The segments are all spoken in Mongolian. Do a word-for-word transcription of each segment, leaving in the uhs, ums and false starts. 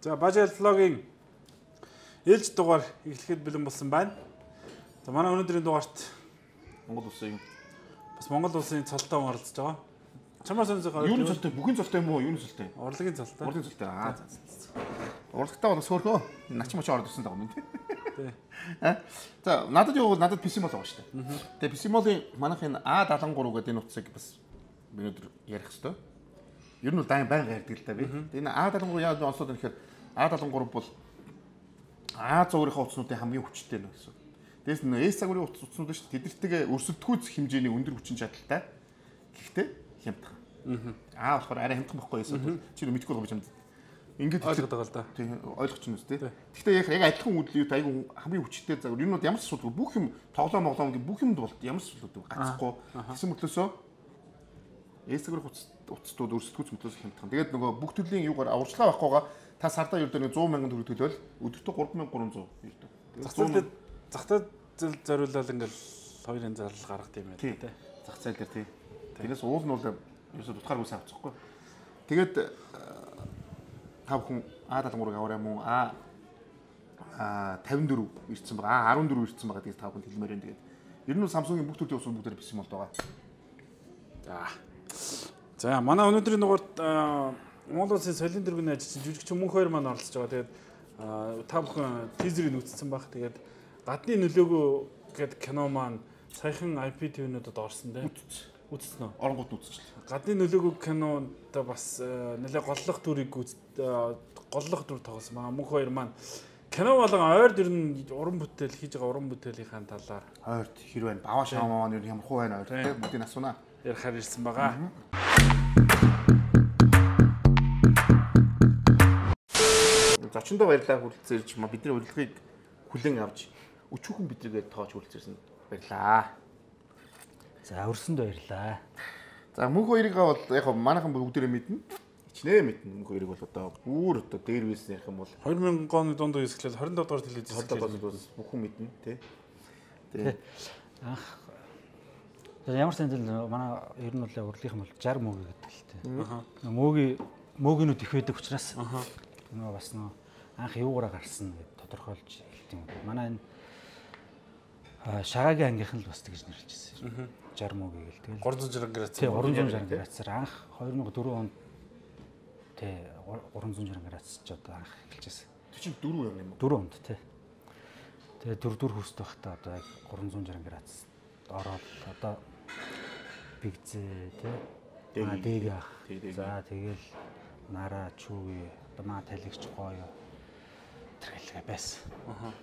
За Бажаал влогийн ээлж дугаар эхлэхэд бэлэн болсон байна. За манай өнөөдрийн дугаарт Монгол улсын бас Монгол улсын цолтой оролцож байгаа. Чамаар сонирхол юу цолтой? Бүхний цолтой юм уу? Юу цолтой? Урлагийн цолтой. Урлагийн цолтой. Аа за за. Урлагтаа бол сөөхөө. Нач мочоо ороод ирсэн даа юм тий. Тий. Аа. За надад юу бол надад писимол байгаа шүү дээ. Тэгээ писимолын манайхын А седемдесет и три гэдэг энэ утсыг бас өнөөдөр ярих хэрэгтэй. Ер нь бол дайн байнга ярьдаг л да би. Тэгээ энэ А седемдесет и три яаж онцлоод байна гэхээр А седемдесет и три бол А зургийнхаа утаснуудын хамгийн хүчтэй нь гэсэн. Дээс нь С загварын утаснууд шүү дээ. Тэдэртэйгээ өрсөлдөхүйц хэмжээний өндөр хүчин чадалтай. Гэхдээ хямдхан. Аа болохоор арай хямдхан байхгүй эсвэл чи мэдгүй байгаа юм. Ингээд ойлгоод байгаа л да. Тийм ойлгож байна үстэй. Гэхдээ яг яг адилхан үдлүүд айгүй хамгийн хүчтэй загвар. Энэ нь ямар ч асуудалгүй бүх юм тоглоом моглоом гэх бүх юм бол ямар ч асуудалгүй гацхгүй. Гэсэн мөртлөөсөө С загварын утастууд өрсөлдөхүйц мөртлөөс хямдхан. Тэгээд нөгөө бүх төрлийн юугаар аварчлаа байхгүйгаа та сардаа ердөө нэг сто мянган төгрөг төлөөл өдөртөө гурван мянга гурван зуун ердөө. Зах зээлд зах зээл зориулаад ингээл хоёрын зарлал гаргах юм байна тий. Зах зээл дээр тий. Тэрнээс уул нь бол ерөөсө дутгааргүй савцахгүй. Тэгээд та бүхэн А седемдесет и три аваарай мөн А пятьдесят четыре ирсэн байгаа. А десять четыре ирсэн байгаа. Тэгээд та бүхэн хэлмээр байна. Тэгээд ер нь Samsung-ийн бүх төрлийн усууд бүгдээр бисим болд байгаа. За. За манай өнөөдрийн дугаарт Монгол улсын соёлын дэргэний ажилчин жүжигч Мөнх хоёр маань оролцож байгаа. Тэгээд та бүхэн тизерийг үзсэн баг. Тэгээд гадны нөлөөгөө гэдэг кино маань саяхан ай пи ти-нүүдэд орсон дээ. Үзсэн үү? Оронгууд үзчихлээ. Гадны нөлөөгөө кинонд бас нэлээ голлох дүрийг голлох дүр тоглосон байгаа. Мөнх хоёр маань кино болон ойр дэр нь уран бүтээл хийж байгаа уран бүтээлийнхаа талаар ойрт хэр байна? Баваа шаамаа маань ямар хуу байна ойр? Бүгдийг асуунаа. Ярихаар ирсэн байгаа. Зочиндоо баярлалаа хүрэлцэн ирж бидний урилгыг хүлээн авч өчүүхэн бидрэгээ тоож хүрэлцэрсэн баярлаа. За өрсөнд баярлаа. За Мөнх хоёрыг бол яг манайхан бүгдээрээ мэднэ. Ичнээ мэднэ. Мөнх хоёрыг бол одоо бүр одоо дээр вэлсэн ярих юм бол две тысячи оны дунд үесгэлээ двадцать пять дугаар телевиз хэлээд бүхэн мэднэ тий. Тий. Ах. Ямар ч зүйл манай ер нь бол урлагийнх нь бол шестьдесят мөг гэдэг л тий. Аа. Мөгийн мөгинүүд их байдаг учраас аа. Нөгөө бас нөө анх юугаараа гарсан гэдээ тодорхойлж хэлт юм. Манай энэ шагагийн ангийнх нь л бас тэгж нэрлэжсэн. шестьдесят мөг гээл тэгэл гуравдуй ширхэг градус. Тий, гуравдуй ширхэг градусаар анх две тысячи четыре онд тий гуравдуй ширхэг градус ч одоо анх эхэлжсэн. Тэр чинь дөрөв юм юм уу? дөрөв онд тий. Тэгээ дөрөв дөрөв хүстэй байхдаа одоо яг гуравдуй ширхэг градус ороод одоо бигзээ тий. Аа дэг ах. За тэгэл нараа чүүгээ одоо маа талигч гоё тэргэлгээ байсан. Аа.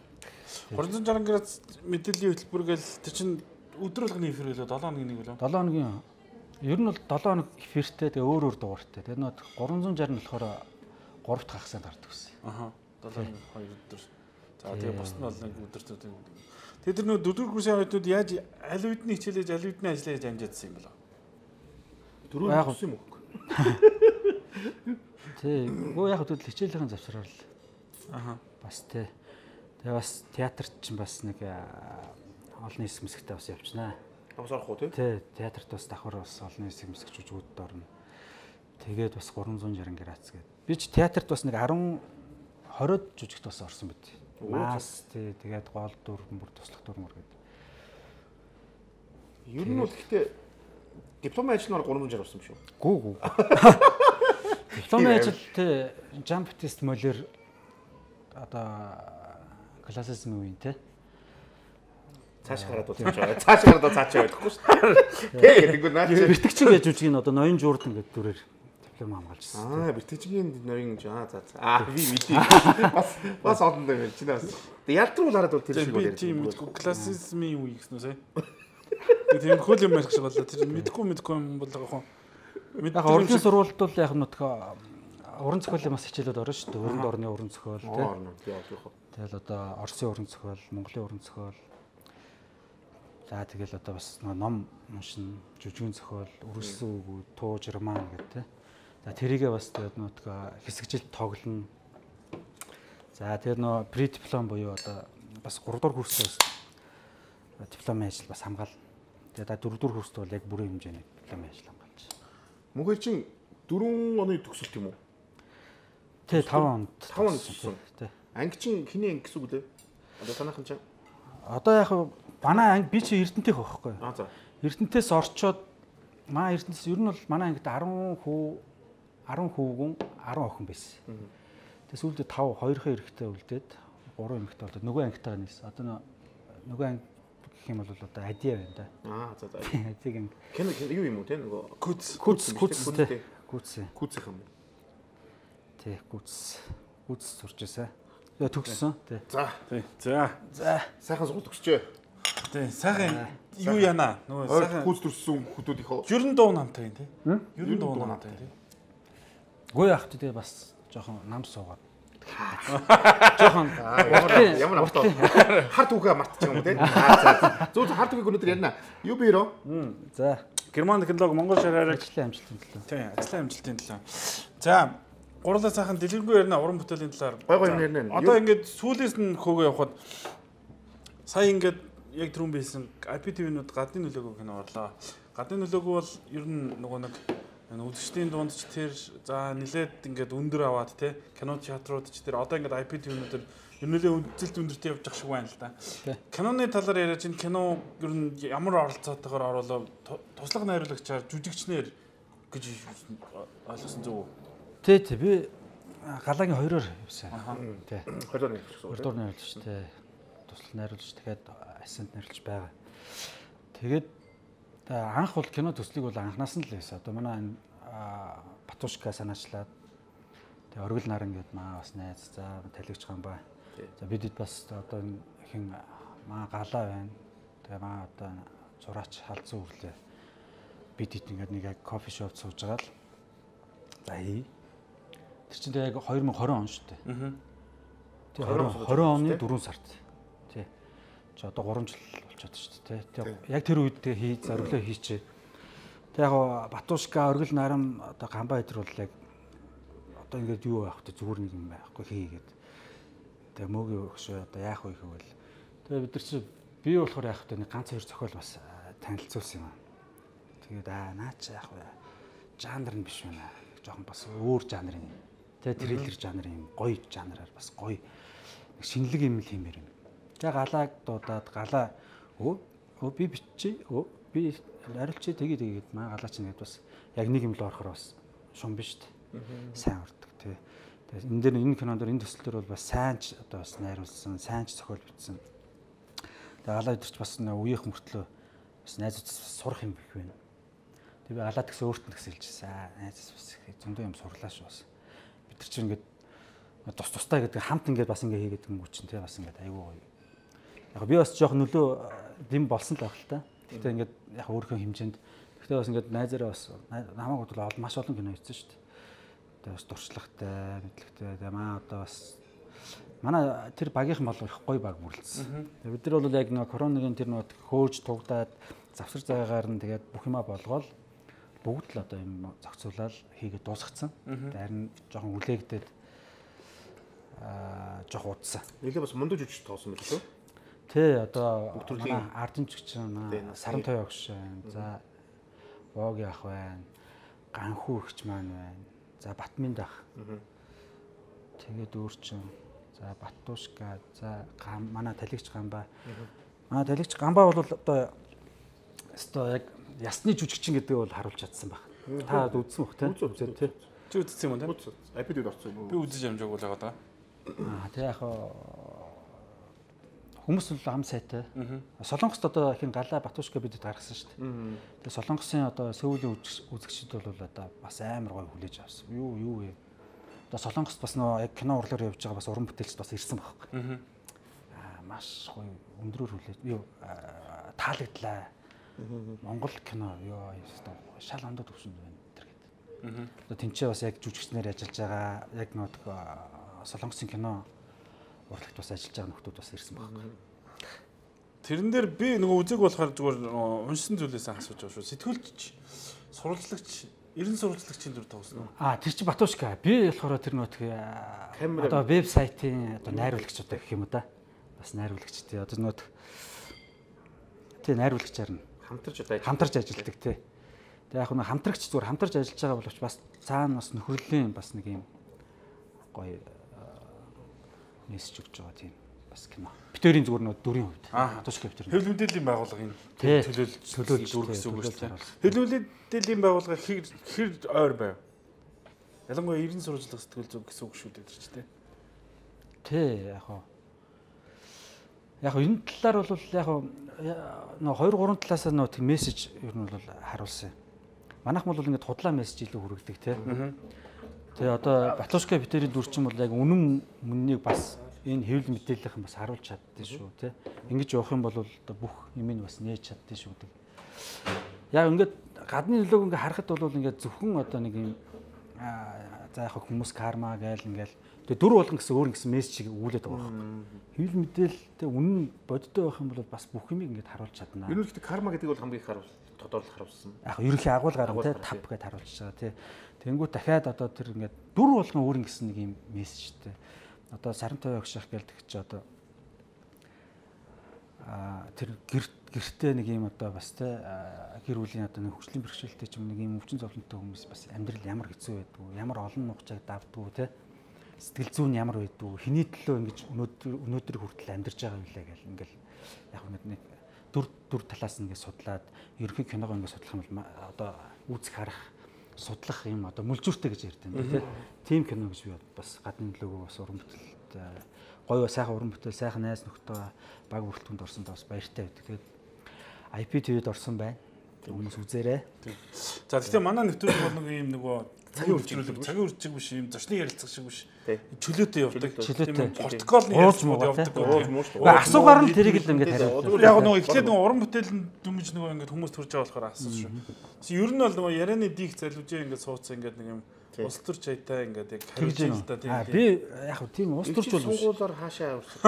гуравдуй ширхэг градус мэдээллийн хөтөлбөр гээл тэр чинь өдөр болгоны эфир үлээ seven хоногийн нэг үлээ. seven хоногийн ер нь бол seven хоног эфиртэй тэгээ өөр өөр дугаартай. Тэгээ нөт тhree sixty нь болохоор three дахь хагасанд гардаг гэсэн. Аха. seven two өдөр. За тэгээ бос нь бол нэг өдөр төдөө. Тэгээ тэр нөө дөрөв курсын оюутнууд яаж аль үдний хичээлээж аль үдний ажиллаа гэж амжаадсан юм бэл. Дөрөв курс юм уу? Тий. Гоо яг хөдөл хичээлийн завсраар л. Аха. Бас тий. Тэгээ бас театрт чинь бас нэг олон нийс мэсгтээ бас явчихнаа. Бас орох уу тий? Тий, театрт бас давхар бас олон нийс мэсгч жүжигүүд орно. Тэгээд бас three sixty градус гээд. Би ч театрт бас нэг ten twenty жүжигт бас орсон байт. Мас тий, тэгээд гол дүр бүр туслах дүр мөр гээд. Ер нь бол гэхдээ дипломын ажилнаар three sixty орсон юм шүү. Гүү гүү. Дипломын ажил тий, Жан Батист Молер одоо классизм үеийн тий. Цааш гараад бол цааш байгаа. Цааш гараад бол цааш байхгүй шүү дээ. Тэг гэдэг нь наач. Бэртгчин гэж үжиг нь одоо ноён жуурдан гэдэг дүрээр диплом хамгаалжсэн. Аа, бэртгчгийн ноён аа за за. Аа, би мэдээ. Бас бас олон дээр байна. Чиний бас. Тэг ялтруу хараад бол тэр шиг бол ярьж байна. Тийм классизмын үе гэсэн үү сая. Тэг тийм хөл юм ярих шиг болоо. Тэр мэдхгүй мэдхгүй юм бол яг хоо. Яг урлагийн сургуульд бол яг нөтгөө уран зохиолын бас хичээлүүд орно шүү дээ. Өрөнд орны уран зохиол тий. Тэгэл одоо Оросын уран зохиол, Монголын уран зохиол. За тэгэл одоо бас ном уншин, жүжигэн зохиол, үргэлжлэн үг, тууж, роман гэдэг тий. За тэрийгээ бас тэгээд нөтгөө хэсэгжилт тоглоно. За тэр нөө предиплом буюу одоо бас three дугаар курсээс дипломын ажил бас хамгаална. Тэгээд four дугаар курст бол яг бүрэн хэмжээний дипломын ажил хамгаалж. Мөнх хоёр чинь дөрвөн оны төгсөлт юм уу? Тий таван онд. таван онд туссан. Тий. Анги чинь хиний анги гэсэн үг лээ. Одоо танайхан чинь. Одоо яг манай анги би чи Эрдэнэтийнх байхгүй. Аа за. Эрдэнэтээс орчоод маа Эрдэнэс ер нь бол манай ангид десять хүү десять хүүгүн десять охин байсан. Тэгээс үүлдээ five хоёрхан эрэхтэй үлдээд three эмэгтэй болоод нөгөө ангитайгаа нийс. Одоо нөгөө анги гэх юм бол одоо адиа байна да. Аа за за. Адиг анги. Кэн юу юм уу те нөгөө Күц күц күц те. Күц. Күцэх юм. Тий күц. Күц сурч байсан. Яа төгссөн. Тий. За. Тий. За. За. Сайхан сургууль төгсчөө. Тий. Сайхан юу яана? Нөгөө сайхан Күц төрсөн хүмүүс их. Ер нь дуу намтай юм тий. Ер нь дуу намтай тий. Гой ахт тий бас жоохон нам суугаад. Жохон ямар ямар автоо харт үгээ мартчих юм уу те. Аа за. Зөв харт үгийг өнөөдөр ярина. Юу бирөө? За. Герман технологи Монгол шараараа Ажлын амжилтын төлөө. тий, ажлын амжилтын төлөө. За, гурлаа сайхан дэлгэрэнгүй ярина уран бүтээлийн талаар. Гой гой ярина. Одоо ингээд сүүлээс нь хөөгөө явахад сая ингээд яг түрүүн байсан ай пи ти-нүүд гадны нөлөөгөө кино орлоо. Гадны нөлөөгөө бол ер нь нөгөө нэг үзэгчдийн дунд ч тэр за нилээд ингээд өндөр аваад тий кино театрууд ч тэр одоо ингээд ай пи ти-нүүдэр ер нь үзэлт өндөртэй явж байгаа шиг байна л да. Киноны талаар яриад чинь кино ер нь ямар оролцоотойгоор оруулаа туслах найруулагчаар жүжигчнэр гэж ойлгосон зөв үү? Тий, тий би галагийн хоёроор явсан. Тий. Хоёроор найруулсан. Хоёроор найруулж тий. Туслах найруулж дахиад ассистент найруулж байгаа. Тэгээд анх бол кино төслийг бол анханаас нь л байсан. Одоо манай энэ Батушка санаачлаад тэгээ оргил наран гэдэг маа бас найз за талигч гамбай. За бидэд бас одоо энэ хин маа галаа байна. Тэгээ маа одоо зураач халдсан үрлээ. Бидэд ингээд нэг яг кофе шоп сууж байгаа л. За хий. Тэр чинь тэгээ яг twenty twenty он шүү дээ. Аа. Тэгээ twenty оны four сард. Тий. Чи одоо three жил болчиход шүү дээ. Тий. Яг тэр үед тэгээ хий зориглоо хийчээ. Тэг яг Батушка оргил нарам одоо гамбай өдр бол яг одоо ингээд юу байх вэ зүгээр нэг юм байхгүй хийгээд. Тэгээ мөөгийн өгшөө одоо яах вэ гэвэл тэгээ бид нар чи би болохоор яах вэ нэг ганц хоёр зохиол бас танилцуулсан юм аа. Тэгээд аа наа чи яах вэ? Жанр нь биш байна. Жохон бас өөр жанрын. Тэгээ триллер жанрын юм гоё жанраар бас гоё нэг шинэлэг юм л хиймээр юм. Тэгээ галааг дуудаад галаа өө өө би биччихье өө би арилчи тэгээ тэгээд маа галаа чинь гэдэг бас яг нэг юм л орохоор бас шум биш үү? Сайн урдаг тий. Тэгээд энэ дээр энэ кинонд энэ төслөөр бол бас сайн ч одоо бас найруулсан, сайн ч зохиол бичсэн. Тэгээд галаа өдөрч бас үеийнх мөртлөө бас найзуудаас сурах юм их байна. Тэгээд би галаа гэсэн өөртөө гэсэн хэлчихсэн. Найзаас бас их зөндөө юм сурлаа шүү бас. Бид нар чинь ингээд тус тустай гэдэг хамт ингээд бас ингээд хийгээд юм чинь тий бас ингээд айгүй гоё. Яг би бас жоох нөлөө дэм болсон л байх л та. Гэхдээ ингээд яг өөрийнхөө хэмжээнд гэхдээ бас ингээд найзаараа бас намайг бодлоо маш олон кино хийсэн шүү дээ. Тэгээ бас дуршлагтай, мэдлэгтэй. Тэгээ маа одоо бас манай тэр багийнхан бол их гоё баг бүрлдсэн. Тэгээ бид нар бол яг нэг коронагийн тэр нэг хөөж тугдаад завсар зайгаар нь тэгээд бүх юмаа болгоол бүгд л одоо юм зохицуулаад хийгээд дуусгацсан. Харин жоохон үлээгдээд аа жоох удсан. Нилээ бас мундаг жүжигч тоосон байх шүү. Тэ одоо манай ардамжигч манай саран той огш байна. За Воги ах байна. Ганхүү ихч маань байна. За Батминд ах. Тэгээд өөрчн. За Батушка. За манай талигч гамбай. Манай талигч гамбай бол одоо өстой яг ясны жүжигчин гэдэг бол харуулж чадсан баг. Та үзсэн бох тий? Үзсэн тий. Чи үзсэн юм уу тий? Айпэдэд орсон юм уу? Би үзэж амжаагүй л байгаа даа. Аа тий яг хүмүүс л ам сайтай. Солонгост одоо хин галаа Батушка бидэд гаргасан шүү дээ. Тэгээ Солонгосын одоо Сөүлийн үзэгчид бол одоо бас амар гоё хүлээж авсан. Юу юу вэ? Одоо Солонгост бас нөө яг кино урлаар явж байгаа бас уран бүтээлч бас ирсэн байхгүй. Аа маш гоё өндрөөр хүлээж юу таалагдлаа. Монгол кино ёо шал ондод төвшөнд байна тэр гэдэг. Одоо тэнцээ бас яг жүжигчнэр ажиллаж байгаа яг нөө Солонгосын кино урлагт бас ажиллаж байгаа нөхдүүд бас ирсэн байна. Тэрэн дээр би нөгөө үзег болохоор зүгээр уншсан зүйлээс асууж байгаа шүү. Сэтгүүлч, сурвалжлагч, ерэн сурвалжлагчийн дүр тоглосон уу? Аа тэр чи Батушка. Би болохоор тэр нөгөө одоо веб сайтын одоо найруулагч одоо гэх юм уу да. Бас найруулагч тий. Одоо нөгөө тий найруулагчаар нь хамтарч одоо хамтарч ажилладаг тий. Тэгээ яг нэг хамтрагч зүгээр хамтарч ажиллаж байгаа боловч бас цаана бас нөхрөлийн бас нэг юм гоё мессеж өгч байгаа тийм бас кино. Битэрийн зүгээр нөө дүрийн хувьд. Тушка битэр. Хэвлэл мэдээллийн байгууллагын төлөөлж төлөөлж дүр гэсэн үг шүү дээ. Хэвлэл мэдээллийн байгууллага хэр хэр ойр байв. Ялангуяа эрдэнэ сурвалжлах сэтгэл зүг гэсэн үг шүү дээ ч тийм. Тий, яг хоо. Яг энэ талаар бол яг нөө хоёр гурван талаас нь нөө тийм мессеж ер нь бол харуулсан. Манайх бол ингээд худлаа мессеж илүү хүргэдэг тий. Тэгээ одоо Батушка битэрийн дүр чинь бол яг үнэн мөннийг бас энэ хэвлэл мэдээллийнхэн бас харуулж чаддсан шүү тий. Ингэж явах юм бол одоо бүх юм нь бас нээж чаддсан шүү дээ. Яг ингээд гадны нөлөөг ингээд харахад бол ингээд зөвхөн одоо нэг юм за яг хүмүүс карма гээл ингээл тэгээ дүр болгон гэсэн өөр гэсэн мессежийг өгүүлээд байгаа байхгүй. Хэвлэл мэдээлэлтэй үнэн бодтой байх юм бол бас бүх юмыг ингээд харуулж чадна. Ер нь гэхдээ карма гэдэг бол хамгийн их харуул тодорлох харуулсан. Яг ерөнхий агуулгаар тий тав гэдээ харуулж байгаа тий. Тэнгүү дахиад одоо тэр ингээд дүр болгон өөр гэсэн нэг юм мессежтэй. Одоо сарантай өгших гээл тэгч одоо а тэр гэртээ нэг юм одоо бас тий гэр бүлийн одоо нэг хөгжлийн бэрхшээлтэй ч юм нэг юм өвчин зовлонтой хүмүүс бас амьдрал ямар хэцүү байдгүй, ямар олон нухчааг давдгүй тий. Сэтгэл зүйн ямар байдгүй, хэний төлөө ингэж өнөөдөр өнөөдөр хүртэл амьдарч байгаа юм лээ гэл ингээл яг нэг дүр дүр талаас нь ингээд судлаад ерөнхий киногоо ингээд судлах юм бол одоо үзэх харах судлах юм одоо мүлжүүртэй гэж ярьдаг юм тий. Тим кино гэж би бас гадны нөлөөгөө бас уран бүтээлд гоё сайхан уран бүтээл сайхан найз нөхдөд баг бүрэлдэхүүнд орсонд бас баяртай байдаг. Тэгээд ай пи ти ви-д орсон байна. Хүмүүс үзээрэй. За тэгэхээр манай нэвтрүүлэг бол нэг юм нөгөө цагийн үржүүлэг, цагийн үржиг биш юм зочны ярилцах шиг биш. Чөлөөтэй явдаг. Чөлөөтэй. Протоколны ярилцлагууд явдаг. Асуугаар нь тэрийг л ингээд хариулдаг. Яг нөгөө эхлээд нөгөө уран бүтээлийн дүмж нөгөө ингээд хүмүүс төрж байгаа болохоор асуусан шүү. Ер нь бол нөгөө ярианы диих залуужээ ингээд суудсан ингээд нэг юм улс төр чаятай ингээд яг хариулж байгаа л да тийм. Би яг тийм улс төрч бол сунгуулаар хаашаа явуулсан.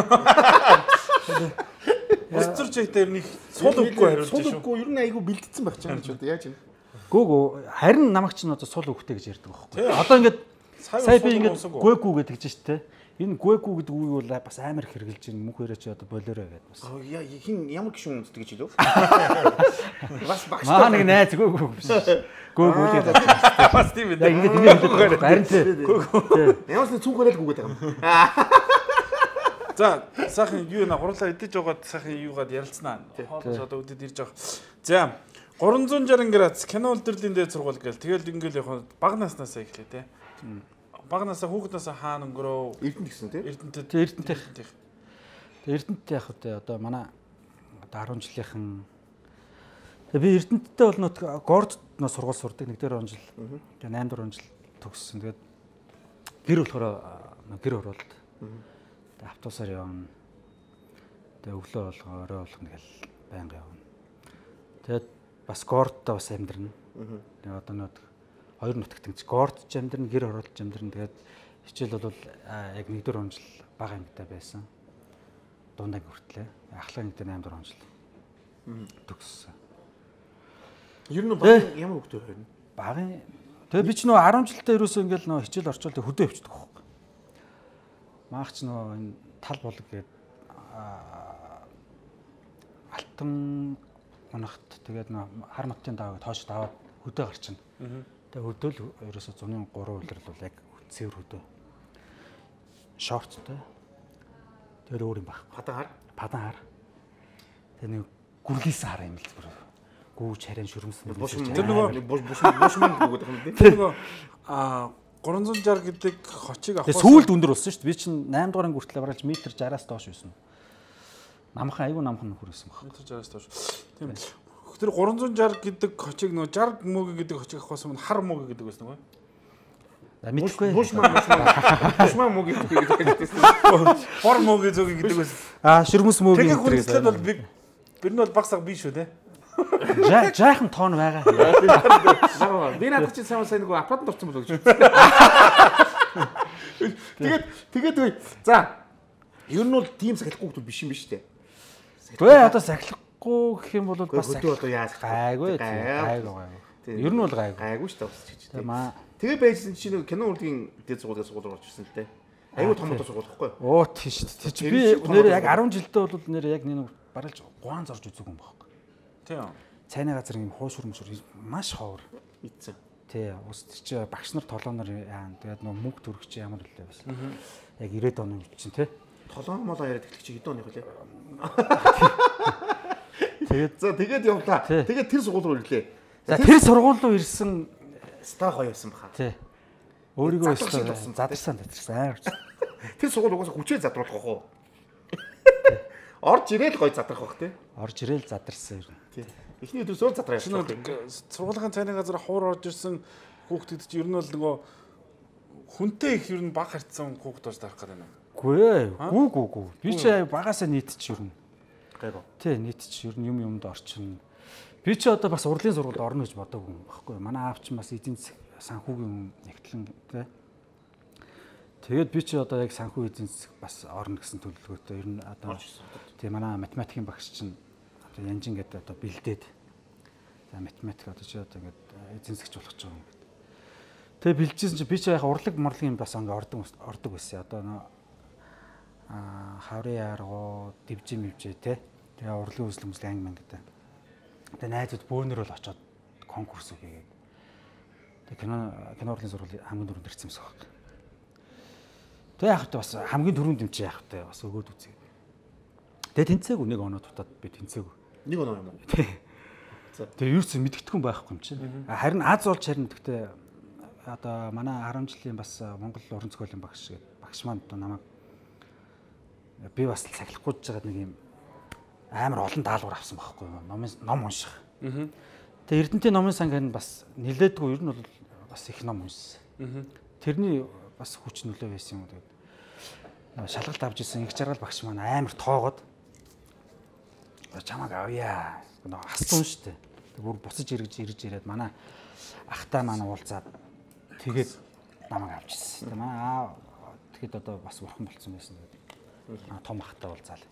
Улс төр чаятай ер нь сул өгөхгүй хариулж шүү. Сул өгөхгүй ер нь айгүй бэлдсэн байх ч юм ч яаж юм. Гүг харин намайг чинь одоо сул өгөхтэй гэж ярьдаг байхгүй. Одоо ингээд сая би ингээд гүэгүү гэдэг чинь шүү дээ. Энэ гүэгүү гэдэг үгийг бол бас амар их хэрэгжилж байна. Мөнх өрөөч одоо болоорой гэдэг бас. Яа хин ямар гişүн үндэдэг гэж хэлв. Бас багш. Маа нэг найз гүэгүү биш. Гүэгүү л гэдэг. Бас тийм ээ. Ингээд ингэ хэлдэг. Харин тийм. Ямаас нэг цүнхөрөл гүгээд байгаа юм. За сайхан юу нэ хурлаа идэж жагаад сайхан юугаад ярилцсанаа. Хоолоос одоо үдэд ирж байгаа. За гурван зуун шаран градус кино үлдэрлийн дээд сургууль гээл тэгэл ингээл яг баг наснасаа эхлэв те. Баг насаа хүүхднасаа хаана өнгөрөө Эрдэнэт гэсэн тий. Эрдэнэт Эрдэнэт. Эрдэнэт яг одоо манай одоо арван жилийнхэн би Эрдэнэттэй бол нөт горд нөө сургууль сурдаг нэг дээр он жил. Тэгээ наймд дөрвөн жил төгссөн. Тэгээд гэр болохоор гэр оролт. Тэгээ автобусаар явна. Тэгээ өглөө болгоо орой болгоно гэл байнга явна. Тэгээд бас гордтой бас амьдрна. Тэгээ одоо нөт хоёр нутагт ингэж горд ч амьдрна, гэр оролт ч амьдрна. Тэгээд хичээл бол яг нэг дөрвөн жил бага ангитай байсан. Дундаа хүртлээ. Ахлах нэг дээр наймд дөрвөн жил төгссөн. Ер нь баг ямар хөвгтэй байна? Багын тэгээ би ч нөө арван жилдээ ерөөсөө ингээл нөө хичээл орчвол хөдөө өвчдөг байхгүй. Маагч нөө энэ тал болог гээд алтан гонхт тэгээд нөө хар маттын даваа тоош даваад хөдөө гарчна. Тэгээ хөдөө л ерөөсөө зуны гурван улирал бол яг цэвэр хөдөө. Шорттой. Тэгээд өөр юм баг. Падан хар. Падан хар. Тэгээ нэг гүргээс хар юм л зүгээр. Гүүж харин шүрмсэн. Тэр нөгөө буш буш бушман гэдэг юм дээ. Тэр нөгөө а гурван зуун шар гэдэг хочиг авах. Тэгээ сүүлд өндөр болсон шүү дээ. Би чинь наймд дугаар хүртэл баралж метр шараас доош байсан. Намхан айгүй намхан хүрсэн баг. метр шараас доош. Тийм. Тэр гурван зуун шар гэдэг хочиг нөгөө шар мөг гэдэг хочиг авахаас өмнө хар мөг гэдэг байсан нөгөө. За мэдхгүй. Бушман бушман. Бушман мөг гэдэг гэсэн. Хор мөг гэдэг байсан. Аа шүрмэс мөг гэдэг. Тэгэхээр хүнслээд бол би бид нь бол багсаг биш шүү те. Жаахан тоон байгаа. Би надад чи сайн сайн нэг аппаратанд орсон болов гэж. Тэгээд тэгээд үгүй. За. Ер нь бол тийм сахилахгүй хүмүүс биш юм биш үү? Гүй одоо сахилахгүй гэх юм бол бас хөдөө одоо яаж гайгүй гайгүй гайгүй. Ер нь бол гайгүй. Гайгүй шүү дээ бас гэж. Маа. Тэгээ байжсэн чинь нэг кино урлагийн дээд сургуулийн сургууль орж ирсэн л дээ. Аюу том том сургууль байхгүй юу? Оо тийш тий. Би нэр яг арван жилдээ бол нэр яг нэг баралж гуан зорж үзэг юм байхгүй. Тийм. Цайны газар юм хууш хөрмөшөр маш ховор. Ийцэн. Тий, ус тэр чи багш нар толгоноор яа. Тэгээд нөгөө мөнгө төрөх чи ямар үлээ бас. Яг ирээд оны үед чинь тий. Толгон молоо яриад эхлэх чи хэдэн оны хөлөө. Тэгээд за тэгээд явлаа. Тэгээд тэр сургууль руу ирлээ. За тэр сургууль руу ирсэн ста гоё байсан баха. Тий. Өөрийгөө өстө задарсан задарсан. Тэр сургууль угаасаа хүчээр задруулах уу? Орж ирээл гоё задрах бах тий. Орж ирээл задарсан юм. Тий. Эхний өдөр зөөр задраа явчихсан. Сургуулийн цайны газар хуур орж ирсэн хүүхдүүд чинь ер нь бол нөгөө хүнтэй их ер нь баг харьцсан хүүхд болж тарах гэдэг юм. Гүй ээ. Гүү гүү гүү. Би ч багасаа нийтч ер нь. Гайгүй. Тий, нийтч ер нь юм юмд орчин. Би ч одоо бас урлагийн сургуульд орно гэж бодоогүй юм баггүй. Манай аав ч бас эдийн засаг санхүүгийн нэгтлэн тий. Тэгээд би ч одоо яг санхүү эдийн засаг бас орно гэсэн төлөвлөгөөтэй ер нь одоо тий манай математикийн багш чинь одоо Янжин гэдэг одоо бэлдээд за математик одоо чи одоо ингээд эзэн засагч болох гэж байгаа юм гэдэг. Тэгээ бэлдчихсэн чи би ч яг урлаг морлагийн бас ингээд ордог ордог байсан. Одоо нөө аа хаврын аргуу дивжи мөвжээ те. Тэгээ урлагийн үзлэг мүзлэг анги мэн гэдэг. Тэгээ найзууд бөөнөр бол очоод конкурс үгээд. Тэгээ кино кино урлагийн сургуулийн хамгийн дөрөнд ирсэн юмсах баг. Тэгээ яг бас хамгийн дөрөнд юм чи яг та бас өгөөд үзье. Тэгээ тэнцээгүй нэг оноо дутаад би тэнцээгүй. Нэг оноо юм уу? Тэгээ юу ч мэдгэдэггүй байхгүй юм чинь. Харин аз олж харин гэхдээ одоо манай харам жилийн бас Монгол уран зохиолын багш гэдэг багш маань одоо намайг би бас цахилахгүй жагаад нэг юм амар олон даалгавар авсан байхгүй юу? Номын ном унших. Тэгээ Эрдэнтийн номын сангийн бас нилээдгүй ер нь бол бас их ном уншсан. Тэрний бас хүч нөлөө байсан юм уу тэгээд шалгалт авч ирсэн их жаргал багш маань амар тоогод чамаг авъя. Нөгөө хасцсан шүү дээ. Тэг бүр буцаж ирж ирж ирээд манай ахтай маань уулзаад тэгээд намайг авч ирсэн. Тэг манай аа тэгэхэд одоо бас бурхан болцсон байсан тэгээд том ахтай уулзаал.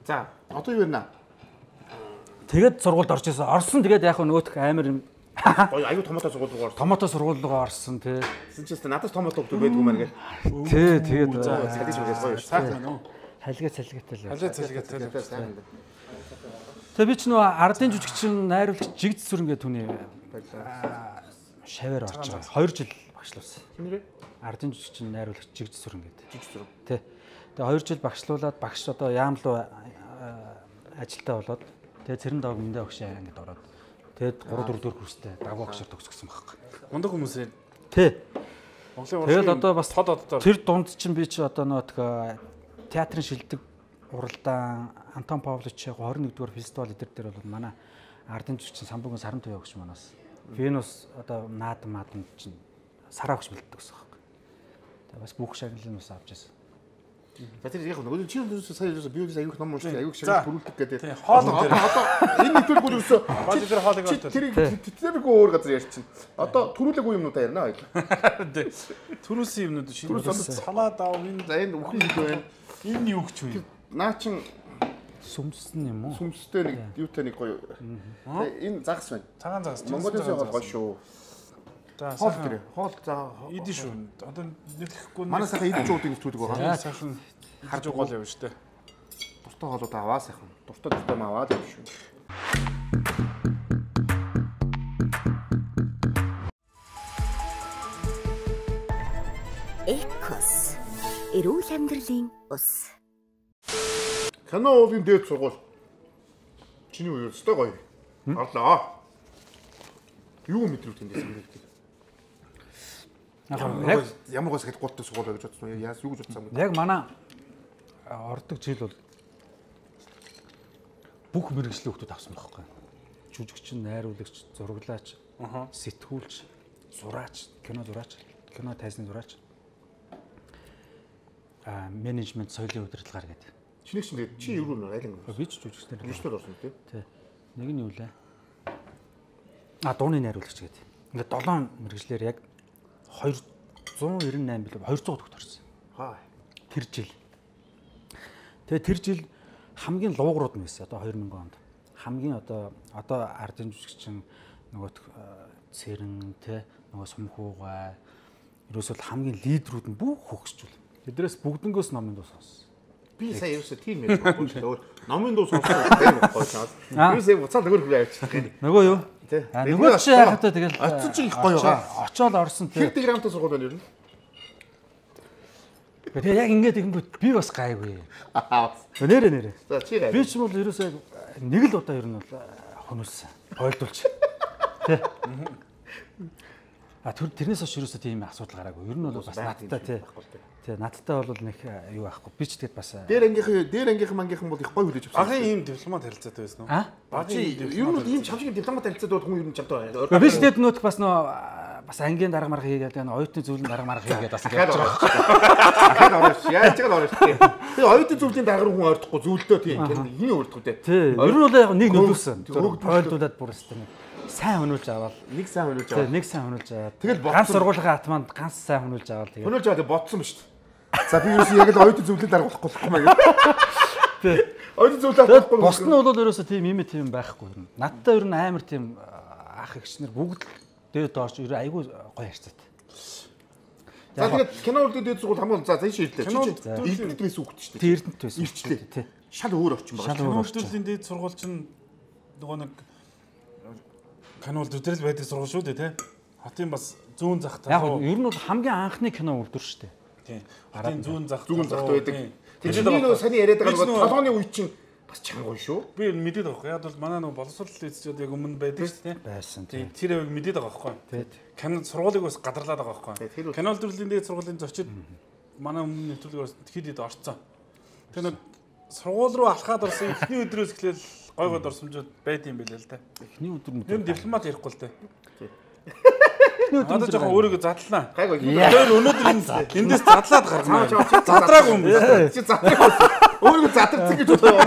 За одоо юу вэ? Тэгээд сургуульд орж ирсэн. Орсон тэгээд яг нөгөөх амар юм гоё аюу томоотой сургууль руу орсон. Томоотой сургууль руу орсон тий. Тэгсэн чинь надад томоотой өгдөг байдгүй мэн гээл. Тий тэгээд салгиж өгөөс гоё шүү. Сайхан уу? Халига салгитай л. Халига салгитай сайн. Тэгээ би ч нөгөө ардын жүжигчин найруулагч Жигдс сүрэн гэдэг түүний шавар орж байгаа. хоёр жил багшлуулсан. Хинрээ? Ардын жүжигчин найруулагч Жигдс сүрэн гэдэг. Жигдс сүрэн. Тий. Тэгээ хоёр жил багшлуулаад багш одоо яам руу ажилтаа болоод тэгээ цэрэн дааг мэндэ өгшөө ингэж ороод тэгээд гурав дөрөв дөрөв курстэй дагуу багшаар төгсгсөн байхгүй. Мундаг хүмүүсээ. Тий. Монголын тэгэл одоо бас тод оддоор тэр дунд чинь би чи одоо нөө театрын шилдэг уралдаан Антон Павлович двадцать нэгдүгээр фестивал эдэр дээр бол манай ардын жүжигчин Самбугийн саран туяа өгч манаас Венус одоо наад маадан чинь сараа өгч бэлддэг гэсэн юм байна. Тэгээ бас бүх шагналын ус авч ирсэн. За тэр яг нөгөө чи сая биологи аюух ном уншиж аюух шагнал бүрүүлдэг гэдэг. Хоол одоо энэ нэвтрүүлгүүд ерөөсөө чи тэр хоолыг аваад тэр тэргүй өөр газар ярьчихна. Одоо төрүүлээгүй юмнуудаа ярина хоёул. Төрүүлсэн юмнууд шинэ салаад аав энэ за энэ үхэн хэл байна. Энэ юу гэж вэ? Наа чин сүмсэн юм уу? Сүмстэй нэг юутай нэг гоё. Энэ загас байна. Цагаан загас. Монголын гоё шүү. За хоол тэр. Хоол за идэв шүү. Одоо нэрлэхгүй. Манай сайхан идэж уудын нэвтрүүлэг байгаа. Сайхан харж гол явна шүү дээ. Дуртай хоолууд аваа сайхан. Дуртай дуртай аваад явна шүү. Экос. Эрүүл амьдралын ус. Кино уулын дээд сургууль. Чиний үеэр өстой гоё. Орлоо. Юу мэдрүүлж тэндээс хэрэгтэй. Яг ямар гоо сэт гуттай сургууль гэж бодсон. Яас юу гэж бодсон юм бэ? Яг манай ордог жил бол бүх мэрэгжлийн хүмүүс авсан байхгүй. Жүжигчин, найруулагч, зураглаач, сэтгүүлч, зураач, кино зураач, кино тайзны зураач. А менежмент соёлын удирдлагаар гэдэг. Чиний чинь чи юу нөр айлын. Би ч жүжигчтэй. Жүжигчтэй орсон тий. Тий. Нэг нь юу лээ? А дууны найруулагч гэдэг. Ингээд долоон мэрэгжлэр яг two ninety nine билүү two hundred төгт орсон. Хаа. Тэр жил. Тэгээ тэр жил хамгийн луугрууд нь байсан. Одоо two thousand онд. Хамгийн одоо одоо ардын жүжигчин нөгөө цэрэн тий нөгөө сумхуугай ерөөсөө хамгийн лидерүүд нь бүх хөгсчүүл. Тэднээс бүгднгөөс номын дуу сонссон. Би сая ерөөсөө тийм юм байхгүй шүү дээ. Номын дуу сонсох тийм байхгүй шаас. Би сая буцаад нөгөө хөвөө авчихсан. Нөгөө юу? А нөгөө чи яхаа тэгэл очиж чинь их гоё байгаа. Очоод орсон тий. Хэд грамтай сургууль байна ер нь? Тэгээ яг ингэж ихэнгүүт би бас гайгүй. Нэрэ нэрэ. За чи гай. Би ч бол ерөөсөө нэг л удаа ер нь бол хөнөөсөн. Ойлдуулч. Тий. А тэр тэрнээс хойш ерөөсөө тийм асуудал гараагүй. Ер нь бол бас надтай тий. Тий, надтай бол нэг юу аахгүй. Би ч тэгэд бас дээр ангийнхан дээр ангийнхан мангийнхан бол их гоё хүлээж авсан. Багын ийм дипломат харилцаатай байсан уу? Аа? Багын ер нь ийм чамшиг дипломат харилцаатай бол хүн ер нь чамтай байна. Би ч тэгэд нөт бас нөө бас ангийн дарга марга хийгээд байна. Оюутны зөвлөлийн дарга марга хийгээд бас ингэж байгаа. Ахад ороош. Яаж ч ороош тий. Тэгээ оюутны зөвлөлийн дарга хүн ойртохгүй зөвлөдөө тий. Хин өөртгөө тий. Тий. Ер нь бол яг нэг нөлөөсөн. Ойлдуулаад бүр өстэй. Сайн хөнүүлж аваад нэг сайн хөнүүлж аваад нэг сайн хөнүүлж аваад тэгэл ганц сургуулийн атманд ганц сайн хөнүүлж аваад тэгээ хөнүүлж аваад бодсон ба шүү дээ. За би юусэн яг л оюутны зөвлөлийн дарга болохгүй болохгүй маа гэх. Тий. Оюутны зөвлөлийн дарга болохгүй. Босд нь бол ерөөсөө тийм юм тийм байхгүй юм. Надтай ер нь амар тийм ах эгчнэр бүгд дээд доош ер айгүй гоё харьцаатай. За тэгээд кино үлдээд дээд сургууль хамгийн за тийш ирлээ. Кино Эрдэнэт байсан үг шүү дээ. Тий Эрдэнэт байсан. Ирчлээ. Тий. Шал өөр орчин байна. Кино үлдээлийн дээд сургууль чинь нөгөө нэг кинолд өдрөл байдаг сургууль шүү дээ тий. Хотын бас зүүн зах тал. Яг ер нь бол хамгийн анхны кино үлдвэр шүү дээ. Тий. Хотын зүүн зах зүүн захт байдаг. Тэгээд нөгөө саний яриад байгаа нөгөө толгойн үе чинь бас чангуй шүү. Би мэдээд байгаа байхгүй. Яг бол манай нөгөө боловсрол эзчүүд яг өмнө байдаг шүү дээ. Байсан тий. Тэр яг мэдээд байгаа байхгүй. Тий. Кино сургуулийг бас гадарлаад байгаа байхгүй. Кино үлдээлийн дээд сургуулийн зочид манай өмнө нэвтрүүлгээр хэд хэд орцсон. Тэр нэг сургууль руу алхаад орсон эхний өдрөөс эхлээл гой гой дурсамжууд байд юм билээ л да. Эхний өдөр нь тэр дипломат ярихгүй л дээ. Эхний өдөр одоо жоохон өөрийгөө задлаа. Гайгүй. Тэр өнөөдөр эндээс задлаад гарнаа. Задраагүй юм байна. Чи задраагүй. Өөрийгөө задарсан гэж бодлоо.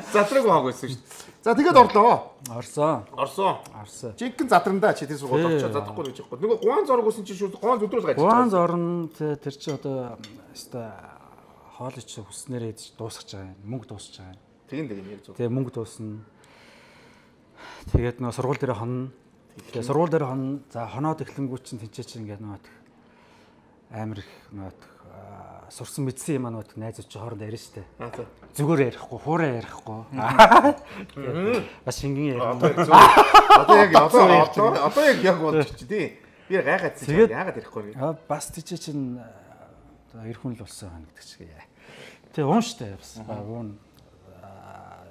Задраагүй хааг байсан шүү дээ. За тэгээд орлоо. Орсон. Орсон. Орсон. Жинхэнэ задрандаа чи тэр сургууль очиж задрахгүй гэж байхгүй. Нөгөө гуан зорг uuсан чи шууд гуан зүдрүүл гаж. Гуан зорн тэр чи одоо өстой хоолой чи хүснээрээ дуусгаж байгаа юм. Мөнгө дуусгаж байгаа юм. Тэгин тэгин яг зөв. Тэгээ мөнгө дуусна. Тэгээд нөө сургууль дээр хонно. Тэгээ сургууль дээр хонно. За хоноод эхлэнгүүт чинь тэнцээ чинь ингээд нөө амар их нөө сурсан мэдсэн юм аа нөө найзууд чи хооронд ярина штэ. Зүгээр ярихгүй, хуурай ярихгүй. Бас шингэн ярина. Одоо яг одоо одоо одоо яг яг бодчих чи тий. Би гайхаад чи яагаад ярихгүй вэ? Бас тийч чинь эр хүн л болсон хань гэдэг чигээ. Тэгээ уун штэ бас уун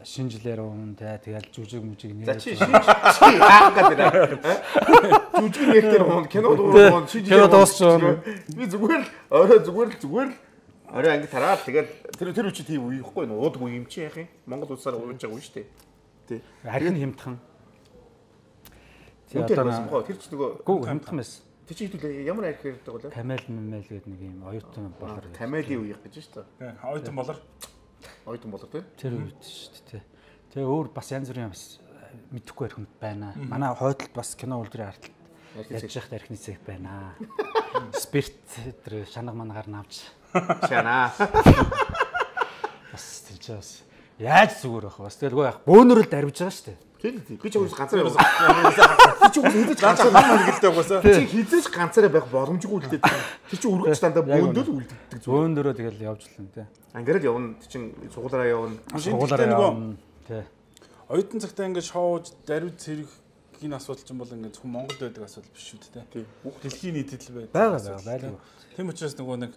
шинжилээр уун тэ тэгэл жүжиг мүжиг нэр. За чи чи яах гэдэг вэ? Жүжиг нэрээр уун кино уун шинжилээр дуусчихсан. Би зүгээр л орой зүгээр л зүгээр л орой анги тараад тэгэл тэр тэр үчи тийм үеихгүй нөө уудгүй юм чи яах юм? Монгол улсаар ууж байгаа юм шүү дээ. Тий. Харин хямдхан. Тий одоо тэр ч нөгөө гүү хямдхан байсан. Тэр чи хэдүүл ямар арх ярьдаг вэ? Камел мэмэл гэдэг нэг юм оюутан болор. Камелийн үеих гэж шүү дээ. Тий, оюутан болор. Оюутан болор тий. Тэр үед шүү дээ. Тэгээ өөр бас янз бүрийн бас мэдэхгүй архинд байна. Манай хойдолд бас кино үлдрийн арталт яаж яхад архины цэг байна. Спирт тэр шанаг манагаар навч. Шанаа. Бас тэр чинь бас яаж зүгээр байх вэ? Бас тэгэл гоо яах бөөнөрөл дарвиж байгаа шүү дээ. Тийм тийм. Би ч уус ганцаараа би ч уус хизэж ганцаараа маань гэлтэй угаасаа. Чи хизэж ганцаараа байх боломжгүй л дээ. Тэр чи өргөж дандаа бөөндөл үлддэг зүгээр. Бөөнөрөө тэгэл явж лэн тий. Ангирал явна. Ти чин сургуулаараа явна. Сургуулаараа явна. Тий. Оюутан цагтаа ингээд шоуж дарвиж цэргийн асуудал ч юм бол ингээд зөвхөн Монголд байдаг асуудал биш шүү дээ тий. Дэлхийн нийтэд л байдаг. Байгаа байгаа. Тийм учраас нөгөө нэг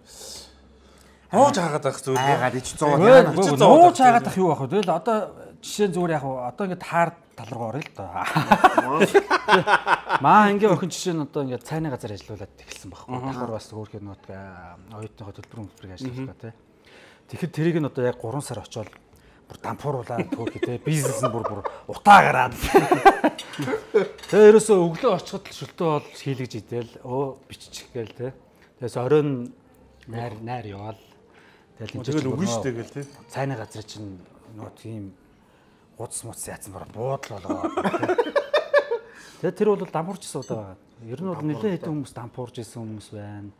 нууж хаагаад байх зүйл. Хаагаад ич зовоод яана. Нууж хаагаад байх юу байх вэ? Тэгэл одоо жишээ зүгээр яг одоо ингээд таар тал руу орё л доо. Маа ингээ охин жишээ нь одоо ингээд цайны газар ажиллаулаад эхэлсэн байхгүй. Давхар бас өөрхөн нөт оюутныхоо төлбөр мөлбөрийг ажиллуулдаг тий. Тэгэхэд тэрийг нь одоо яг гурван сар очоод бүр дампууруулаад төөхөө тий. Бизнес нь бүр бүр утаа гараад. Тэгээ ерөөсөө өглөө очиход л шөлтөө бол хийлгэж идэл өө биччих гээл тий. Тэгээс оройн найр найр яваал. Тэгэл үгүй шүү дээ гэл тий. Цайны газар чинь нөө тийм гуц муц яатсан бараа буудлаа болоо. Тэгээ тэр бол дампуурчсан удаа байгаа. Ер нь бол нэлээд хэдэн хүмүүс дампуурж исэн хүмүүс байна.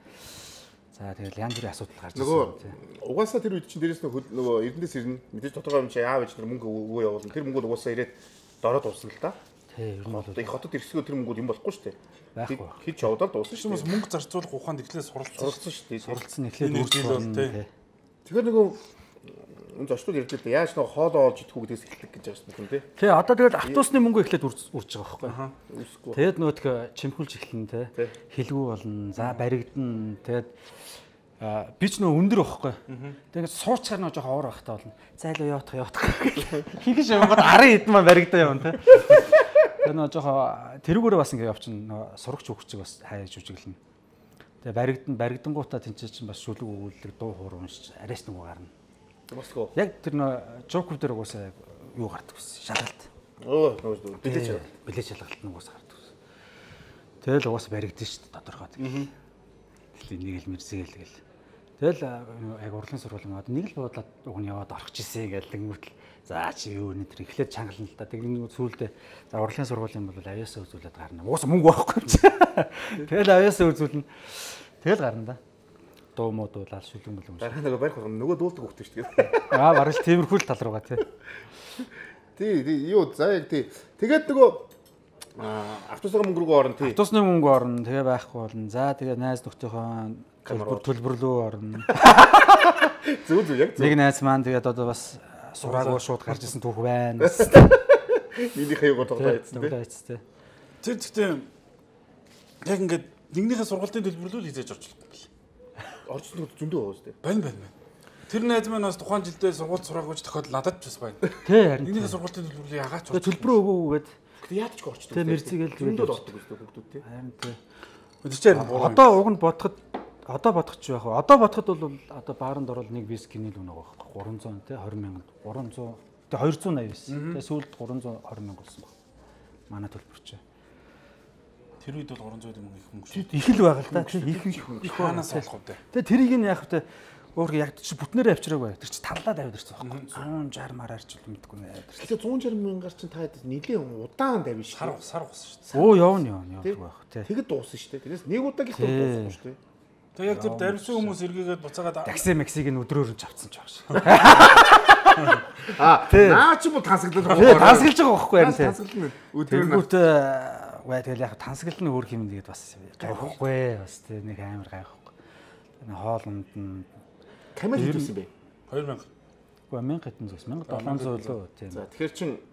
За тэгэл янз бүрийн асуудал гарч ирсэн тийм. Угаасаа тэр үед чинь дээрээс нөгөө Эрдэнэс ирнэ. Мэдээж тодорхой юм чи аав ээж нар мөнгө өгөө явуулна. Тэр мөнгөд угаасаа ирээд дороод дуусна л та. Тий, ер нь бол их хотод ирсгөө тэр мөнгөд юм болохгүй шүү дээ. Байхгүй. Хэд ч явдал дуусна шүү дээ. Мөнгө зарцуулах ухаанд эхлээд суралцсан суралцсан шүү дээ. Суралцсан эхлээд өөрчлөлт тий. Тэгэхээр нөгөө энэ зочдод ярьдаг л яаж нэг хоолоо олж идэх үү гэдгээс эхэлдэг гэж байгаа юм тий. Тий одоо тэгэл автобусны мөнгө эхлээд үрж байгаа байхгүй. Үүсэхгүй. Тэгэд нөтг чимхүүлж эхэлнэ те. Хилгүү болно. За баригдана. Тэгэд би ч нөө өндөр байхгүй. Тэгээд суучаар нөө жоохон уур байхтаа болно. Зайлуу явах явах. Хигэж явгад арын хэдэн маань баригдаа явна те. Тэгээд нөө жоохон тэрүүгээрээ бас ингэ явчихна. Нөө сурагч хөвчөг бас хайж үжиглэнэ. Тэгээ баригдан баригдангуудаа тэнцээ чинь бас шүлэг өгүүлэг дуу хоор уншиж арайс нэг гарна. Босгоо. Яг тэр нөө жокуп дээр угаасаа юу гардаг вэ? Шалгалт. Өө нөө бэлэж чад. Бэлэж шалгалт нь угаасаа гардаг вэ. Тэгэл угаасаа баригдсан шүү дээ тодорхой. Тэгэл нэг л мэрзээл гэл. Тэгэл яг урлагийн сургуулийн мод нэг л буудлаад уг нь яваад орох гэсэн гэл тэнгүүтэл за чи юу нэ тэр эхлээд чангална л та. Тэгний сүүлдээ за урлагийн сургуулийн бол авьяасаа үзүүлээд гарна. Угаасаа мөнгө байхгүй юм чи. Тэгэл авьяасаа үзүүлнэ. Тэгэл гарна да. Дуу муу дуулаад шүлэн бүлэм. Дараа нэг барих нөгөө дуулдаг хөвгтэй шүү дээ. Аа барал тиймэрхүү л тал руугаа тий. Тий юу за яг тий. Тэгээд нөгөө автобусны мөнгө рүү орно тий. Автобусны мөнгө орно. Тэгээ байхгүй болно. За тэгээ найз нөхдийнхөө төлбөр төлбөрлөө орно. Зүг зүг яг зүг. Нэг найз маань тэгээд одоо бас сураагүй шууд гарч исэн түүх байна. Минийхээ юугаар тоглоо хийцтэй. Тэр гэхдээ яг ингээд нэгнийхээ сургалтын төлбөрлөл хийж орж болох юм бэл. Орчсон зөндөө байгаа шүү дээ. Бань бань бань. Тэр найз маань бас тухайн жилдээ сургууль сураагүйч тохиол надад ч бас байна. Тий харин. Нэгнийхээ сургалтын төлбөрлөлийг ягаад ч орж. Төлбөрөө өгөөгээд. Гэхдээ яад ч орчдөг. Тий мэрзэгээл зөндөө дутдаг шүү дээ хүүхдүүд тий. Харин тий. Тэр чинь одоо уг нь бодоход одоо бодох ч байх. Одоо бодоход бол одоо бааранд орол нэг вискиний л үнэ байгаа байхгүй. гурван зуун тий двадцать мянган. гурван зуун тий хоёр зуун восемь байсан. Тэгээ сүүлд гурван зуун двадцать мянга болсон баг. Манай төлбөрч. Тэр үед бол гурван зуун мөнгө их мөнгө. Их л байгаа л да. Их их хаанаас олох вэ? Тэгээ тэрийг нь яах вэ? Өөр яг чи бүтнээрээ авчираагүй. Тэр чи таллаад аваад ирсэн байхгүй. one sixty мараар ч юм мэдгүй нэ. Тэгэхээр one sixty мянгаар чинь та нэлийн удаан давж шүү. Сар сар усан шүү дээ. Оо явна явна явах байх тий. Тэгэд дууссан шүү дээ. Тэрээс нэг удаа гэх юм дууссан шүү дээ. Тэгээ яг тэр дарвсан хүмүүс эргээгээд буцаагаад такси максиг нь өдрөөр нь авцсан ч байгаа шүү. Аа наа чи бо тансаглал байгаа. Тансаглаж байгаа байхгүй харин тий. Тансаглал өдрөөр нь. Тэнгүүт ваа тэгэл яг тансаглал нь өөр юм нэгэд бас гайхгүй бас тий нэг амар гайхгүй. Хоолнд нь камер хийсэн бэ? two thousand. Уу мянга хэдэн зүс мянга долоон зуун лөө тийм. За тэгэхээр чин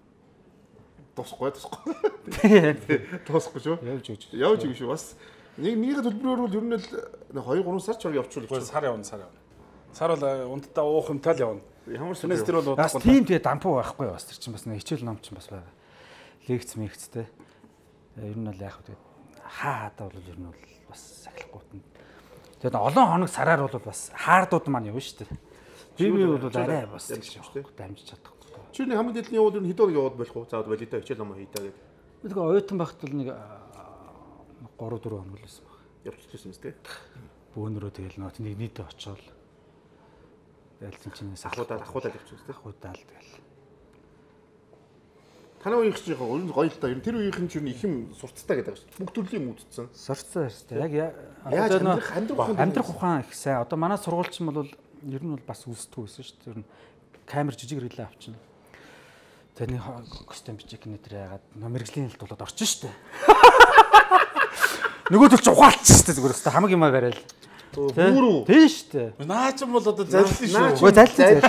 тусахгүй тусахгүй. Тий. Тусахгүй шүү. Явж өгч. Явж өгч шүү бас. Нэг нэгний төлбөрөөр бол ер нь л two three сар ч явуулчихвал сар явна сар явна. Сар бол унтдаа уух юмтай л явна. Ямар семестр бол бас тийм тэгээ дампуу байхгүй бас тэр чинь бас нэг хичээл ном чинь бас байгаа. Лекц мэгцтэй. Ер нь бол яг тэгээ хаа хадаа бол ер нь бол бас сахилахгүй. Тэгээд олон хоног сараар бол бас хаардууд маань явна шүү дээ. Би би бол арай бас гэж шүү дээ. Дамжиж чадахгүй. Чи нэг хамгийн дэдлийн явуул ер нь хэдөө яваад болох уу? Заад валидаа хичээл ном хийдаа гэдэг. Нэг оюутан байхад бол нэг three four хоног л байсан баг. Явчихсан юм тест. Бөөнөрөө тэгэл нөт нэг нийтээ очоод дэлсэн чинь ахуудаа ахуудаа явчихсан тест. Ахуудаа л тэгэл. Танай үеийнх чинь гоё гоё л та. Тэр үеийнх чинь их юм сурцтай гэдэг шүү. Бүх төрлийн юм үзсэн. Сурцсан шүү дээ. Яг амьдрах амьдрах амьдрах ухаан их сайн. Одоо манай сургуульч юм бол ер нь бол бас үздэг байсан шүү дээ. Ер нь камер жижиг рэлээ авчихна. Тэрний костюм бичиг нэтэр ягаад мэрэгжлийн хэлт болоод орчин шүү дээ. Нөгөө төл ч ухаалцсан шүү дээ зүгээр өстой хамаг юмаа барайл. Бүрүү. Тийм шүү дээ. Наа ч юм бол одоо залилсан шүү. Өө залилсан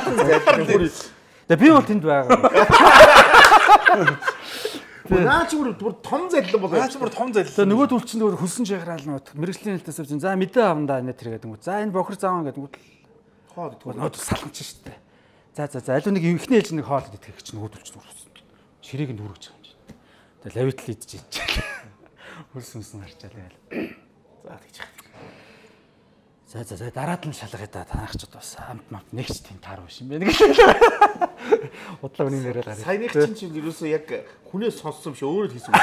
залилсан. Тэгээ би бол тэнд байгаа. Наа ч бүр том залилсан болоо. Наа ч бүр том залилсан. Тэгээ нөгөө төл чинь нөгөө хөлсөн жагараал нөт мэрэгжлийн хэлтээс авчин. За мэдээ авна да нэ тэр гэдэг. За энэ бохор зааван гэдэг. Хоод нөт салхамч шүү дээ. За за за аль нэг ихний ээлж нэг хоол идэх гэж нөгөө төлч нүрсэн. Ширээг нь дүүргэж байгаа юм чинь. Тэгээ лавитл идэж ич. Хөлс сүнсэн харчаа тэгэл. За тэгж яах. За за за дараад нь шалгая да танахчд бас амт мамт нэгч тийм таар биш юм байна гэж. Удлаа үнийг яриад гараа. Саяных чинь чинь ерөөсөө яг хүнээс сонссон биш өөрөө хийсэн.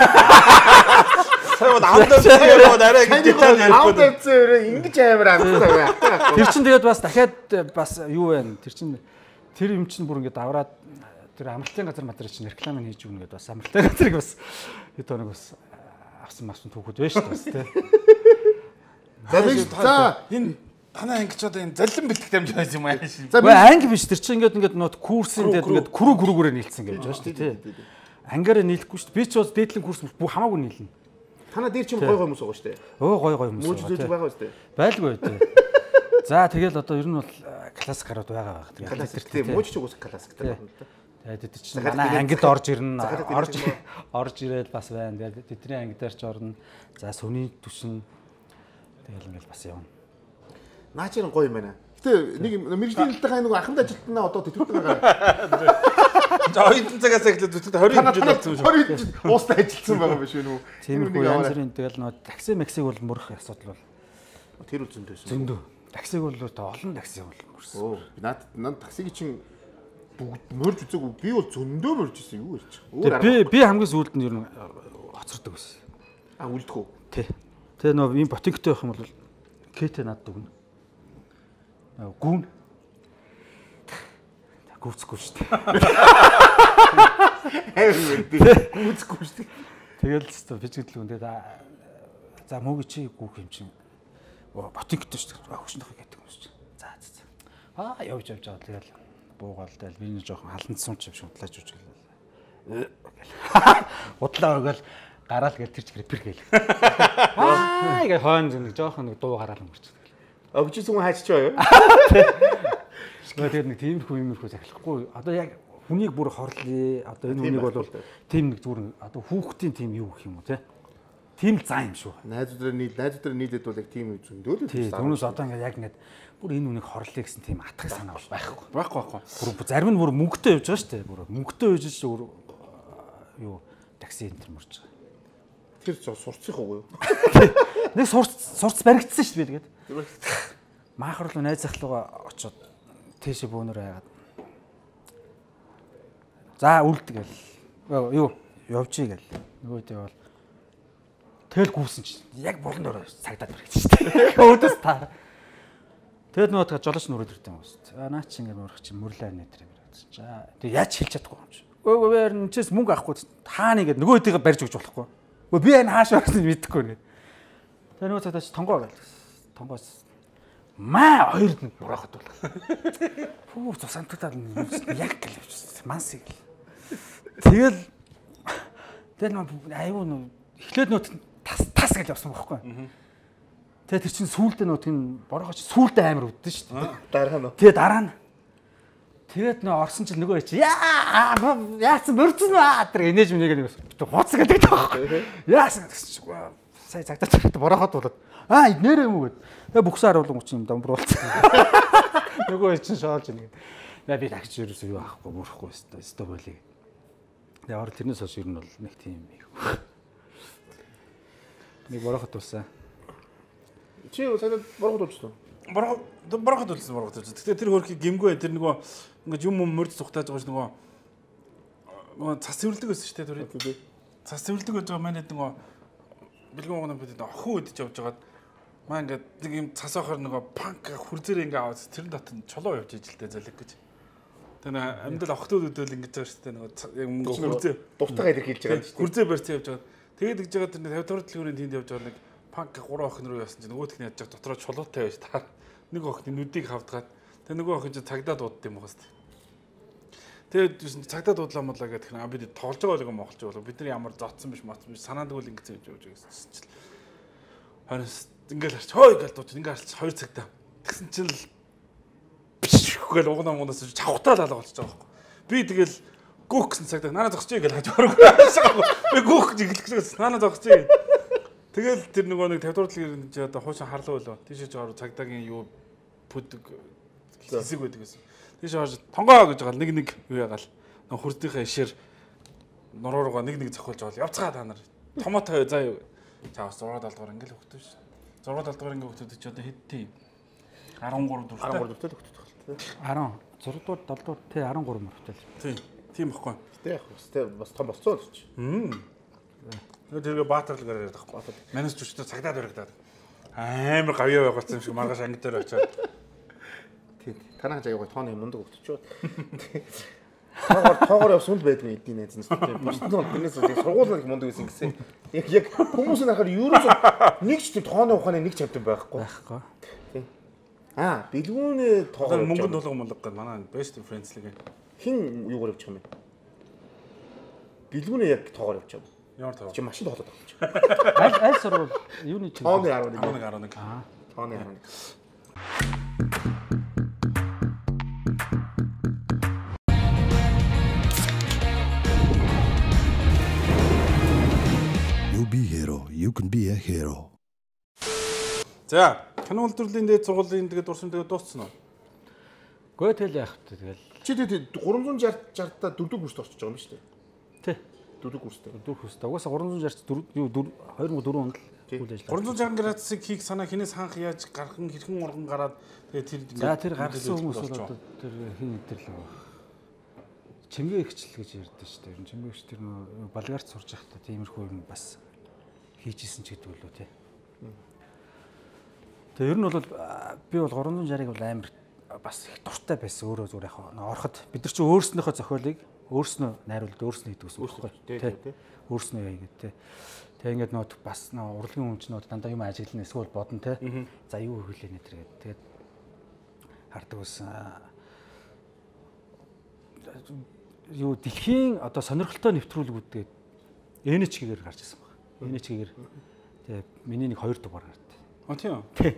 Сая бол амдаа яриад арай гэж деталь ярихгүй. Амдаа зөөрөө ингэж амар амттай. Тэр чинь тэгээд бас дахиад бас юу вэ? Тэр чинь тэр юм чинь бүр ингэ давраад тэр амралтын газар мадраа чинь реклам хийж өгнө гэдээ бас амралтын газрыг бас хэд хоног бас авсан мавсан түүхүүд байна шүү дээ тий. За за энэ танай анги ч одоо энэ заллин бэлтгэх дамжиж байсан юм аа шин. За анги биш тэр чинь ингээд ингээд нот курсын дээр ингээд күрүү күрүүгээрээ нийлсэн гэж байна шүү дээ тий. Ангиараа нийлэхгүй шүү дээ. Би ч бас дээдлэн курс бүх хамаагүй нийлнэ. Танаа дээр чинь гой гой хүмүүс байгаа шүү дээ. Өө гой гой хүмүүс. Мөж зөж байгаа шүү дээ. Байлгүй тий. За тэгэл одоо ер нь бол классик гарууд байгаа байх. Тэгээд классик тийм мууч ч уус классиктэй байна. Тэгээд тэд чинь манай ангид орж ирнэ. Орж орж ирээд бас байна. Тэгээд тэдний анги дээр ч орно. За сүний түшин тэгэл ингээл бас явна. Наа чи гоё юм байна. Гэтэ нэг мэрэгжлийн хэлтэй нэг аханд ажилтнаа одоо тэтгэвртэй байгаа. За хоёрын цагаас эхлээд үтгэд двадцать жил болсон юм шүү. двадцать жил уустай ажилтсан байгаа биш үү? Тиймэрхүү янз бүрийн тэгэл нөө такси максиг бол мөрөх асуудал бол тэр үл зөндөөс. зөндөө. Таксиг бол олон такси бол мөрсөн. Оо наад над таксиг чинь бүгд мөрж үзээгүй. Би бол зөндөө мөрж ирсэн юу ярьчих. Би би хамгийн сүүлд нь ер нь хоцордог байсан. А үлдэх үү? Тий. Тэгээ нөө ийм ботинктэй байх юм бол кэтэ надад өгнө. Гүүн. Гүцэхгүй шүү дээ. Гүцэхгүй шүү дээ. Тэгэл ч бичгэлгүй тэгээд за мөг чи гүүх юм чинь. Ботинктэй шүү дээ. Хөшнөх гэдэг юм шүү. За за. Аа явж явж байгаа тэгэл буугаал тэл би нэг жоохон халандсан ч юм шиг удлааж үж гэлээ. Удлаа өгөөл гараал гэл тэр чигээр пэр гээл. Аа ингээ хойно нэг жоохон нэг дуу гараал өнгөрч. Өгч зүг хайчих чаа юу? Тэгээд нэг тиймэрхүү юмэрхүү захихгүй. Одоо яг хүнийг бүр хорлоо. Одоо энэ хүнийг бол тийм нэг зүгээр одоо хүүхдийн тийм юу гэх юм уу те. Тийм зан юм шүү. Найзууд нийл найзууд нийлээд бол яг тийм зөндөө л тийм. Түүнээс одоо ингээ яг ингээд бүр энэ хүнийг хорлоо гэсэн тийм атгах санаа бол байхгүй. Байхгүй байхгүй. Бүр зарим нь бүр мөнгөтэй явж байгаа шүү дээ. Бүр мөнгөтэй явж ш юу такси энэ төр мөрч байгаа. Тэр сурцсах уу юу? Нэг сурц сурц баригдсан шүү дээ тэгээд. Маахар руу найз захлууга очоод тийшээ бөөнөр байгаад. За үлдгээл. Юу явжий гэл. Нөгөөдөө бол тэгэл гүйсэн чинь яг болон дөрөө цагдаад баригдсан шүү дээ. Өөдөөс таа. Тэгэд нөгөө жолооч нүрээд ирдэг юм шүү дээ. Аа наа чи ингэ мөрөх чи мөрлөө нэтэр баригдсан. За тэг яаж хэлж чадахгүй юм чи. Өө өвөр нчээс мөнгө авахгүй хаана ингэ нөгөөдөө барьж өгч болохгүй. Өө би энэ хааш орсныг мэдэхгүй нэ. Тэгээ нөгөө цагдаач тонгоо гэл. Тонгоос маа хоёрд нь бураахад бол. Фүү цусантагдаад яг гэл явчихсан. Мансыг. Тэгэл тэгэл аюу нөө эхлээд нөө тас тас гэж явсан байхгүй. Тэгээ тэр чинь сүүлдээ нөө тийм борогооч сүүлдээ амар өвдөн шүү дээ. Дараа нь. Тэгээ дараа нь. Тэгээд нөө орсон чинь нөгөө чи яа яасан мөрцөн аа тэр энеж минийг нэг хуц гэдэг таахгүй. Яасан гэсэн чинь сая цагтаа цагтаа бороход болоод аа нэрээ юм уу гэд. Тэгээ бүхсээр харуулсан учраас юм дамбруулсан. Нөгөө чинь шоолж ийн. Яа би тагч ерөөсөө юу авахгүй мөрөхгүй өстой өстой болиг. Тэгээ ор тэрнээс хойш ер нь бол нэг тийм юм. Нэг бороход тулсан. Чи сая бороход тулсан. Бороход бороход тулсан бороход тулсан. Гэтэ тэр хөрхи гимгүй тэр нөгөө ингээд юм юм мөрд цухтааж байгаа ш нөгөө нөгөө цас цэвэрлдэг байсан шүү дээ тэр. Цас цэвэрлдэг байж байгаа манайд нөгөө бэлгэн гонгон бид охин үдэж явж байгаад маа ингээд нэг юм цас охор нөгөө панк хүрзээр ингээд аваад тэрэн дотор чулуу явж ижилтэй залэг гэж. Тэр амьдал охтууд өдөөл ингэж байгаа шүү дээ нөгөө яг мөнгө хүрзээ дуртайгаа илэрхийлж байгаа шүү дээ. Хүрзээ барьсан явж байгаа. Тэгээд гэж байгаа тэр пятьдесят төлөвлөрийн тэнд явж байгаа нэг панк гурван охин руу яасан чинь нөгөөх нь яаж байгаа дотроо чулуутай байж таа. Нэг охины нүдийг хавдгаад тэр нөгөө охин чинь цагдаа дуудд юм байна шүү дээ. Тэгээд цагдаа дуудлаа модлаа гэдэг нь бид тоглож байгаа юм монголч болоо бид нар ямар зодсон биш моцсон биш санаанд үл ингэж явж явж гэсэн чинь харин ингээл харч хой гэж дууч ингээл харч хоёр цагтаа тэгсэн чинь л биш гэл угнаа мунаас чавхтаа лалга болчихж байгаа байхгүй би тэгэл гүөх гэсэн цагтаа нанаа зогсчих гэж хаж орох би гүөх гэж эхлэх гэж нанаа зогсчих тэгэл тэр нөгөө нэг пятьдесят дурдлын гэж одоо хуучин харлуу болоо тийшээ жоор цагдаагийн юу пүдэг хэсэг байдаг гэсэн тийш орж тонгоо гэж байгаа нэг нэг юу ягаал нөх хурдынхаа ишээр нуруугаа нэг нэг зохиолж байгаа явцгаа та нар томоотой заа юу цаас зураг далдгаар ингээл хөвтөө ш. зураг далдгаар ингээл хөвтөд чи одоо хэдтэй десять три дүртэй десять три дүртэй хөвтөд байна. десять зураг далдгаар тий десять три мөрөвтэй. Тийм. Тийм баггүй. Тэ яг өстэй бас том болцоо л чи. Хм. Тэгээ баатарлгаар яриад байхгүй. Манайс зүчтэй цагдаад баригдаад амар гавьяа байгуулсан юм шиг маргааш анги дээр очиад тийм. Танаа жаагаа тооны мундаг өгчөө. Тоогоор тоогоор явсан л байдгүй эдний найз нь. Бусдын бол тэрнээс сургууль нэг мундаг байсан гэсэн. Яг яг хүмүүсийн харахаар ерөөсөө нэг ч тийм тооны ухааны нэг ч амтан байхгүй. Байхгүй. Тийм. Аа, бэлгүүнээ тоогоор мөнгөнд тулган мундаг гэдэг манай best friends лиг. Хин юугаар явчих юм бэ? Бэлгүүнээ яг тоогоор явчих юм. Ямар тоогоор? Чи машин тоглоод байгаа юм чи. Аль аль сурвал юуны чинь? Тооны арван нэг. Тооны арван нэг. Аа, тооны арван нэг. You be hero, you can be a hero. За, кино үйлдвэрлэлийн дээд сургуулийн тэгээд дурсан тэгээд дууссан уу? Гөө тэл яах вэ тэгэл. Чи тэгээд гурамзан шарт та дөрөв курст орчиж байгаа юм шүү дээ. Тий. Дөрөв курстэй. Дөрөв курстэй. Угаасаа гурамзан шарт юу хоёр мянга дөрөв онд л үйл ажиллагаа. гурван зуун шарган градусыг хийх санаа хинээс ханх яаж гархан хэрхэн урган гараад тэгээд тэр За тэр гаргасан хүмүүс бол одоо тэр хин өдрлөө. Чимгээ ихчл гэж ярьдэн шүү дээ. Чимгээ ихч тэр нөө Болгарт сурж байхдаа тиймэрхүү юм бас хийжсэн ч гэдэг үлээ тий. Тэгээ ер нь бол би бол гурамзан шарыг бол амар бас их дуртай байсан өөрөө зүгээр яг ороход бид нар чи өөрснөөхөө зохиолыг өөрснөө найруулд өөрснөө хийдэг гэсэн үг байхгүй тий. Өөрснөө яа гэдэг тий. Тэгээ ингээд нөт бас урлагийн өмчнүүд дандаа юм ажиглана эсвэл бодно тий. За юу хэлээ нэ тэр гэдэг. Тэгээд хардаг байсан. Юу дэлхийн одоо сонирхолтой нэвтрүүлгүүд тэгээд эн эйч кей-гээр гарч ирсэн баг. эн эйч кей-гээр тэгээ миний нэг хоёр дугаар гарт. А тийм. Тий.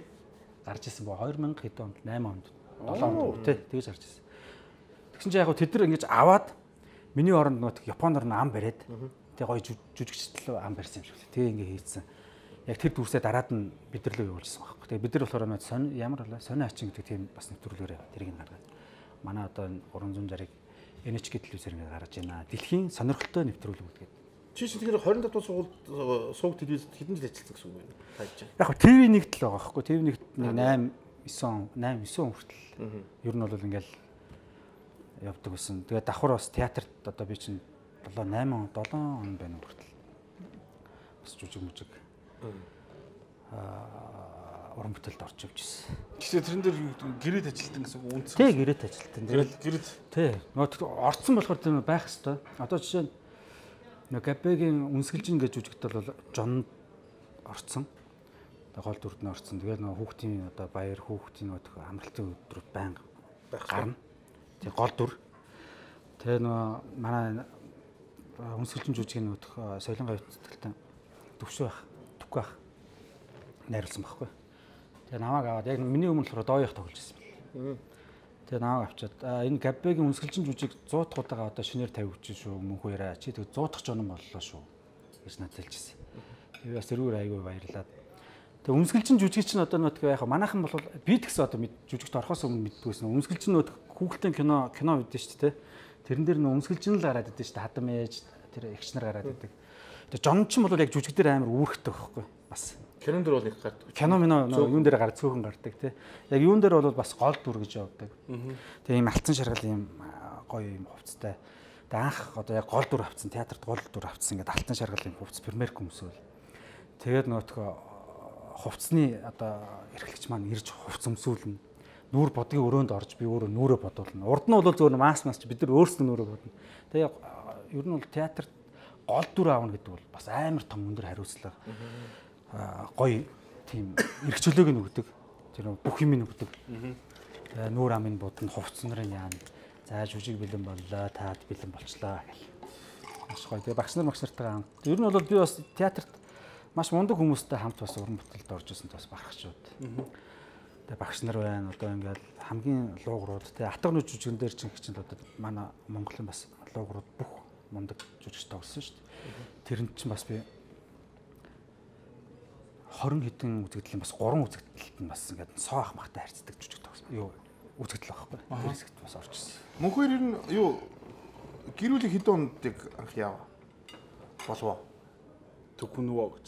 Гарч ирсэн баг хоёр мянга хэд онд восемь онд долоо онд тий тэгж гарч ирсэн. Тэгсэн чинь яг хөө тэд нар ингэж аваад миний оронд нөт Японоор н ам бариад тэгээ гоё жүжигчтэл ам барьсан юм шиг лээ. Тэгээ ингэ хийцэн. Яг тэр дүрсээ дараад нь бид нар л явуулсан байхгүй. Тэгээ бид нар болохоор мэд сонь ямар болоо сони ачин гэдэг тийм бас нэвтрүүлгээр тэрийг нь гаргаад. Манай одоо гурван зуун шарыг эн эйч кей телевизээр ингэ гаргаж байна. Дэлхийн сонирхолтой нэвтрүүлэг гэдэг. Чи чи тэгэхээр двадцать дахь сургуульд сууг телевизэд хэдэн жил ажилласан гэсэн үг байна. Тааж. Яг хөө ТV нэгт л байгаа байхгүй. ТV нэгт восемь9 8 9 он хүртэл. Ер нь бол ингээл явдаг байсан. Тэгээд давхар бас театрт одоо би чинь долоо восемь он долоо он байна хүртэл. Бас жүжиг мүжиг. Аа уран бүтээлд орж явж ирсэн. Гэхдээ тэрэн дээр гэрээд ажилтан гэсэн үг үнц. Тий гэрээд ажилтан. Тэгээд гэрээд тий. Нөт орцсон болохоор тэр байх хэвээр. Одоо жишээ нь нэг Габегийн үнсгэлжин гэж жүжигт бол Жон орцсон. Тэгээ гол дүрд нь орцсон. Тэгээд нөгөө хүүхдийн одоо баяр хүүхдийн нөгөө амралтын өдрүүд байнга гарна. Тэгээ гол дүр. Тэгээ нөгөө манай үнсгэлжин жүжигийн нөгөө Соёлон гавьцтай төвшөө байх, түггүй байх найруулсан байхгүй. Тэгээ намайг аваад яг миний өмнө болохоор дооёх тоглож ирсэн. Тэгээ намайг авчаад энэ Габегийн үнсгэлжин жүжиг сто дахь одоо шинээр тавьж шүү мөнхөө яриа чи тэг сто дахь жон боллоо шүү гэж надад хэлчихсэн. Тэгээ бас тэрүүр айгүй баярлаад. Тэгээ үнсгэлжин жүжиг чинь одоо нөгөө яг манайхан бол би тэгсэн одоо жүжигт орохоос өмнө мэддгүйсэн. Үнсгэлжин нөгөө хүүхэлдэйн кино кино мэдэн шүү дээ. Тэрэн дээр нөгөө үнсгэлжин л гараад идэв шүү дээ. Хадам ээж тэр эгч нар гараад идэг. Тэгээ жон ч юм бол яг жүжиг дээр амар үүрэгтэй байхгүй бас. Кинон дээр бол их гардаг. Кино минь юун дээр гар цөөхөн гардаг тий. Яг юун дээр бол бас гол дүр гэж явдаг. Тэгээ ийм алтан шаргал ийм гоё ийм хувцастай. Тэгээ анх одоо яг гол дүр авцсан театрт гол дүр авцсан ингээд алтан шаргал ийм хувцас премьер хүмүүсэл. Тэгээд нөгөөдхөө хувцсны одоо эрхлэгч маань ирж хувц өмсүүлнэ. Нүүр бодгийн өрөөнд орж би өөрөө нүрээ бодуулна. Урд нь бол зөвхөн мас мас бид нар өөрсдөө нүрээ бодно. Тэгээ ер нь бол театрт гол дүр аавна гэдэг бол бас амар том өндөр хариуцлага. Гоё тийм эрх чөлөөг нь өгдөг. Тэр бүх юм нь өгдөг. Тэгээ нүүр амын будна хувцс нарын яана. За жүжиг бэлэн боллоо, таад бэлэн болчлаа гэл. Маш гоё. Тэгээ багш нар багш нартайгаа хамт. Ер нь бол би бас театрт маш мундаг хүмүүстэй хамт бас уран бүтээлд орж ирсэн бас бахархчууд. Тэгээ багш нар байна. Одоо ингээл хамгийн луугрууд тэгээ атганы жүжигэн дээр чинь хичээл одоо манай Монголын бас луугрууд бүх мундаг жүжигч тоглосон шүү дээ. Тэрэнд чинь бас би двадцать хэдэн үзэгдэл бас гурван үзэгдэлт нь бас ингээд соо ах махтай харьцдаг жүжиг тоглосон. Юу үзэгдэл байхгүй. Тэр хэсэгт бас орж ирсэн. Мөнхөр ер нь юу гэрүүлэг хэдэн ондыг анх яав? Болов. Төгнөвөө гэж.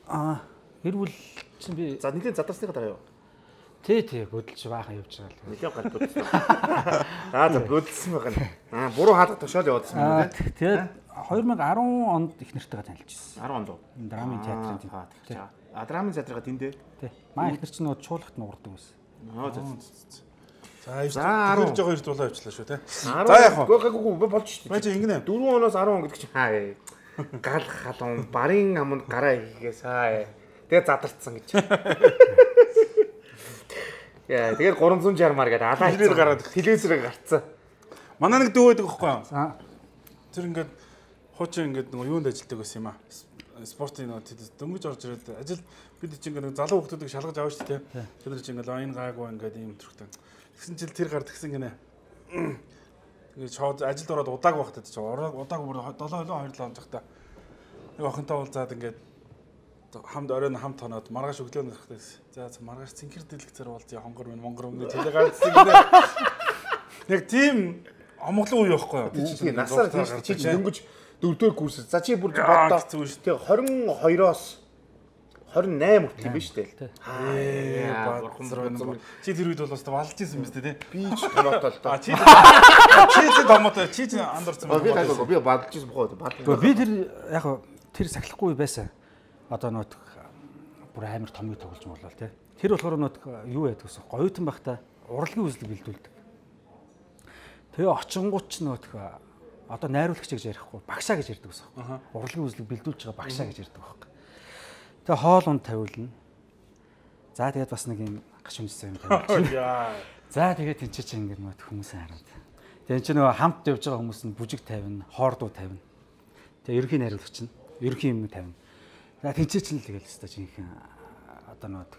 Аа гэрүүл чинь би за нэгэн задарсныхаа дараа юу? Тий, тий, бөдөлж баахан явж байгаа л. Нэгэн гал бөдөлсөн. Аа за бөдөлсөн байгаа. Аа буруу хаалга тушаал явуулсан юм тий. Тэгээд две тысячи десять онд их нартайгаа танилцсан. десять онд уу? Драмын театрын тий. А драмын театрын тэндээ. Тий. Маа их нар чинь нөгөө чуулгат нуурдаг байсан. Аа за. За ирж байгаа хоёр дулаа авчлаа шүү тий. За яг гоо гоо болж шүү дээ. Маа чи ингэнэ. дөрвөн оноос десять он гэдэг чинь хаа. Гал халуун барын аманд гараа хийгээс хаа. Тэгээ задарцсан гэж. Яа, тэгээд гурван зуун шармаар гэдэг алаа телевизээр гараад телевизээр гарцсан. Манай нэг дүү байдаг байхгүй юу? За тэр ингээд хуучин ингээд нөгөө юунд ажилладаг байсан юм аа. спортын нөө дөнгөж орж ирээд ажил бид чинь ингээд залуу хүмүүсийг шалгаж аваа шүү дээ. Тэр нар чинь ингээд энэ гаагүй ингээд ийм төрхтэй. Тэгсэн чил тэр гар тэгсэн гинэ. Тэгээд шууд ажилд ороод удаагүй багтаад чи удаагүй бүр долоо хоёр лоо онцохтой. Нэг охинтой уулзаад ингээд хамт оройн хамт тоноод маргааш өглөө нэрхтэй. За маргааш цэнхэр дэлгэцээр уулзъя хонгор минь монгор өмнө тэлээ гардсан гинэ. Яг тийм амгалан үе байхгүй юу? Тийм насаар тийм чи чи дөнгөж дөрөвдүгээр курс. За чи бүр боддоо. Тэгээ двадцать двоёроос двадцать восемь хүртэл юм биш үү? Аа бурхан чи тэр үед бол бас балж исэн юм байна те. Би ч томоотой л доо. Чи чи томоотой чи чи андуурсан байна. Би гайгүй би балж исэн бохоо. Би тэр яг тэр сахилахгүй байсан. Одоо нөт бүр амар томыг тоглож болоо те. Тэр болохоор нөт юу яадаг гэсэн гоётон байхдаа урлагийн үзлэг бэлдүүлдэг. Тэгээ очингууд ч нөт одоо найруулагч гэж ярихгүй багшаа гэж ярьдаг гэсэн. Урлагийн үзлэг бэлдүүлж байгаа багшаа гэж ярьдаг байхгүй. Тэгээ хоол унд тавиулна. За тэгээд бас нэг юм гаш үндэстэй юм тавиулна. За тэгээд тэнцээ чи ингэ нөт хүмүүсээ хараад. Тэгээд чи нөгөө хамт явж байгаа хүмүүс нь бүжиг тавина, хоордуу тавина. Тэгээ ерөнхий найруулагч нь ерөнхий юм тавина. За тэнцээ чи л тэгэл өстой жинхэнэ одоо нөт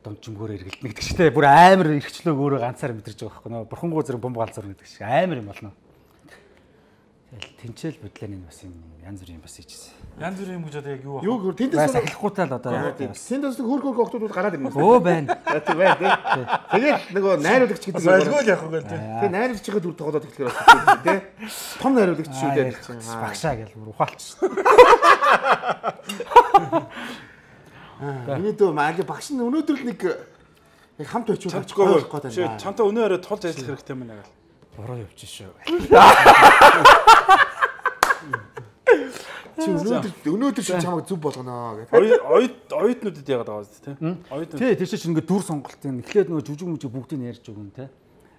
дончмгөөр эргэлдэнэ гэдэг чтэй бүр амар эрхчлөөг өөрөө ганцаар мэдэрч байгаа байхгүй нөө бурхангуу зэрэг бомб галзуурна гэдэг шиг амар юм болно. Тэгэл тэнцэл бодлооны бас юм янз бүрийн бас хийжсэн. Янз бүрийн юм гэж одоо яг юу вэ? Юу тэндээс сахилахгүйтэй л одоо тэндээс хөрх хөрх октодууд гараад ирнэ. Өө байна. Тийм байна тийм. Тэгээд нөгөө найруулагч гэдэг юм. Ойлгоол яах вэ тийм. Тэгээд найруулагчийн дүр тоглоод эхлэхээр бас тийм. Том найруулагч шүү дээ. Багшаа гэл бүр ухаалч. Өнөөдөр маали багш нь өнөөдөр л нэг яг хамт очиод очихгүй байхгүй байна. Чамтай өнөө өрөө тулж ажиллах хэрэгтэй юм аа. Буруу явж шүү. Чи өнөөдөр өнөөдөр чи чамайг зөв болгоно гэдэг. Оюут оюутнуудад яагаад байгаа вэ те? Оюутнууд. Тий, тийш чи ингээд дүр сонголт юм. Эхлээд нөгөө жүжиг мүжиг бүгдийг ярьж өгөн те.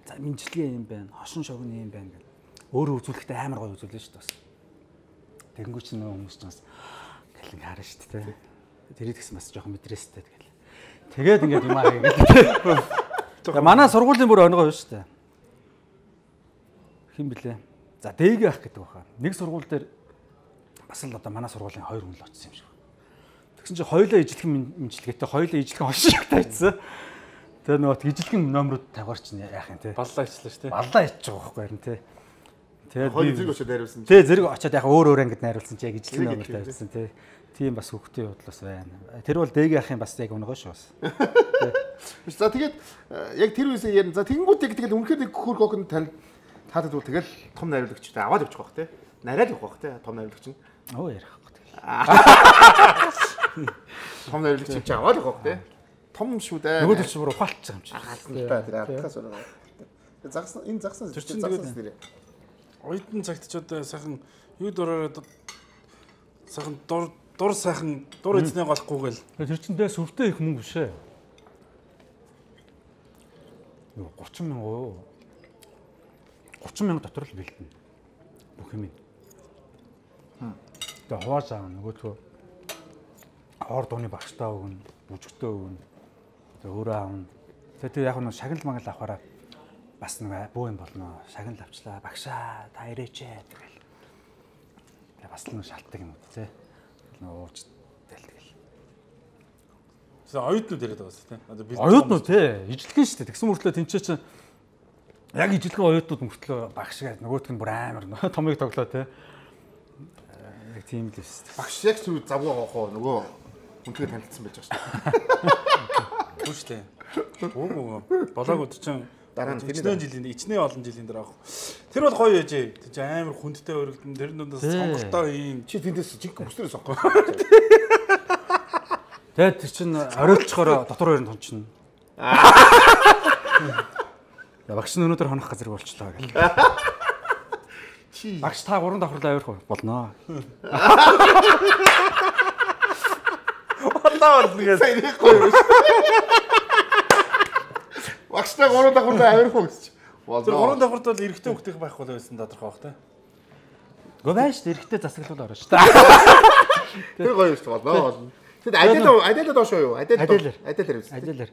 За минжилгээ юм байна. Хошин шогны юм байна гэл. Өөрөө үзүүлэхдээ амар гоё үзүүлнэ шүү дээ бас. Тэгэнгүүт чи нөгөө хүмүүс ч бас гэлэн харна шүү дээ те. Тэрийг гэсэн бас жоохон мэдрээстэй тэгэл. Тэгээд ингээд юм аа гэдэг. Манай сургуулийн бүр онгой шүү дээ. Хин блэ? За дээг ах гэдэг баха. Нэг сургууль дээр бас л одоо манай сургуулийн хоёр хүн л очсон юм шиг. Тэгсэн чинь хоёулаа ижлэхэн мэмжлэгээтэй хоёулаа ижлэхэн хошиг тавьчихсан. Тэгээ нөгөө ижлэхэн номерууд тавиар чинь яах юм те. Баллаа ичлээ шүү дээ. Баллаа ичж байгаа байхгүй харин те. Тэгээд хоёр зэрэг очиод найруулсан. Тий, зэрэг очиод яг өөр өөр ангид найруулсан чи яг ижлэхэн номер тавьсан те. Тийм бас хөвгтийн бодлоос байна. Тэр бол дээг ахын бас яг өнгөө шүү бас. За тэгээд яг тэр үеэс ярина. За тэгэнгүүт яг тэгэл үнэхээр нэг хөрх охин тань таадад бол тэгэл том найруулагчтай аваад явчих واخ те. Нараад явах واخ те. Том найруулагч нь. Оо ярихгүй тэгэл. Том найруулагч чи аваад явах واخ те. Том шүү дээ. Нөгөө төч бүр ухаалчих юм чи. Хаалттай тэр алдахаас байна. Загсан энэ загсан тэр чинь загсан. Оюутан цагт ч одоо сайхан юу дураараа сайхан дур дур сайхан дур эзнээ голохгүй гэл. Тэр чинь дээс өвдөө их мөнгө бишээ. Юу thirty мянга юу? thirty мянга дотор л бэлдэнэ. Бүх юм. Тэгээ хувааж аав нөгөөтгөө хоор дууны багштаа өгнө, бүжгтөө өгнө. Тэгээ өөрөө аавна. Тэгээ яг нь шагнал магал авахаараа бас нэг бөө юм болно. Шагнал авчлаа. Багшаа та ирээч тэгэл. Тэгээ бас л шалтгаан юм уу те. Нөгөө ууж дэлтгэл. За оюутнууд яриад байгаа шүү дээ. Одоо би оюутнууд те. Ижлэгэн шүү дээ. Тэгсэн мөртлөө тэнцээ чинь яг ижлэгэн оюутнууд мөртлөө багш гэдэг нөгөөтг нь бүр амар томыг тоглоо те. Яг тийм л шүү дээ. Багш яг зүг завгүй авах уу нөгөө үнтэйг танилцсан байж байгаа шүү. Түр шүү дээ. Өө болоог чинь дараа нь ичнээ жилийн ичнээ олон жилийн дараа авах. Тэр бол гоё яжээ. Тэг чи амар хүндтэй өргөдөн тэр дундаас сонголтоо ийм чи тэндээс жинхэнэ бүснээр сонгоо. Тэгээд тэр чин оройлцохоор дотор хоёр нь тончно. Багш нь өнөөдөр хонох газар болчлоо гэл. Чи багш та гурван давхарлаа авирах болно. Болоо болнгээ сайрахгүй юм. Багштай гурван давхарлаа авирах уу гэж. Тэр гурван давхарт бол эрэгтэй хүүхдийн байхгүй л байсан тодорхой бах та. Гөө байж эрэгтэй засаглал орно шүү дээ. Тэр гоё шүү болно болно. Тэгэд адил адил доош юу? Адил адил адил хэрэгсэн. Адилэр.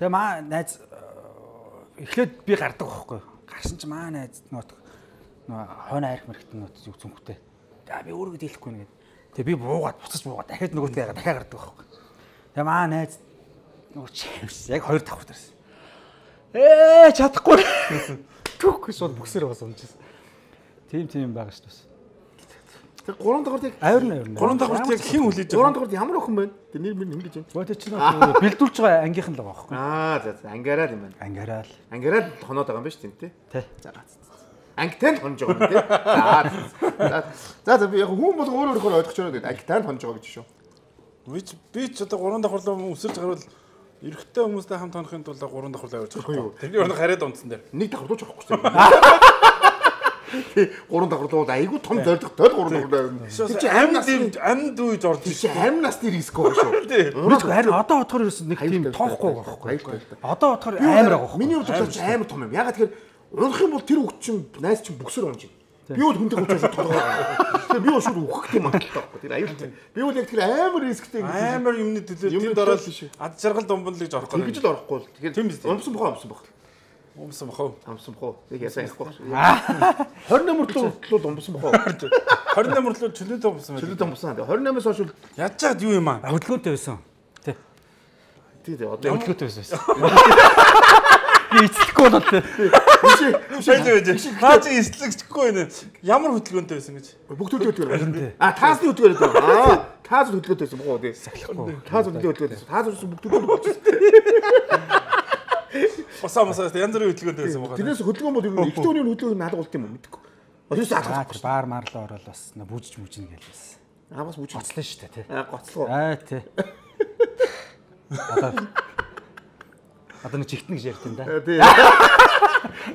Тэгээ маа найз эхлээд би гардаг байхгүй. Гарсан чи маа найз нөт нөө хойно айрх мэрэгт нөт зүг зүнхтэй. За би өөрөө дийлэхгүй нэгэд. Тэгээ би буугаад буцаж буугаад дахиад нөгөөдөө дахиад гардаг байхгүй. Тэгээ маа найз нөгөө чимс яг хоёр давхар дээрсэн. Ээ чадахгүй. Түүхээс бол бүксээр бас унжсэн. Тим тим байгаа шүү дээ. Тэр гурван давхарыг Авирна авирна. Гурван давхарт яг хэн хүлээж байгаа? Гурван давхарт ямар охин байна? Тэр нэр минь ингэж байна. Гоо тэр чинь бэлдүүлж байгаа ангийнхан л байгаа байхгүй. Аа за за ангаараад юм байна. Ангаараа л. Ангаараад хоноод байгаа юм байна шүү дээ тий. Тий. За ангитай нь хонж байгаа юм тий. За за за би яг хүн бол өөр өөрөөр ойлгож байгаа гэдэг ангитай нь хонж байгаа гэж шүү. Би ч би ч одоо гурван давхарлаа өсөрж гарвал эрэгтэй хүмүүстэй хамт хонохын тулд гурван давхарлаа явуулж байгаа. Тэрний өрнө хараад унтсан дээр. Нэг давхарлууч авахгүй шүү. Гурван давхарлууд айгүй том зориг тол гурван давхарлаа. Тэр чи амьд амьд үеж орж чи амь насны риск байгаа шүү. Өөрөөр харин одоо бодохоор ерөөс нэг тийм тоохгүй байгаа байхгүй. Одоо бодохоор амар байгаа байхгүй. Миний хувьд ч амар том юм. Ягаад тэгэхээр унах юм бол тэр үг чинь найз чинь бүксөр унж байна. Би бол хүнтэй хүчээс толгой. Тэгээ би бол шууд үхэх юм байна таахгүй. Тэр аюултай. Би бол яг тэр амар рисктэй амар юмны төлөө тэнд ороод ад жаргал думбалж орох гэдэг. Тэгж л орохгүй л. Тэгэхээр өмсөн бохоо өмсөн бохоо. Умсан бохоо. Амсан бохоо. Тэг ясаа яахгүй. двадцать восемь мөртлөө умсан бохоо. двадцать восемь мөртлөө чөлөөтэй умсан байх. Чөлөөтэй умсан. двадцать восемь-аас хойш яаж чад юу юм аа? Хөдөлгөөнтэй байсан. Тий. Тий, одоо хөдөлгөөнтэй байсан. Би эцлэхгүй бол тий. Биш. Наа чи эцлэгчгүй нэ. Ямар хөдөлгөөнтэй байсан гэж? Бүгд хөдөлгөөнтэй. А таасны хөдөлгөөнтэй байсан. Аа, таас хөдөлгөөнтэй байсан бохоо тий. Таас хөдөлгөөнтэй байсан. Таас бүгд хөдөлгөөнтэй. Осоо мосоо янз бүрийн хөдөлгөөнтэй байсан байгаа. Тэрнээс хөдөлгөөн бол ер нь ихтэй хүний хөдөлгөөн наалга болт юм уу мэдэхгүй. Одоос алгахгүй. Баар марлаа ороод бас бүжиж мүжин гээл бас. Аа бас бүжиж гоцлоо шүү дээ тий. Аа гоцлоо. Аа тий. Одоо одоо нэг чигтэн гэж ярьд юм да. Тий.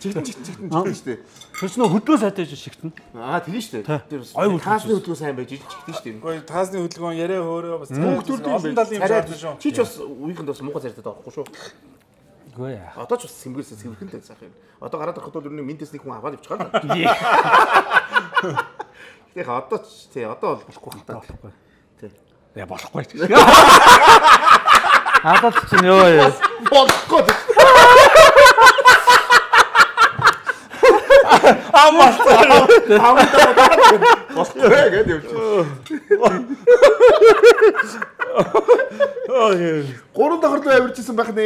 Чигтэн чигтэн чигтэн шүү дээ. Тэр чинь хөдөлгөөн сайтай гэж шигтэн. Аа тийм шүү дээ. Тэр таасны хөдөлгөөн сайн байж чигтэн шүү дээ. Гэхдээ таасны хөдөлгөөн яриа хөөрөө бас хүүхдүүд олон талын юм шаардсан шүү. Чи ч бас үеийнхэнд бас муухай зардаг байхгүй шүү. Үгүй яа. Одоо ч бас сэмгэрсэн сэмгэрхэнтэй сайх юм. Одоо гараад ирэх бол ер нь минтээс нэг хүн аваад явчихаар л. Тэг одоо ч тий одоо бол болохгүй хата. Болохгүй. Тий. Яа болохгүй. Хадаад чинь ёо ёо. Болохгүй. Амаас болохгүй гэдэг юм. Аа яа. Гурван давхарлуу авиржсэн байх нэ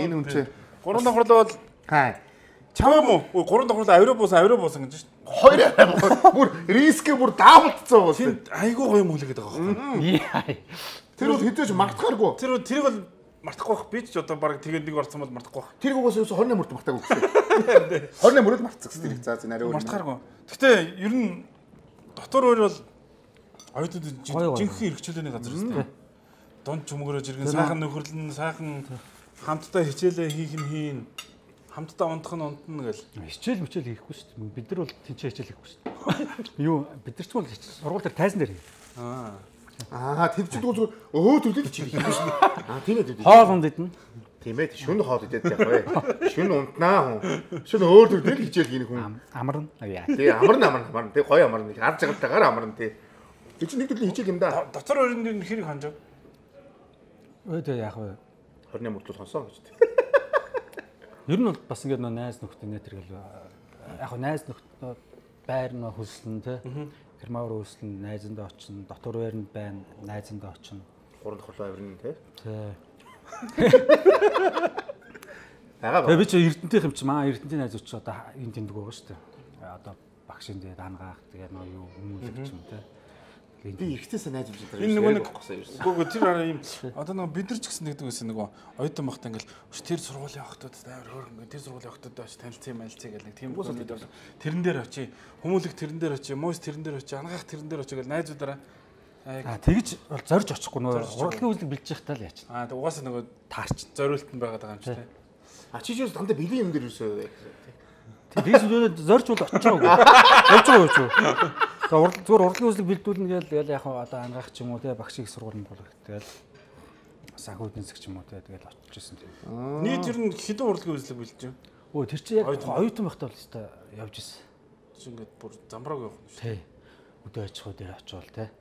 энэ хүн чинь. Гурван давхарлуу бол хаа. Чам уу? Ой гурван давхарлуу авираа буусан авираа буусан гэж шүү. Хоёр бүр рискээ бүр даавалцсан бол. Тэнд айгүй гоё юм хүлээгээд байгаа байхгүй. Тэр бол хэдэж мартахааргүй. Тэр тэрийг бол мартахгүй байх. Би ч одоо баг тэгээд нэг орсон бол мартахгүй байх. Тэр угаас двадцать восемь мөрт мартаагүй гэсэн. двадцать восемь мөрөд мартсан гэсэн тэр. За за нарийн өөр. Мартахааргүй. Гэхдээ ер нь дотор өөр бол оюутнууд жинхэнэ эрхчлөөний газар шүү дээ. Дунд чөмгөрөж иргэн сайхан нөхөрлөн сайхан хамтдаа хичээлээ хийх нь хийн. Хамтдаа унтах нь унтна гэл. Хичээл мичээл хийхгүй шүү дээ. Бид нар бол тэнцээ хичээл хийхгүй шүү дээ. Юу бид нар ч бол сургууль дээр тайзан дээр. Аа. Аа тэр чинь зүгээр өө төлөд чи хийхгүй шүү дээ. Аа тийм ээ. Хоол унд идэнэ. Тийм ээ. Шүн хоол идээд яг бай. Шүн унтнаа хүн. Шүн өөр төлөд хичээл хийх хүн. Амарна. Авьяа. Тий амарна амарна амарна. Тий гоё амарна. Ард жагтайгаар амарна тий. Тэр чинь нэг төлөв хичээл юм да. Дотор өрөнд хэрэг ханжав. Өө тэ яах вэ? двадцать восемь мөртлөө сонсон гэж тий. Ер нь бол бас ингээд нөө найз нөхдөд нэтэргэл яг хөө найз нөхдөд байр нөө хөлсөн тий. Герман руу хөлсөн найзандаа очино, дотор байранд байна, найзандаа очино. Гурван давхарлуу авирна тий. Тий. Ягаа ба. Тэгээ би ч Эрдэнтийн юм чи маа Эрдэнтийн найзууд ч одоо энэ тэмдэг байгаа шүү дээ. Одоо багшин дээр ангаах тэгээ нөө юу хүмүүлэгч юм тий. Би ихтэйсээ найз үзэж байгаа. Энэ нөгөө нэг гоо тэр араа юм одоо нөгөө бид нар ч гэсэн нэгдэг байсан нөгөө оюутан багтаа ингээл тэр сургуулийн охтууд амар хөөрхөн тэр сургуулийн охтууд бач танилцсан мэлцээ гэл нэг тийм хүмүүс байдаг. Тэрэн дээр очие хүмүүлэг тэрэн дээр очие муус тэрэн дээр очие ангаах тэрэн дээр очие гэл найзуудаараа аа тэгж бол зорж очихгүй нөгөө урлагийн үзлэг бэлжих тал яач. Аа тэг угаасаа нөгөө таарч зориулт нь байгаад байгаа юм чи тий. А чи ч бас дандаа бэлгийн юм дээр юусоо. Тэг би зөв зорж бол очиж байгаагүй. Явж байгаа юу ч. За урал зүгээр урлагийн үзлэг бэлдүүлнэ гээл ял яг одоо ангаах ч юм уу те багшиг сургууль болох тэгэл санхүү эдийн засаг ч юм уу те тэгэл очиж ирсэн тийм. Нийт ер нь хэдэн урлагийн үзлэг бэлдэж байна? Өө тэр чи яг оюутан байхдаа бол өстой явж ирсэн. Чи ингээд бүр замбрааг явах юм шүү. Тий. Өдөө очихоо дээр очивол те.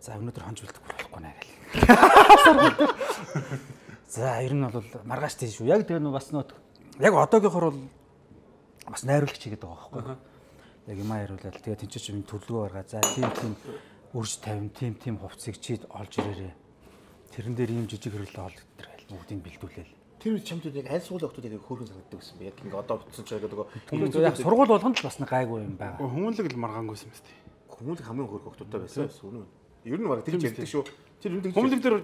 За өнөөдөр хонж бэлдэх болохгүй наа гэл. За ер нь бол маргааш тийм шүү. Яг тэгээ нөө бас нөө яг одоогийнхор бол бас найруулагч хийгээд байгаа байхгүй. Яг юм аяруулаад тэгээ тэнцэж юм төлөвлөгөө гаргаад за тийм тийм өрж тавин тим тим хувцсыг чид олж ирээрээ. Тэрэн дээр ийм жижиг хэрэглээ олж тэр айл бүгдийг бэлдүүлээл. Тэр чамд яг аль суулын хүмүүсүүд яг хөөрхөн санагддаг гэсэн бэ? Яг ингээ одоо битсэн ч яг нөгөө яг сургууль болгонд л бас нэг гайгүй юм байна. Хүмүүлэг л маргаангүйсэн мэт. Хүмүүлэг хамгийн хөөрхөн хүмүүстэй байсан үнэн. Ер нь баг тэр ярьдаг шүү. Тэр ер нь хүмүүлэг дээр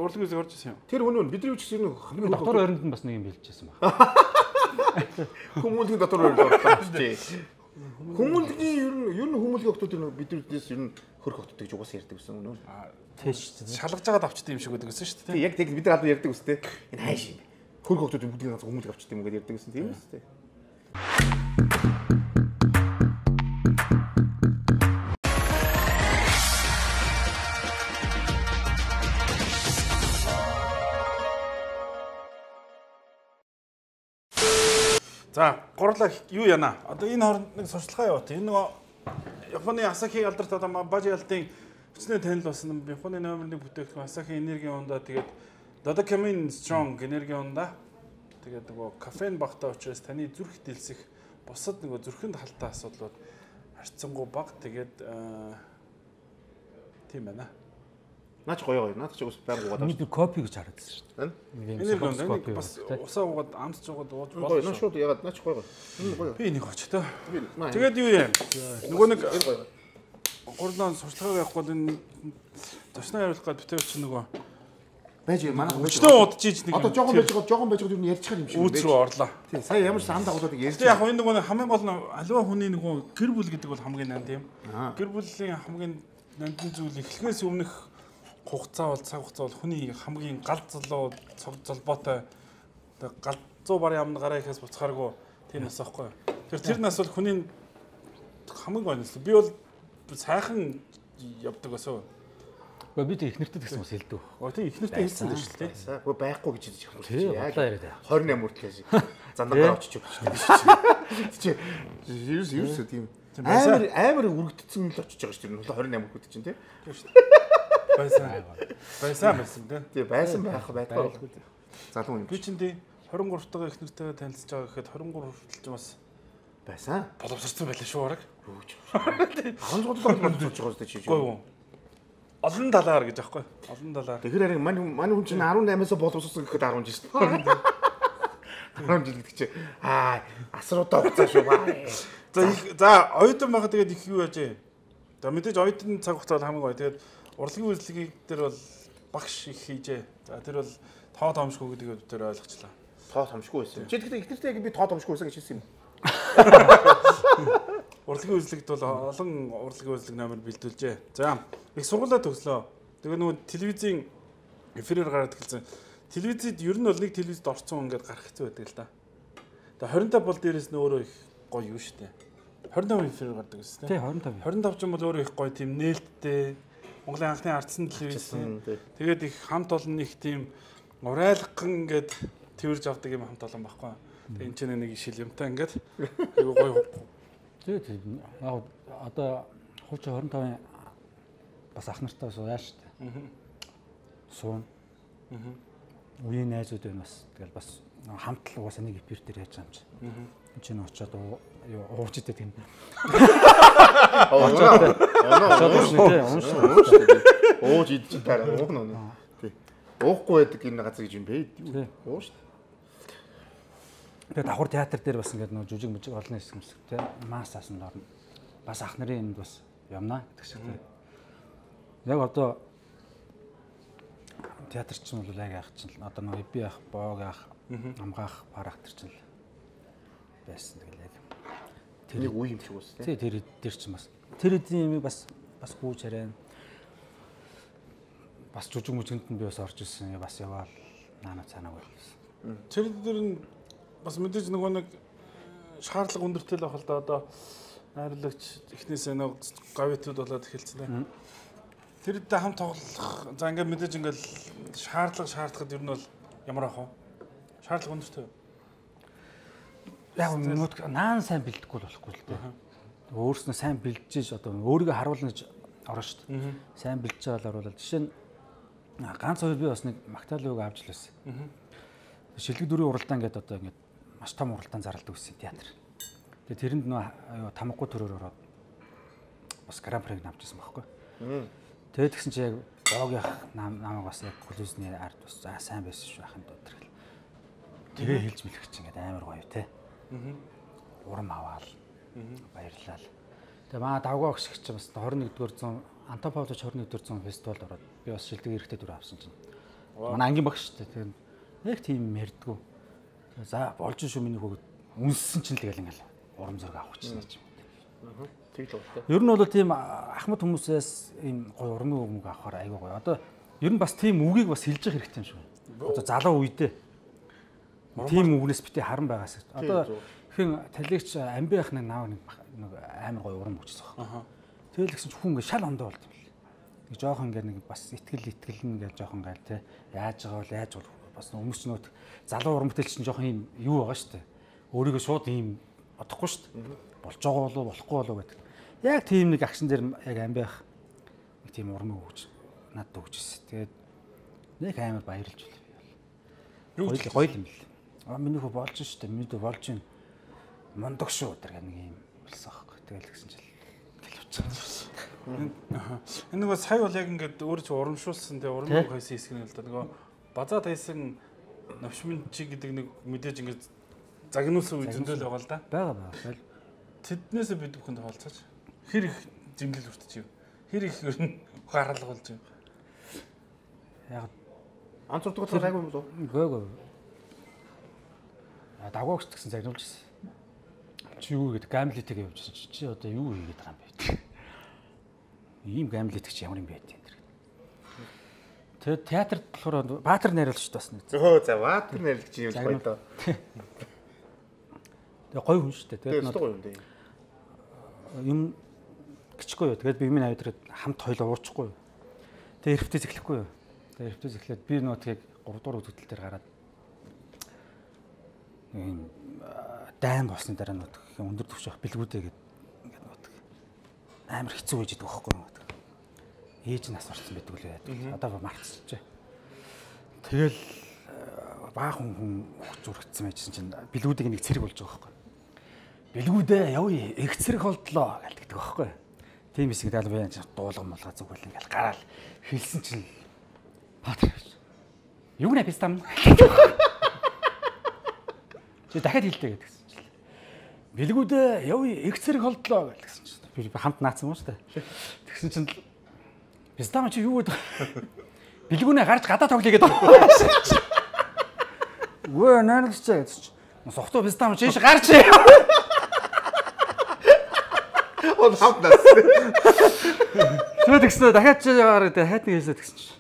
урлагийн үсэг орж ирсэн юм. Тэр үнэн бидний үчис ер нь хамгийн дотор ойронд нь бас нэг юм бэлжижсэн баг. Хүмүүлгийн дотор ойронд ордог шүү. Хүмүүлгийн ер нь ер нь хүмүүлгийн хүмүүсүүд биднээс ер нь хөрх хоттой гэж угаасаа ярьдаг гэсэн үнэн. Тэш шалгаж байгаад авчдаг юм шиг байдаг гэсэн шүү дээ. Яг тэг бид нар албан ярьдаг үстэй. Энэ хайш юм. Хөрх хоттой бүгдийг ганц хүмүүлэг авчдаг юм гэдэг ярьдаг гэсэн тийм үстэй. За, гурлаа юу яана? Одоо энэ хооронд нэг сурчлагаа яваа. Энэ нөгөө Японы Asahi алдарт одоо Бажи алдын хүчний танил болсон Японы номер нэг бүтээгдэхүүн Asahi энергийн ундаа тэгээд Dodekamin Strong энергийн ундаа тэгээд нөгөө кофеин багтаа учраас таны зүрх дэлсэх бусад нөгөө зүрхэнд халтай асуудлууд харьцангуй бага тэгээд тийм байна. Наач гоё гоё. Наач ч байнг угаад. Бид копи гэж харагдсан шүү дээ. Энерги ундаа бас усаа угаад амсч угаад ууж болно. Гоё. Наач шууд ягаад наач гоё гоё. Энэ гоё. Би нэг очтой. Тэгээд юу юм? Нөгөө нэг гурлаа сурчлагаа явахгүй энэ ташнаа хариулах гээд битээ чи нөгөө байж манай өчтөө удаж иж нэг одоо жоохон байж байгаа жоохон байж байгаа юу ярьчих юм шиг үүс рүү орлоо. Тий сая ямар ч ам дагуулдаг ярьж. Яг энэ нөгөө хамгийн гол нь аливаа хүний нөгөө гэр бүл гэдэг бол хамгийн нанд юм. Гэр бүлийн хамгийн нандин зүйл эхлэхээс өмнөх хугацаа бол цаг хугацаа бол хүний хамгийн гал залуу цог золбоотой гал зүү барын амны гараа ихээс буцхааргүй тийм нас аахгүй. Тэр тэр нас бол хүний хамгийн гол нь. Би бол сайхан явдаг басуу. Гэхдээ бид ихнэртэй гэсэн бас хэлдэг. Оо тийм ихнэртэй хэлсэн дээ шүү дээ. Гэхдээ байхгүй гэж хэлж байгаа юм шиг. Яг двадцать восемь хүртэл шиг. Зандагаар очиж өгч чи. Ерөөс ерөөс тийм. Амар амар үргэлждсэн л очиж байгаа шүү дээ. двадцать восемь хүртэл чинь тий. Байсан. Байсан байсан тий. Тий байсан байх байдаг. Залуу юм. Би чинь тий двадцать три дахь ихнэртэйгээ танилцж байгаа гэхэд двадцать три хүртэл ч бас байсан. Боловсрсан байлаа шүү бараг. арван цогцлог болж байгаа шүү дээ чи. Гой юу. Олон талаар гэж аахгүй. Олон талаар. Тэгэхээр харин мань мань хүн чинь деснамаас боловсрсан гэхэд десять жил. десять жил гэдэг чи аа асруудаа хугацаа шүү баа. За за оюутан байхад тэгээд их юу яажээ. За мэдээж оюутан цаг хугацаа хамгийн гоё. Тэгээд урлагийн үйлчлэгийг дээр бол багш их хийжээ. За тэр бол тоо томшгүй гэдэг тэр ойлгочлаа. Тоо томшгүй байсан. Чи тэгэхээр ихнэртэй яг би тоо томшгүй байсан гэж хэлсэн юм. Урлагийн үйлчлэгт бол олон урлагийн үйлчлэг номер бэлдүүлжээ. За их сургуулаа төгслөө. Тэгээ нөгөө телевизийн эфирээр гараад эхэлсэн. Телевизэд ер нь бол нэг телевизэд орсон ингээд гарах хэцүү байдаг л да. Тэгээ двадцать пять бол дээрээс нь өөрөө их гоё юу штэ. двадцать пять эфирээр гардаг гэсэн тийм. Тий двадцать пять. двадцать пять ч юм бол өөрөө их гоё тийм нээлттэй. Монголын анхны ардсан телевиз. Тэгээд их хамт олон их тийм урайлган ингээд тэрж авдаг юм хамт олон байхгүй. Тэгээ энэ ч нэг шил юмтай ингээд айгуу гоё. Тийм яг одоо хувьч двадцать пять бас ах нартай сууя шүү дээ. Аа. Суун. Аа. Үеийн найзууд байна бас. Тэгэл бас хамт л угаасаа нэг эфир дээр яаж юм чи. Аа. Энд чинь очиод юу ууч идэх юм. Аа. Ууч идэж таараа уухна нэ. Тий. Уухгүй байдаг энэ газар гэж юм бэ? Ууш шүү. Тэгээд давхар театр дээр бас ингээд нөө жүжиг мүжиг олон хэсэг юмсэг те мас асанд орно. Бас ах нарын юмд бас юмнаа гэдэг шиг те. Яг одоо театр чинь бол яг яах чинь одоо нөө би ах, боог ах, амгаах, парах төр чинь байсан тэгэл яг. Тэр үе юм шиг үс те. Тий тэр тэр чинь бас тэр эдийн юм бас бас гүйж хараа. Бас жүжиг мүжигэнд нь би бас орж ирсэн. Бас яваал наана цаанаа байлсан. Тэр дээр нь бас мэдээж нөгөө нэг шаардлага өндөртэй л байх л да одоо найрлагч эхнээсээ нэг гавитууд болоод эхэлсэн дээ. Тэрдээ хамт тоглох за ингээд мэдээж ингээд шаардлага шаардахад ер нь бол ямар ах вэ? Шаардлага өндөртэй. Яг нөгөө наан сайн бэлдэхгүй л болохгүй л дээ. Өөрснөө сайн бэлдэж одоо өөрийгөө харуулна гэж орно шүү дээ. Сайн бэлдэж байгаа л оруулаад жишээ нь ганц хоёр би бас нэг Магдалины үг авч л байсан. Шилэг дөрвийн уралдаан гэдэг одоо ингээд маш том уралдаан зарладаг гэсэн театр. Тэгээ тэрэнд нөө тамгагүй төрөөр ороод бас гран приг авчихсан байхгүй. Тэгээд тэгсэн чи яг Богийнх намайг бас яг коллежны ард бас за сайн байсан шүү ахын доо тэр. Тэгээ хэлж мэлэх чинь ингээд амар гоё те. Урам аваал. Баярлалаа. Тэгээ маа давгаа өгсөг чинь бас тwenty-first дугаар зуун Антопович twenty-first дугаар зуун фестивалд ороод би бас шилдэг эрэхтэй дүр авсан чинь. Манай ангийн багш шүү дээ. Тэгээд яг тийм ярьдгүү. За болж шүү миний хөөд үнссэн чинь тэгэл ингээл урам зориг авах чинь юм. Аа. Тэг л байна. Ер нь бол тийм ахмад хүмүүсээс ийм гоё урмын үг авахаар айгүй гоё. Одоо ер нь бас тийм үгийг бас хэлж явах хэрэгтэй юм шиг байна. Одоо залуу үедээ тийм үгнээс битээ харан байгаас. Одоо хэн талигч амби ах нэг наав нэг амар гоё урам өгчсөн байна. Тэгэл гэсэн чи хүн ингээ шал ондоо болд юм бэл. Нэг жоохон ингээ нэг бас итгэл итгэл ингээ жоохон гайл те. Яаж байгаа бол яаж болох бас хүмүүс ч нөт залуу урамтай чинь жоохон ийм юу байгаа шүү дээ. Өөрийгөө шууд ийм бодохгүй шүү дээ. Болж байгаа болов болохгүй болов гэдэг. Яг тийм нэг акшн дээр яг амбиах нэг тийм урам өгч надад өгч ирсэн. Тэгээд нэг амар баярлж байна. Гоё гоё юм бэл. Аа миний хөө болж шүү дээ. Миний дэ болж байна. Мондог шүү гэдэг нэг юм болсон аахгүй. Тэгэл гэсэн чил гэлвч. Энэ нөгөө сая бол яг ингээд өөр чи урамшуулсан те урам хойсон хэсэг нь л да. Нөгөө базаа тайсан навшмын чи гэдэг нэг мэдээж ингээд загнуулсан үе зөндөл байгаа л да. Бага бага. Тэднээсээ бид бүхэнд хаалцаач. Хэр их зэмлэл өртөж юу? Хэр их ер нь гаргалга болж юу? Яг анц урдгал айгүй юм уу? Гөө гөө. А дагуугч гэсэн загнуулж ирсэн. Чи юу гэдэг гамлитыг явуулсан чи чи одоо юу хийгээд байгаа юм бэ? Ийм гамлитг чи ямар юм бэ гэдэг. Тэгээд театрт болохоор баатар найруулагч бас нэг. Өө за баатар найруулагч юм гоё доо. Тэгээ гоё хүн шүү дээ. Тэгээд гоё юм дээ. Юм гिचгүй юу. Тэгээд би миний авдраад хамт хоёлоо уурчихгүй юу. Тэгээд эрфтээс эхлэхгүй юу. Тэгээд эрфтээс эхлээд би нөө тэгээд three дугаар үзэгдэл дээр гараад ийм дайн болсны дараа нөт өндөр төвшөх бэлгүүдээ гээд ингээд нөт амар хэцүү байж идэг байхгүй юу. Ээж нь асуурсан байдаг л байдаг. Одоо марцчихжээ. Тэгэл баахан хүн хөх зүрхтсэн байжсэн чинь бэлгүүдийг нэг цэрэг болж байгаа байхгүй. Бэлгүүдээ явъя их цэрэг болдлоо гэдэг байхгүй. Тийм хэсэг далбай дуулган молгоо зүгэл ингээл гараал хэлсэн чинь Патр. Юу нэ пистам. Чи дахиад хэлдэг гэдгсэн чинь. Бэлгүүдээ явъя их цэрэг болдлоо гэдгсэн чинь. Би хамт наацсан юм шүү дээ. Тэгсэн чинь пистам чи юу гэдэг. Бэлгүүнээ гарч гадаа тоглоё гэдэг. Өө наалагч гэж. Сохто пистам чи гарч. Он хамтнаас. Тэгвэл тэгсэн дахиад чи яваараа дахиад нэг хэлсэ тэгсэн чи.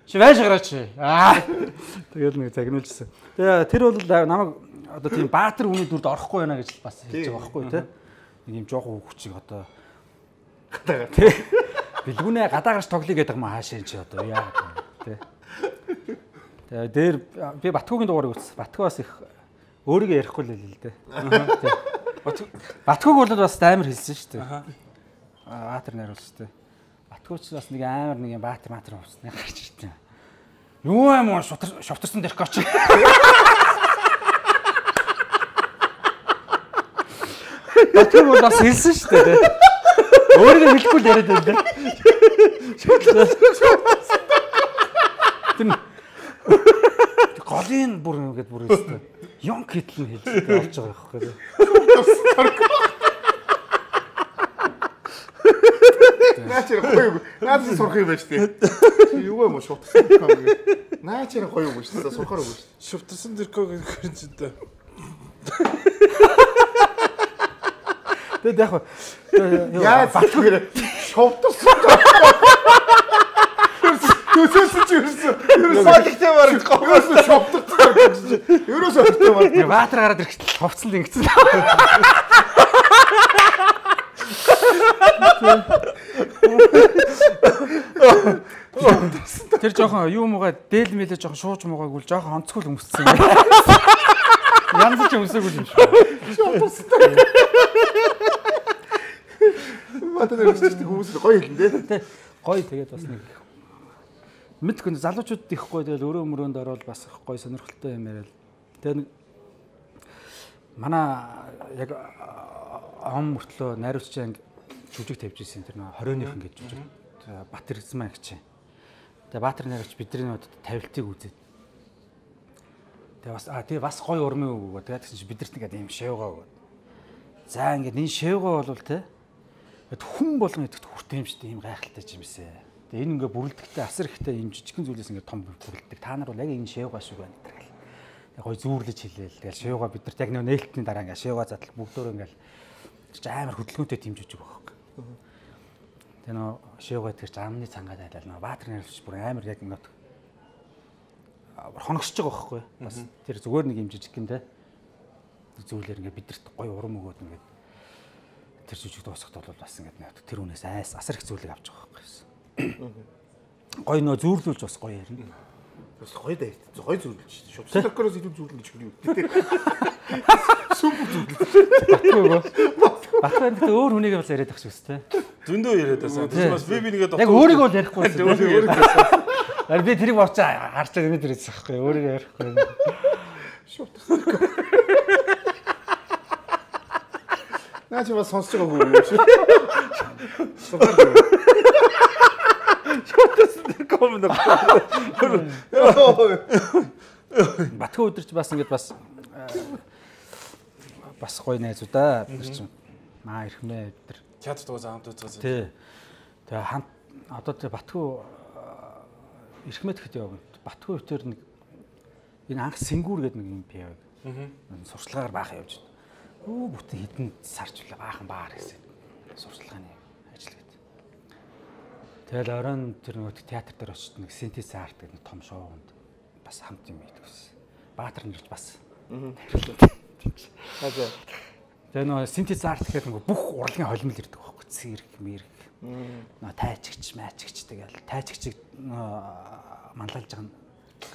Чи байж гараач. Аа. Тэгэл нэг загнуулжсэн. Тэгээ тэр бол намайг одоо тийм баатар хүний дүрд орохгүй байна гэж бас хэлж байгаа байхгүй тий. Нэг юм жоохон хүчиг одоо гадаагаар тий. Бэлгүүнээ гадаа гарч тоглоё гэдэг юм хаашаа чи одоо яа тий. Тэгээ дээр би Батгуугийн дугаарыг үзсэн. Батгуу бас их өөрийгөө ярихгүй л хэлээ л дээ. Батгууг бол бас амар хэлсэн шүү дээ. Аа баатар найруулсан шүү дээ. Батгууч бас нэг амар нэг юм баатар маатар уусны гарч ирсэн. Юу юм уу шутар шовтарсан дэрх гоч. Батгууг бол бас хэлсэн шүү дээ. Өөрийгөө хэлэхгүй л яриад байна. Тэр голын бүр ингэж бүр өстэй. Юм хитл нь хэлж орж байгаа байхгүй. Наачир гоё. Наач сурах юм байна шүү дээ. Юу юм уу шуутсан дэркөө гэж. Наачир гоё юм шүү дээ. Сурахаар үгүй шүү дээ. Шуутсан дэркөө гэж чинь дээ. Тэгээд яг яа батгүй гэрэ шуутсан. Төсөөсөн чи ерөөсөө ерөөсөө бараг говьос шуутсан гэж. Ерөөсөө хөвтэй бараг. Баатар гараад ирэхдээ ховцсон л ингэсэн. Тэр жоохон юу муугаа дээл мэлээ жоохон шууж муугааг үл жоохон онцгой өмссөн юм. Янз ч өмсөөгүй юм шүү. Батар өсөж хүмүүс гоё хэлэн дээ. Гоё тэгээд бас нэг мэдгүй залуучууд их гоё тэгэл өрөө мөрөөнд ороод бас их гоё сонирхолтой юм яриад. Тэгээд нэг манай яг ом мөртлөө найруулагч анги жүжиг тавьж ирсэн тэр нөө хорионийх ингэж жүжиг. Баатар Эзмаа гэж. Тэгээ Баатар найрагч бидний надад тавилтыг үзээд. Тэгээ бас аа тэгээ бас гоё урмын үг өгөө. Тэгээд тэгсэн чи бидэрт ингээд ийм шавгаа өгөө. За ингээд энэ шавгаа бол те хүн болгон идэхт хүртээмжтэй ийм гайхалтай жимсээ. Тэгээ энэ ингээд бүрлдэгтэй асар ихтэй ийм жижигхэн зүйлээс ингээд том бүрлддэг. Та нар бол яг энэ шавгаа шиг байна гэдэг. Яг гоё зүүрлэж хэлээл. Тэгэл шавгаа бидэрт яг нээлтний дараа ингээд шавгаа задлал бүгдөө ингээд амар хөдөлгөөнтэй тийм жижиг байхгүй. Тэгээ нөө шавгаа тэр замны цангаад айлал нөө Баатар найрагч бүр амар яг ингээд хоногсож байгаа байхгүй. Бас тэр зүгээр нэг юм жижиг гин те. Зүйлэр ингээд бидэрт гоё урам өгөөд ингээд тэр жижиг дуусахт бол бас ингээд нэг тэр үнээс айс асар их зүйлийг авч байгаа байхгүй. Гоё нөө зүүрлүүлж бас гоё ярина. Бас гоё даа. Гоё зүүрлэж шүү. Стокороос илүү зүүрлэн гэж юу гэдэг. Супер зүүрлэж. Батгүй. Батгүй гэдэг өөр хүнийг бас яриад ах шүүс те. Зөндөө яриад байсан. Тэр бас би би нэгээд яг өөрийгөө л ярихгүй байсан. Ар би тэрийг бовч харж байгаа юм дээрээс байхгүй өөрийгөө ярихгүй. Шот. Наач бас сонсож байгаагүй юм шиг. Коммент. Батгүй өдөрч бас ингэж бас бас гоё найзуудаа бид чинь маа ирхмээ өдр. Театрт угаасаа хамт үзсэн. Тий. Тэгээ хамт одоо тэгээ Батгүй ирхмэд гэхэд яваг. Батгүй өвтөр нэг энэ анх Сэнгүүр гэдэг нэг юм пиав. Аа. Сурчлагаар баахан явж байна. Өө бүтэн хитэн саржуулаа баахан баар гэсэн. Сурчлагын ажил гэдэг. Тэгэл оройн тэр нөгөө театр дээр очиж нэг Синтез арт гэдэг том шоунд бас хамт юм хийдэг ус. Баатар нэрч бас. Аа. Тэгээ нөгөө Синтез арт гэдэг нөгөө бүх урлагийн холимол ирдэг байхгүй. Цэрэг, мэрэг. Нөө тайчигч, майчигч тэгэл тайчигчийг манлайлж байгаа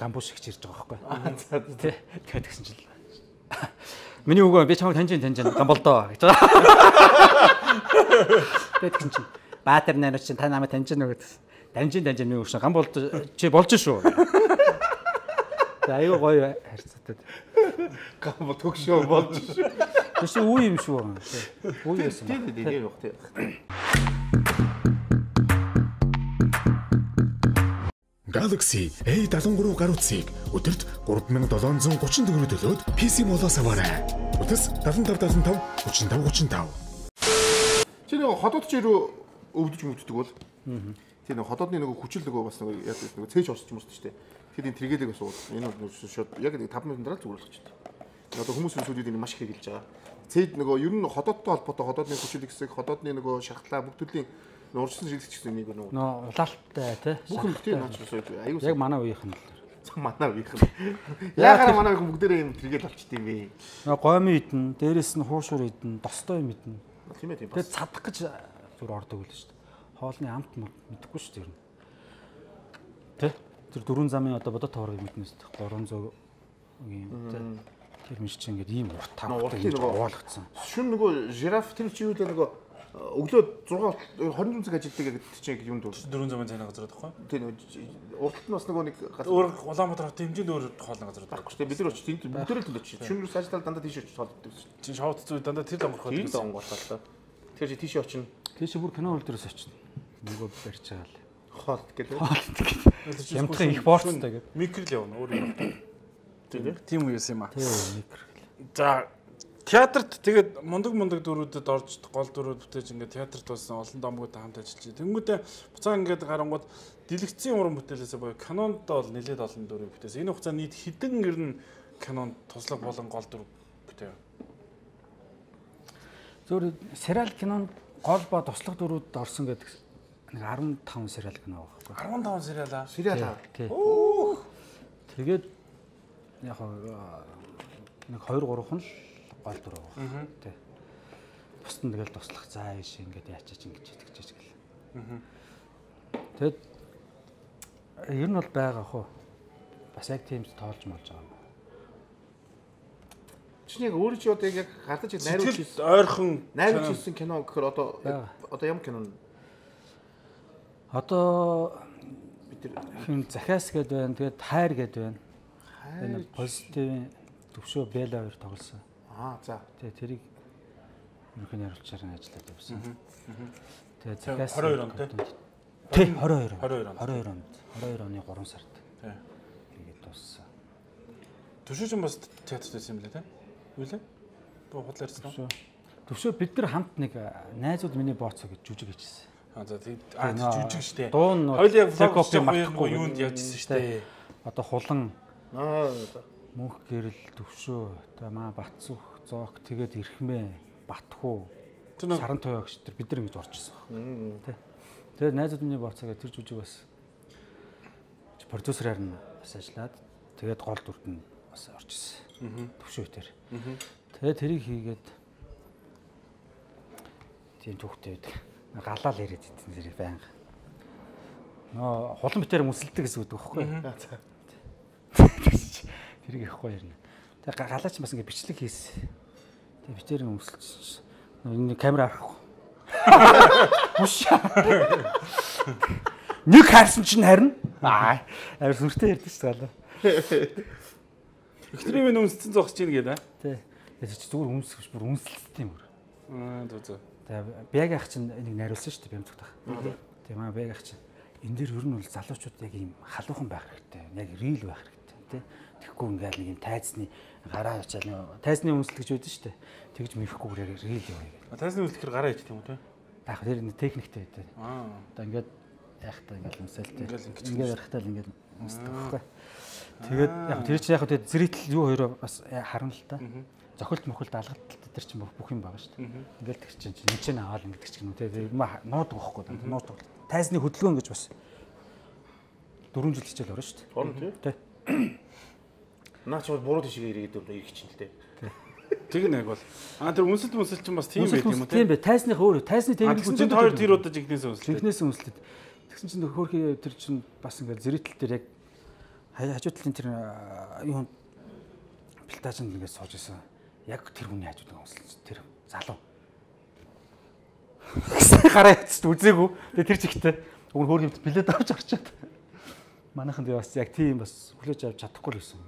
гамбуш шигч ирж байгаа байхгүй. Тэ тэгээд тэгсэн чил. Миний үгүй би чамайг таньж таньж гамболдоо гэж байгаа. Тэгээд тэгсэн чинь Баатар найрагч та намайг таньж нөө гэдэг. Таньж таньж миний өгшин гамболд чи болж шүү. За аюу гоё харьцаатай. Гамбол төгшөө болж шүү. Тэс үе юм шүү. Үе байсан. Тийм тийм явах тийм. Galaxy A seventy-three гар утсыг өдөрт three thousand seven hundred thirty төгрөг төлөөд пи си молоос аваарай. Утас seven five seven five three five three five. Чи нэг ходоод чи рүү өвдөж мөвддөг бол. Тийм нэг ходоодны нөгөө хүчил нөгөө бас нөгөө яа гэдэг нөгөө цээж орсч юм шүү дээ. Тэгэхээр энэ тэргэлэг бас уу. Энэ бол шууд яг нэг five минутын дараа зүгээр болчих чинь. Одоо хүмүүс сүлүүд энэ маш их хэлж байгаа. Цээд нөгөө ер нь ходоодтой холбоотой ходоодны хүчил хэсэг, ходоодны нөгөө шахтлаа бүх төрлийн урьдчилан шилжих гэсэн нэг нөгөө. Нөө улаалттай тий. Бүх тийм наачрсоо аюу. Яг манай үеийнх нь л. Манай үеийнх нь. Яагаад манай үеийнх бүгдээрээ юм тэргээл болчт юм бэ? Нөө гомын идэн, дээрэс нь хуушур идэн, достой юм идэн. Тийм ээ тийм бас. Тэгээд цадах гэж зүр ордог үл шүү дээ. Хоолны амт мэдэхгүй шүү дээ. Тэ? Тэр дөрвөн замын одоо бодот тоорыг мэднэс three hundred юм тэ. Тэр миш чи ингээд ийм урт тавтай уулгацсан. Шүн нөгөө жираф тэр чи юу л нөгөө өглөө six twenty цаг ажилтдаг гэдэг чинь юм дүү. four hundred цайны газар байхгүй. Тийм нөгөө урт нь бас нөгөө нэг өөр Улаанбаатар хотын хэмжээнд өөр хоолны газар байхгүй шүү дээ. Бид нар очиж тийм бүгдээрээ л төлөж чинь. Шүн рүү ажлал дандаа тийш очиж тоолдог шүү. Чин шоуд зүй дандаа тэр донгорхоо. Тэр донгорхоо. Тэр чи тийш очино. Тийш бүр кино хөл дээрээс очино. Нөгөө барьж байгаа л. Хоолт гэдэг. Хоолт гэдэг. Ямтхан их борцтой гэдэг. Микро л явна өөр юм. Тийм үеэс юм аа. Тийм микро. За театрт тэгээд мундаг мундаг дөрүүдэд орж гол дөрүүд бүтээж ингээд театрт болсон олон домгуудтай хамт ажиллаж байна. Тэнгүүтээ буцаа ингээд гарангууд дэлгэцийн уран бүтээлээсээ боёо кинонд бол нэлээд олон дөрөв бүтээсэн. Энэ хугацаанд нийт хэдэн гэрн кинонд туслаг болон гол дөрөв бүтээв. Зөв сериал кинонд гол ба туслаг дөрүүд орсон гэдэг нэг fifteen сериал кино байгаа байхгүй. fifteen сериалаа. Сериал. Оо. Тэгээд яг нэг two three нь л гол дөрөв байгаа. Тэ. Бусд нь тэгэл туслах заа ийш ингээд яачаач ингэж итгэж гэл. Тэгэд ер нь бол байгаа хөө. Бас яг тийм тоолж молж байгаа. Чи яг өөрөө чи одоо яг хардаж найруулж ирсэн ойрхон найруулж ирсэн кино гэхээр одоо одоо ямар кино? Одоо бид хин захиас гээд байна. Тэгээд хайр гээд байна. Энэ позитив төвшөө Бэла хоёр тоглосон. Аа за. Тэгээ тэрийг ерөнхийдөө харуулчаар ажиллаад явсан. Тэгээ захиас twenty-two он тий. Тий22 он.22 он.22 онд. двадцать двадцать оны гурван сард. Тий. Тэгээд дууссан. Төвшөөч бас театрт байсан юм лээ тий. Юу лээ? Туу худлаа ярьсан уу? Төвшөө бид нар хамт нэг найзууд миний бооцоо гэж жүжиг хийжсэн. Аа за тийм аа жүжиг штэ. Дуун хоёул яг копи мартахгүй юунд явжсэн штэ. Одоо хулан Аа мөнх гэрэл төвшөө та маа Батцүх зоог тэгээд Ирхмээ Батхуу Саран туяа гэж тэр бид нар ингэж орж ирсэн баг. Тэ. Тэгээд найзууд миний бооцоо гэж тэр жүжиг бас продюсераар нь бас ажиллаад тэгээд гол дүрд нь бас орж ирсэн. Төвшөө тэр. Тэгээд тэрийг хийгээд тийм түүхтэй байдаг. Галаал яриад идсэн зэрэг байнга. Нөө хулан битээр мөсөлдөг гэсэн үг байхгүй. Тэрийг их гоё ярина. Тэгээ галаач бас ингэ бичлэг хийсэн. Тэгээ битээр мөсөлж энэ камера авахгүй. Муш. Нэг харсан чинь харин. Аа. Арай сүртэй ярьдэн шүү дээ. Экстрим үнсцэн зогсож ийн гэдэг аа. Тий. Тэгээ чи зүгээр үнсгэж бүр үнсэлцтэй юм бүр. Аа зөө зөө. Тэгээ бяг ах чинь энийг нариулсан шүү дээ бямцгах. Тэгээ маа бяг ах чинь энэ дэр ер нь бол залуучууд яг ийм халуухан байх хэрэгтэй. Яг рил байх хэрэгтэй тий. Тэгэхгүй ингээл нэг юм тайзны гараа ячаал нэг тайзны үнсэл гэж үүдэн шүү дээ. Тэгж мэрэхгүйгээр яг рил яваа гэдэг. Тайзны үнсэлэхээр гараа ичт юм уу тий? Яг тэр нэг техниктэй байдаг. Аа. Одоо ингээд яахтаа ингээл үнсэлтэй. Ингээл ингэж ингээд ярахтаа л ингээд үнсдэг байхгүй. Тэгээд яг тэр чинь яг тэгээд зэрэгтэл юу хоёроо бас харна л та. Зохилт мохилт алгадтал тэр чинь бүх юм байгаа шүү дээ. Ингээл тэр чинь энэ чинь аваад ингээд ч юм уу те нуудаг байхгүй даа нуудаг. Тайзны хөдөлгөөн гэж бас дөрвөн жил хичээл орно шүү дээ. Орно тий. Наач бол буруу тишгээ ирээд ирэх чинь л дээ. Тэг нэг бол аа тэр үнсэлт үнсэл чинь бас тийм байт юм уу те. Тийм бай. Тайзных өөр тайзны техник чинь хоёр тэр удаа жигнээс үнсэлт. Жигнээс үнсэлт. Тэгсэн чинь хөөрхий тэр чинь бас ингээд зэрэгтэл тэр яг хажуу талын тэр юу пилтажинд ингээд сууж исэн. Яг тэр хүний хажууд байгаа үнсэлт тэр залуу. Гараа яцд үзээгүй. Тэгээ тэр чигтээ өгн хөөрхий билет авч орчоод. Манайхан тэгээ бас яг тийм бас хүлээж авч чадахгүй л байсан.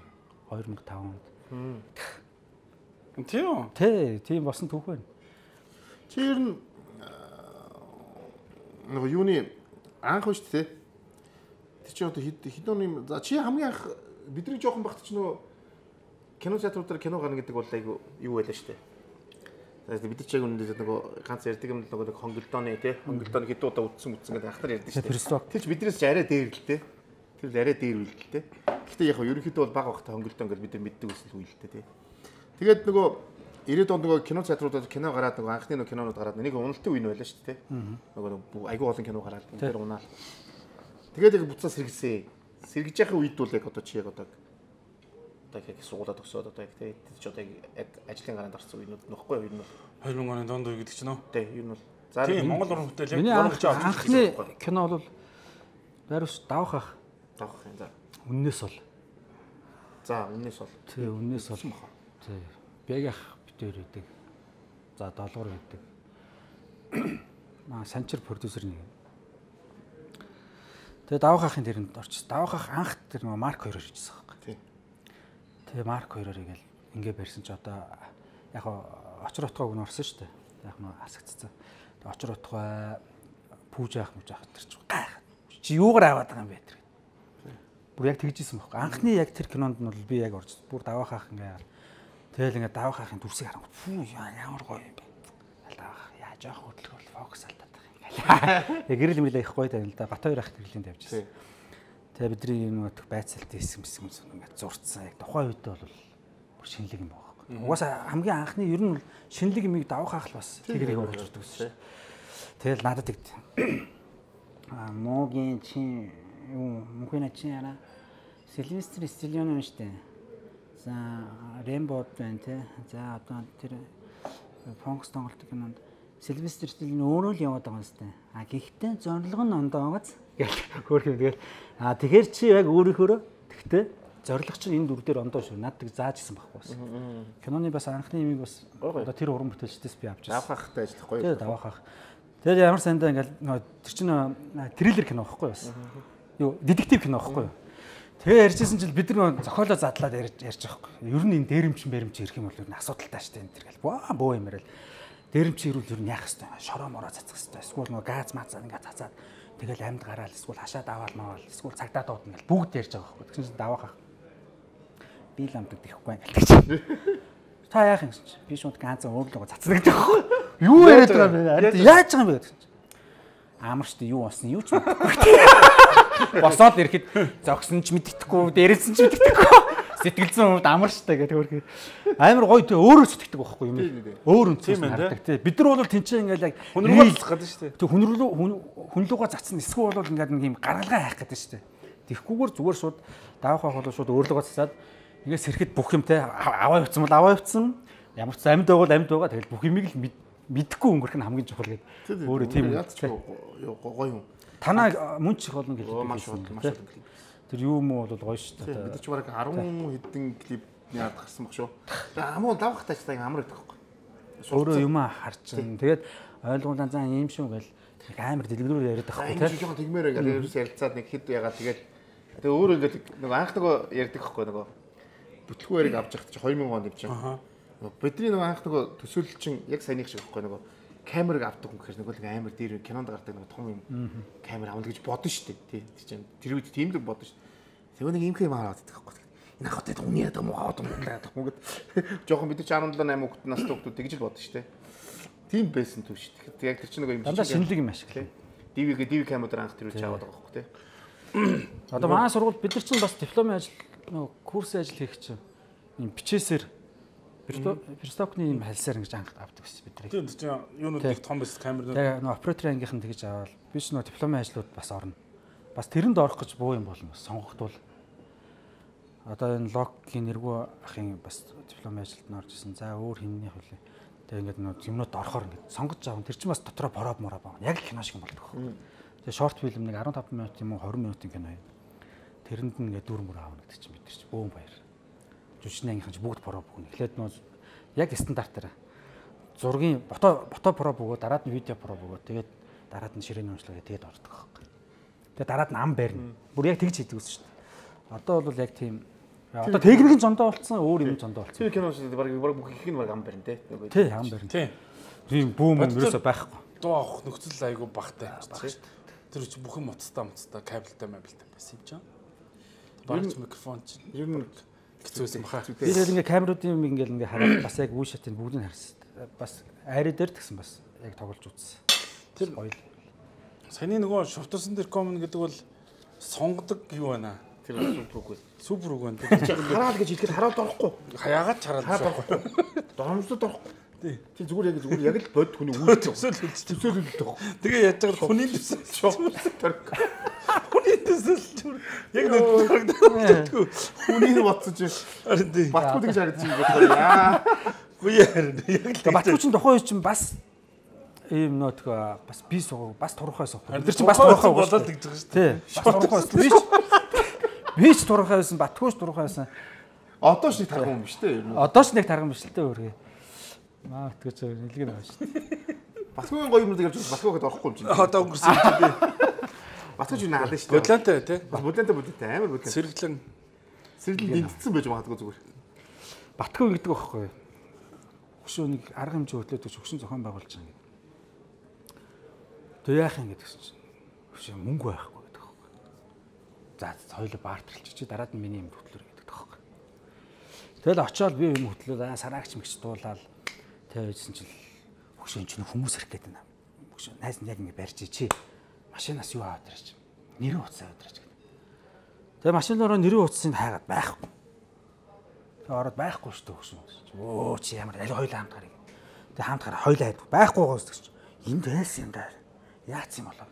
две тысячи пять онд. Тийм. Тэ, тийм босон түүх байна. Чи ер нь нэг юуны анх шүү дээ. Тэр чи одоо хэд хэд оны за чи хамгийн анх бидний жоохон багт ч нөө кино театруудаар кино гарна гэдэг бол айгу юу байлаа шүү дээ. За бид чи яг үнэндээ нөгөө ганц ярьдаг юм л нөгөө нэг хонголдооны тий хонголдооны хэд удаа үтсэн үтсэн гэдэг ахтар ярьдаг шүү дээ. Тэр чи биднээс ч арай дээр л дээ. Тэр л арай дээр үйл л дээ. Гэхдээ яг ерөнхийдөө бол баг багтаа хонголдоо ингээд бид нар мэддэг үсэл үйл л дээ тий. Тэгээд нөгөө ирээд онд нөгөө кино театруудад кино гараад нөгөө анхны нөгөө кинонууд гараад нэг уналтын үе нь байлаа шүү дээ. Нөгөө айгүй олон кино гараад тэр унаал. Тэгээд яг буцаа сэргэлсэн. Сэргэж яхах үед бол яг одоо чи яг одоо одоо яг суулаад өгсөд одоо яг тий чи одоо яг ажлын гараанд орсон үеүүд нөхгүй юу нь две тысячи оны донд үе гэдэг чинь нөө. Тий юу нь бол за тийм Монгол уран бүтээл яг уран хүч авч анхны кино бол Барус давах ах. давах юм за. Үннээс бол. За үннээс бол. Тий үннээс бол. Тий. Бягах битээр үүдэг. За долгор үүдэг. Маа санчир продюсер нэг. Тэгээ давах ахын тэрэнд орчихсон. Давах ах анх тэр нөгөө Марк хоёроор хийжсэн байхгүй. Тий. Тэгээ Марк хоёроор ингээл ингээ барьсан ч одоо яг очир утгааг нь орсон шүү дээ. Яг нь асагцсан. Тэгээ очир утгаа пүүж яах мууж яах тэр ч гайх. Чи юугаар аваад байгаа юм бэ тэр. Бүр яг тэгжсэн байхгүй. Анхны яг тэр кинонд нь бол би яг орж бүр давах ах ингээ тэгэл ингээ давах ахын дүрсийг харангуй фүү ямар гоё юм бэ. Давах яаж яах хөдөлгөөл фокус алдаад байгаа юм гээл. Яг гэрэл мэлээ их гоё тань л да. Бат хоёр ах гэрлийн тавьжсэн. Тэгээ бидний юм нөх байцаалт хийсэн юм ингээ зурцсан. Яг тухайн үед бол бүр шинэлэг юм байгаа байхгүй. Угаасаа хамгийн анхны ер нь шинэлэг юмыг давах ах л бас тэгэр юм болж ирдэг шүү. Тэгэл надад тэгд. А могийн чи юу мөхөна чи яна Сильвестр Стиллоне юм штэ. За Рембод байна те. За одоо тэр Фонкс тоглолтын кинонд Сильвестр Стиллоне өөрөө л яваад байгаа юм штэ. А гэхдээ зорилго нь ондоогоц гэх хөөх юм тэгэл. А тэгэхэр чи яг өөрийнхөө тэгтээ зорилго чинь энэ дүр дээр ондоо шүү. Над тэг зааж исэн байхгүй бас. Киноны бас анхны юмыг бас одоо тэр уран бүтээлчдээс би авч ирсэн. Давах ахтай ажиллах гоё. Тэгээ давах ах. Тэгээд ямар сандаа ингээл тэр чинь триллер кино байхгүй бас. Юу детектив кино байхгүй юу. Тэгээ ярьжсэн чинь бид нар зохиолоо задлаад ярьж ярьж байгаа байхгүй. Ер нь энэ дээрэмчин бэрэмч ирэх юм бол ер нь асуудалтай штэ энэ тэр гэл. Боо бөө юмэрэл. Дээрэмчин ирүүл ер нь яах хэвээр шороо мороо цацах хэвээр. Эсвэл нөгөө газ маацаа ингээд цацаад Тэгэл амьд гараал эсвэл хашаад аваал маавал эсвэл цагдаа дуудана гэл бүгд ярьж байгаа байхгүй. Тэгсэн чинь даваахаа. Би л амдаг тэхгүй байнг гэлтэй. Та яах юм чи? Би шууд ганцхан өөрлөгөө цацдаг байхгүй. Юу яриад байгаа юм бэ? Яаж байгаа юм бэ гэсэн чинь. Амарчтай юу болсон юу ч мэдхгүй. Босоод ирэхэд зогсон ч мэддэхгүй, дээрэлсэн ч мэддэхгүй. Сэтгэлзэн хувьд амарчтай гэдэг хөрхий. Амар гоё тий өөрөө сэтгэдэг байхгүй юм. Өөр үнцээс хардаг тий. Бид нар бол тэнцээ ингээл яг хүнрүүгээ цацах гэдэг шүү дээ. Тэг хүнрүү хүнлүүгээ цацсан эсвэл бол ингээд нэг юм гаргалгаа хайх гэдэг шүү дээ. Тэгхгүйгээр зүгээр шууд давах байх бол шууд өөрлөгөө цацаад ингээд сэрхэд бүх юм тий аваа явцсан бол аваа явцсан. Ямар ч амьд байвал амьд байгаа. Тэгэл бүх юмыг л мэдхгүй өнгөрөх нь хамгийн чухал гэдэг. Өөрөө тийм гоё юм. Танаа мөн ч их олон гэлээ. Маш олон маш олон клип. Тэр юу муу бол гоё шүү дээ. Бид ч бараг арван хэдэн клип яад гарсан баг шүү. Тэгээ амуу давах тач та амар гэдэг байхгүй. Өөрөө юм харж чинь. Тэгээд ойлгуулаа заа ийм шүү гэл нэг амар дэлгэрүүр яриад байхгүй тийм. Энэ жоохон тэгмээр ингээл ерөөс ярилцаад нэг хэд ягаад тэгээд тэгээ өөрөө ингээл нэг анх нөгөө ярьдаг байхгүй нөгөө бүтлгүй яриг авч явах чинь хоёр мянган онд явж байгаа. Бидний нөгөө анх нөгөө төсөөлөл чинь яг саяных шиг байхгүй нөгөө камерыг авдаг хүн гэхээр нөгөө амар дээр кинонд гардаг нөгөө том юм камер авна гэж бодно шүү дээ. Тий чинь тэр үед тийм л бодно шүү. Тэгвэл нэг юм хэм хараад байдаг байхгүй. Энэ ахтай үний ядаг муу хаад юм гэдэг юм гээд жоохон бид чинь17 8 хүүхэд настай хүүхдүүд тэгж л бодно шүү дээ. Тийм байсан төв шүү дээ. Тэг яг тэр чинь нөгөө юм дандаа шинэлэг юм ашиглаа. ди ви ди ви камераар анх тэр үуч аваад байгаа байхгүй тий. Одоо манай сургууль бид нар чинь бас дипломын ажил нөгөө курсын ажил хийх чинь юм бичээсээр Перстокны юм хальсаар ингэж анх авдаг байсан бид нар. Тийм тийм юунууд их том байсан камернууд. Тэгээ нөгөө оператор ангийнхан тэгж аваад би ч нөгөө дипломын ажлууд бас орно. Бас тэрэнд орох гэж буу юм болно. Сонгогдвол одоо энэ логгийн нэргүй ахын бас дипломын ажилд нь орж исэн. За өөр хиннийх үлээ. Тэгээ ингээд нөгөө юмнууд орохоор ингээд сонгож аав. Тэр чинь бас дотроо бороод мороо баа. Яг кино шиг болдог. Тэгээ шорт фильм нэг арван таван минут юм уу двадцать минутын кино юм. Тэрэнд нь ингээд дүр мөр аавна гэдэг чинь бид нар чинь бөөн баяр. Жүжигчний ангийнхан ч бүгд про бүгнэ. Эхлээд нөө яг стандартаар зургийн фото фото про бөгөө дараад нь видео про бөгөө тэгээд дараад нь ширээний уншлага тэгээд ордог байхгүй. Тэгээд дараад нь ам барина. Бүр яг тэгж хийдэг гэсэн шүү дээ. Одоо бол яг тийм одоо техникийн зондоо болцсон өөр юм зондоо болцсон. Тэр кино шүү дээ. Бараг бараг бүх их нь бараг ам барина те. Тий ам барина. Тий. Тийм бүүм ерөөсөй байхгүй. Дуу авах нөхцөл айгүй багтай байна. Тэр чинь бүх юм моцтой моцтой кабелтай мабелтай байсан юм чинь. Барч микрофон чинь ер нь хэцүүсэн баха. Би тэгээд ингээ камеруудын юм ингээл ингээ хараад бас яг үе шатыг бүгдийг харсан. Бас айраа дээр тгсэн бас яг тоглож үзсэн. Тэр гоё. Саяны нөгөө шовтсон дээр комн гэдэг бол сонгодог юу байна? Тэр супер үгүй. Супер үг байна. Хараад гэж хэлэхэд хараад орохгүй. Яагаад хараад орохгүй. Дормсод орохгүй. Тий. Тий зүгээр яг зүгээр яг л бод хүний үйл төсөөл үлдэж төсөөл үлдэх. Тэгээ яаж байгаа хүний төсөөл шок. Хүний төсөөл яг нэг хүний боцож харин тий. Батгүй гэж харагдаж байна. Яа. Үгүй харин яг л Батгүй чинь тухайн үе чинь бас ийм нөтгөө бас би суу бас турхай суу. Тэр чинь бас турхай болоод гэж байгаа шүү дээ. Бас турхай би ч би ч турхай байсан, Батгүй ч турхай байсан. Одоо ч нэг тархан юм биш үү? Одоо ч нэг тархан биш л дээ өөргөө. Маа тэгэж нэлэг нэг байна шүү дээ. Батгүйн гоё юмнууд явж Батгүйд орохгүй юм чинь. Одоо өнгөрсөн юм би. Батгүй юу наалаа шүү дээ. Бодлантай тий. Бодлантай бодлантай амар бодлантай. Сэргэлэн сэргэлэн дэнцсэн байж магадгүй зүгээр. Батгүй гэдэг байхгүй. Хөшөө нэг арга хэмжээ хөтлөөд гэж хөшин зохион байгуулж байгаа юм. Тэг яах юм гэдгсэн чинь. Хөшөө мөнгө байхгүй гэдэг байхгүй. За хоёул баартарлч чи дараад нь миний юм хөтлөр гэдэг байхгүй. Тэгэл очиод би юм хөтлөө сараагч мэгч дуулаад тавьжсэн чил хөшөө чинь хүмүүс ирэх гээд байна. Хөшөө найз нь яг ингэ барьж чи машинаас юу аваад ирэж нэрийн утас аваад ирэж гэдэг. Тэгээ машинаараа нэрийн утасыг хайгаад байхгүй. Тэгээ ороод байхгүй шүү дээ хөшөө. Өө чи ямар аль хоёул хамт гарыг. Тэгээ хамт гараа хоёул хайдаг. Байхгүй гоос гэж. Энд байсан юм даа. Яац юм болоо.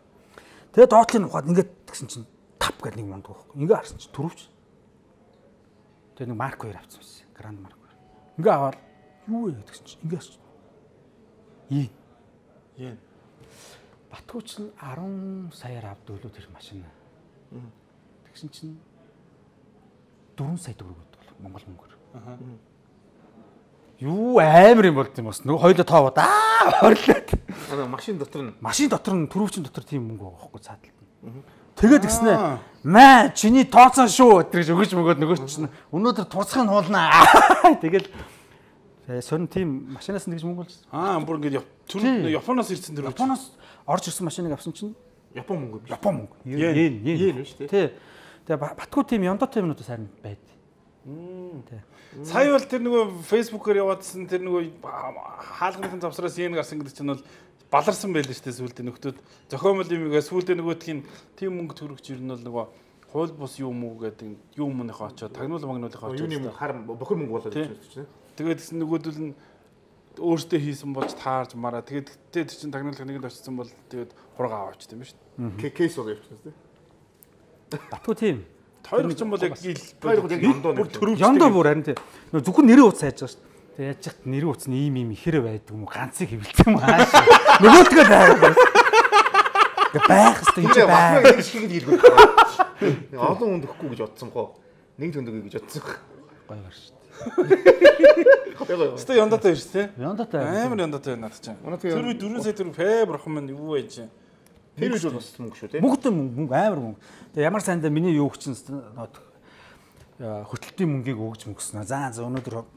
Тэгээ доотлын ухаад ингээд тэгсэн чинь тап гэдэг нэг мундаг байхгүй. Ингээ харсан чинь түрүүч. Тэгээ нэг Марк хоёр авсан байсан. Гранд Марк хоёр. Ингээ аваад юу вэ гэдгсэн чинь ингээ харсан. Ийм. Ийм. Батгүй чинь десять саяар авд өглөө тэр машин. Тэгсэн чинь дөрвөн сая төгрөг өгдөг Монгол мөнгөөр. Аа. Юу амар юм болд юм бас. Нөгөө хоёлоо тоовод аа хорлоод. Аа машин дотор нь машин дотор нь түрүүчин дотор тийм мөнгө байгаа байхгүй цааталт. Тэгээд гиснэ. Маа чиний тооцоо шүү гэж өгөж мөгөөд нөгөө чинь өнөөдөр турцахын хуулнаа. Тэгэл сонь тийм машинаас нэгж мөнгө болж. Аа бүр ингэ Японоос ирсэн тэр. Японоос орж ирсэн машиныг авсан чинь Япон мөнгө биш. Япон мөнгө. Йен, йен. Йен биш тий. Тий. Тэгээ батгүй тим Яндо тимнүүдээс харин байд. Тий. Сая бол тэр нөгөө фэйсбүүкээр яваадсан тэр нөгөө хаалганы завсраас йен гарсан гэдэг чинь бол баларсан байлээ шүү дээ сүүлдээ нөхдөөд зохиомл юмгаа сүүлдээ нөгөөдхийн тим мөнгө төрөгч ер нь бол нөгөө хууль бус юм уу гэдэг юм мөнийхөө очоод тагнуул магнуулынхаа очоод юуны мөнгө хар бохир мөнгө болоод ирж байна тийм. Тэгээд гэсэн нөгөөдөл нь өөртөө хийсэн болж таарж мараа тэгээд тэр чинь тагнуулах нэгэнд очсон бол тэгээд хурга аваач тийм шүү дээ. Кейс уу явчихсан тийм. Батгүй тийм. Хоёр ч юм бол яг ил хоёр яг яндоо төрөвч яндоо бүр харин тийм. Нөө зөвхөн нэрээ утас хайж байгаа шүү дээ. Тэгээд яаж ч нэрээ утас нь ийм ийм ихэр байдаг юм уу ганцыг хэвлэлсэн юм ааш. Нөгөөдгөө дайраа. Байх хэвээр энэ байх. Яг шиг хэлгүй. Олон хүнд өгөхгүй гэж бодсон гоо. Нэг төндөг гэж бодсон. Гоё гар шүү дээ. Өстө яндаатай биш тий. Яндаатай. Амар яндаатай надад чинь. Тэр үе дөрвөн сая төгрөг фэ бурхан минь юу байж. Тэр үе бол бас мөнгө шүү тий. Мөнгөтэй мөнгө амар мөнгө. Тэгээ ямар сайндаа миний юу гчин хөтөлтийн мөнгийг өгж мөнгөснө. За за өнөөдөр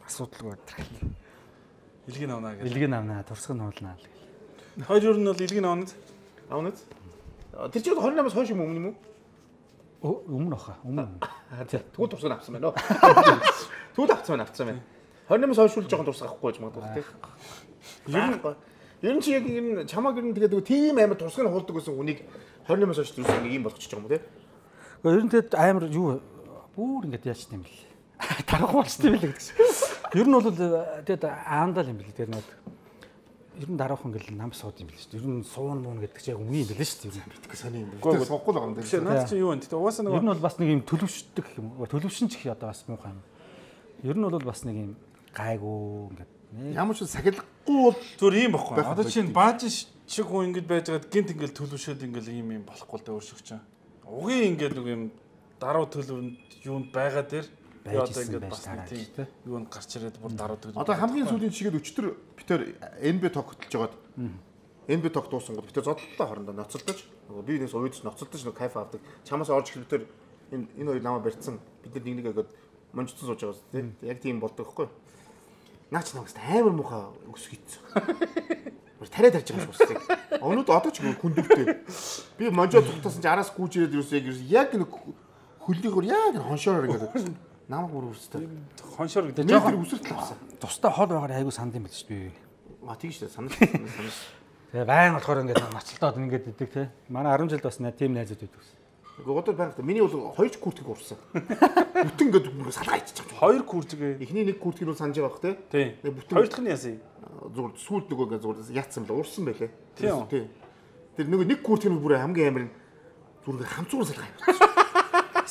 асуудалгүй байна. Илгийн авнаа гэж. Илгийн авнаа, турсгын хуулнаа л гэл. Хоёр юу нь бол илгийн авнаа. Авнаа. Тэр чинь двадцать восемнаас хойш юм өмнө юм уу? Өмнө баха. Өмнө. Тэгвэл турсгын авсан байна уу? Тэгвэл авсан байна, авсан байна. двадцать восемнаас хойш үл жоохон турсгах авахгүй гэж магадгүй тий. Ер нь ер нь чи яг энэ чамаг ер нь тэгээд тийм амар турсгын хуулдаг гэсэн хүнийг двадцать восемнаас хойш турсгын нэг юм болгочих юм уу тий? Ер нь тэгээд амар юу бүр ингэж яаж тийм бэл. Тарах болчтой билээ гэдэг чинь. Ер нь бол тэгээд аандал юм билээ. Тэр нэг ер нь дараахан ингээл нам сууд юм билээ шүү дээ. Ер нь суун муун гэдэг чинь яг үгүй юм билээ шүү дээ. Ер нь битгий сони юм. Гэхдээ сонгохгүй л байгаа юм дээ. Наад чи юу вэ? Тэгээд угаасаа нэг ер нь бол бас нэг юм төлөвшдөг юм. Төлөвшин ч их одоо бас муухай юм. Ер нь бол бас нэг юм гайгүй ингээд ямар ч сахилахгүй бол зүгээр ийм баггүй. Одоо чинь бааж шиг хүн ингэж байж байгаад гинт ингээл төлөвшөөд ингээл ийм юм болохгүй л дээ өөр шиг чинь. Угийн ингээд нэг юм даруй төлөвөнд юунд байгаа дээр байж исэн байж таараа тийм юунд гарч ирээд бүр даруй төлөв. Одоо хамгийн сүүлийн чигээд өчтөр битэр эн би тогтолж жагаад эн би тог дуусан гол битэр зодлоо хоорондоо ноцолдож нөгөө би нэгс уйдс ноцолдож нөгөө кайф авдаг. Чамаас орж ирэх битэр энэ энэ хоёр намаа барьцсан. Бид нар нэг нэг агад монжцсон сууж байгаа тийм. Яг тийм болдог байхгүй. Наач намаас амар муухай өс хийцэн. Тариа тарж байгаа юм шиг. Өнөөдөр одоо ч хүндөвтэй. Би монжоо цугтасан чи араас гүйж ирээд юус яг нэг хөллийгөр яг хоншоор ингээд намайг бүр үстэй. Хоншоор гэдэг жоохон үсэртэл авсан. Тустай хол байгаар айгу санд юм байл шүү дээ. А тийм шүү дээ. Санаж санаж. Тэгээ байн болохоор ингээд нацалтаад ингээд идэг те. Манай арван жилд бас тийм найзууд байдаг. Гэхдээ одоо байна. Миний бол хоёр куртгийг урсан. Бүтэн ингээд салгаа иччих. Хоёр куртгээ. Эхний нэг куртгийг бол санаж байгаа те. Тийм. Хоёр дахь нь яасан юм? Зүгээр сүүлд нөгөө ингээд зүгээр яатсан л урсан байлээ. Тийм. Тэр нөгөө нэг куртгийг бүр хамгийн амар зүгээр хамцуур салгаа юм.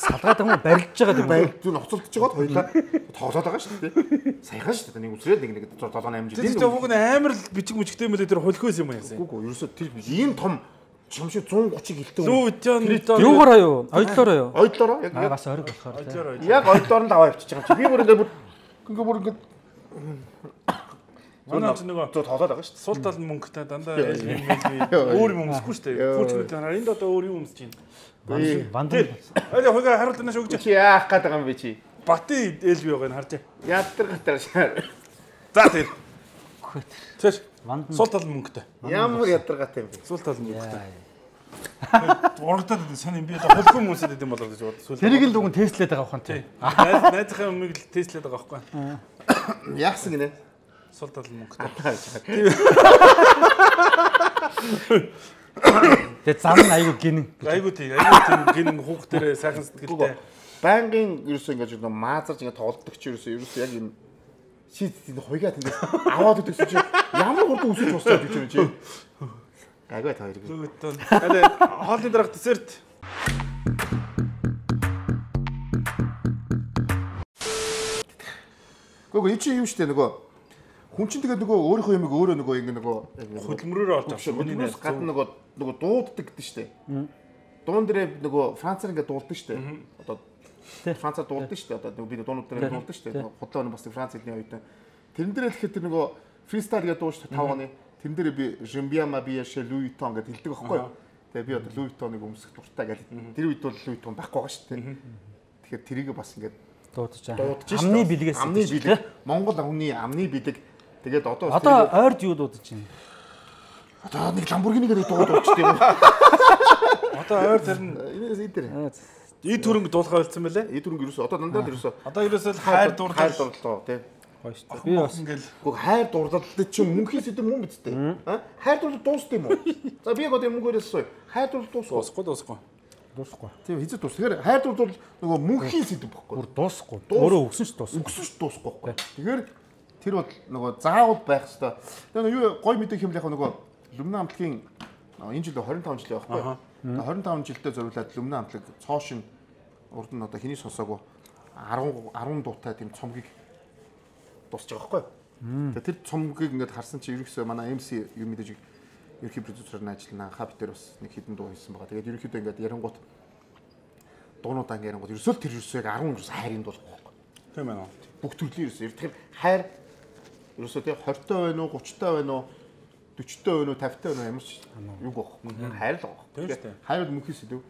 Салгаад юм барилж байгаа юм байна. Зүг ноцолдож байгаад хоёлаа тоглоод байгаа шүү дээ. Саяхан шүү дээ. Нэг үсрээд нэг нэг седьмой амжилт. Тэр хүүг нь амар бичиг мүжигтэй мөлөө тэр хөлхөөс юм яасан. Үгүй ерөөсөө тэр ийм том чамшиг one thirty гэлтэй. Лүү юугаар аюу? Ойдлоор аюу? Ойдлоор яг бас ориг болохоор. Яг ойдлоор л аваа явчих байгаа чи. Би бүр ингээд бүр ингээд бүр ингээд Манай ч нөгөө тоглоод байгаа шүү дээ. Сул тал мөнгөтэй дандаа өөр юм өмсөхгүй шүү дээ. Хүүчнүүд хараа энд одоо өөр юм өмсөж байна. Бандан. Арай хойгоо харуулт нааш өгч. Чи яах гээд байгаа юм бэ чи? Батын ээлби байгаа нь харж. Яадар гатар шаар. За тэр. Тэр. Бандан. Сул тал мөнгөтэй. Ямар ядаргатай юм бэ? Сул тал мөнгөтэй. Урагдаад сайн юм би одоо хөлхөн хүмүүсэд юм болоо гэж бод. Тэрийг л дүгэн тестлээд байгаа бахан тий. Найзынхаа өмнөг л тестлээд байгаа байхгүй. Яасан гинэ? Сул тал мөнгөтэй. Тэгээ зам нь айгу гинэн. Айгу тий. Айгу тий гинэн хүүхдэрээ сайхан сэтгэлтэй. Байнгын ерөөсөө ингэж нэг маазарч ингэ тоглолдог чи ерөөсөө ерөөсөө яг юм шийд тийм хуйгаад ингэ аваад өгсөн чи ямар хурдан үсэж босчоод гэж юм чи. Айгу та хоёрыг. Зүгтэн. Але хоолны дараах десерт. Гүг чи юм штэ нөгөө хүн чинь тэгээд нөгөө өөрийнхөө юмыг өөрөө нөгөө ингэ нөгөө хөдөлмөрөөр олж авсан. Миний найз гадна нөгөө нөгөө дууддаг гэдэг штэ. Дуун дээр нөгөө Францаар ингэ дуулдаг штэ. Одоо Францаар дуулдаг штэ. Одоо нөгөө би дуунууд дээр дуулдаг штэ. Худлаа бас Франц хэлний оюутан. Тэрэн дээр тэгэхээр тэр нөгөө фристайл гэдэг дуу штэ таван оны. Тэрэн дээр би Жимбиама биэшэ Луи Виттон гэдэг хэлдэг байхгүй юу? Тэгээ би одоо Луи Виттоныг өмсөх дуртай гэж. Тэр үед бол Луи Виттон байхгүй байгаа штэ. Тэгэхээр тэрийг бас ингэ дуудаж байгаа. Амны бэлгээс амны бэлэг. Монгол хүний амны бэлэг. Тэгээд одоо одоо ойрд юу дуудаж байна? Одоо нэг Lamborghini-гээр дууд уучтай юм. Одоо ойр тэрн Энээс идэр. ий төрөнг дуулахаа болцсон байлээ. Ий төрөнг ерөөсөө одоо дандаа ерөөсөө Одоо ерөөсөө хайр дурлал хайр дурлал тий. Гоё шүү дээ. Би бас ингээл Гэхдээ хайр дурлалд чинь мөнхийн сэдв мөн биз дээ. Аа? Хайр дурлал дуусна юм уу? За би яг одоо мөнгөөрөөс сууя. Хайр дурлал дуусах. дуусахгүй дуусахгүй. дуусахгүй. Тийм хэзээ дуус. Тэгэхээр хайр дурлал нөгөө мөнхийн сэдв бохгүй. Бүр дуусахгүй. Өөрөө өгсөн ч дуусахгүй. Өгсөн ч дуусахгүй байхгүй. Тэгэхээр тэр бол нөгөө заавал байх хэвээр. Тэгээ юу гой мэдээ хэмэл яг нөгөө Lumna амтлагийн энэ жил тwenty five жил байхгүй. twenty five жилдээ зориулаад Lumna амтлаг цоошин урд нь одоо хэний сонсоогүй ten ten дуутай тийм цомгийг дуусч байгаа байхгүй. Тэгээ тэр цомгийг ингээд харсан чи ерөөсөө манай эм си юм мэдээж ерхий продюсерын ажиллана. Хаб дээр бас нэг хідэн дуу хийсэн байгаа. Тэгээд ерөөхдөө ингээд ярангуут дуунуудаа ингээд ярангуут ерөөсөө тэр ерөөсөө ten ерөөсөө хайрын дуу байхгүй. Тийм ээ. Бүх төрлийн ерөөсөө. Тэгэхээр хайр ерөөсөө тийм twenty байна уу, thirty байна уу, forty байна уу, fifty байна уу ямар ч юу гоох. Хайр л гоох. Тэгэхээр хайр бол мөнхийн сэдв.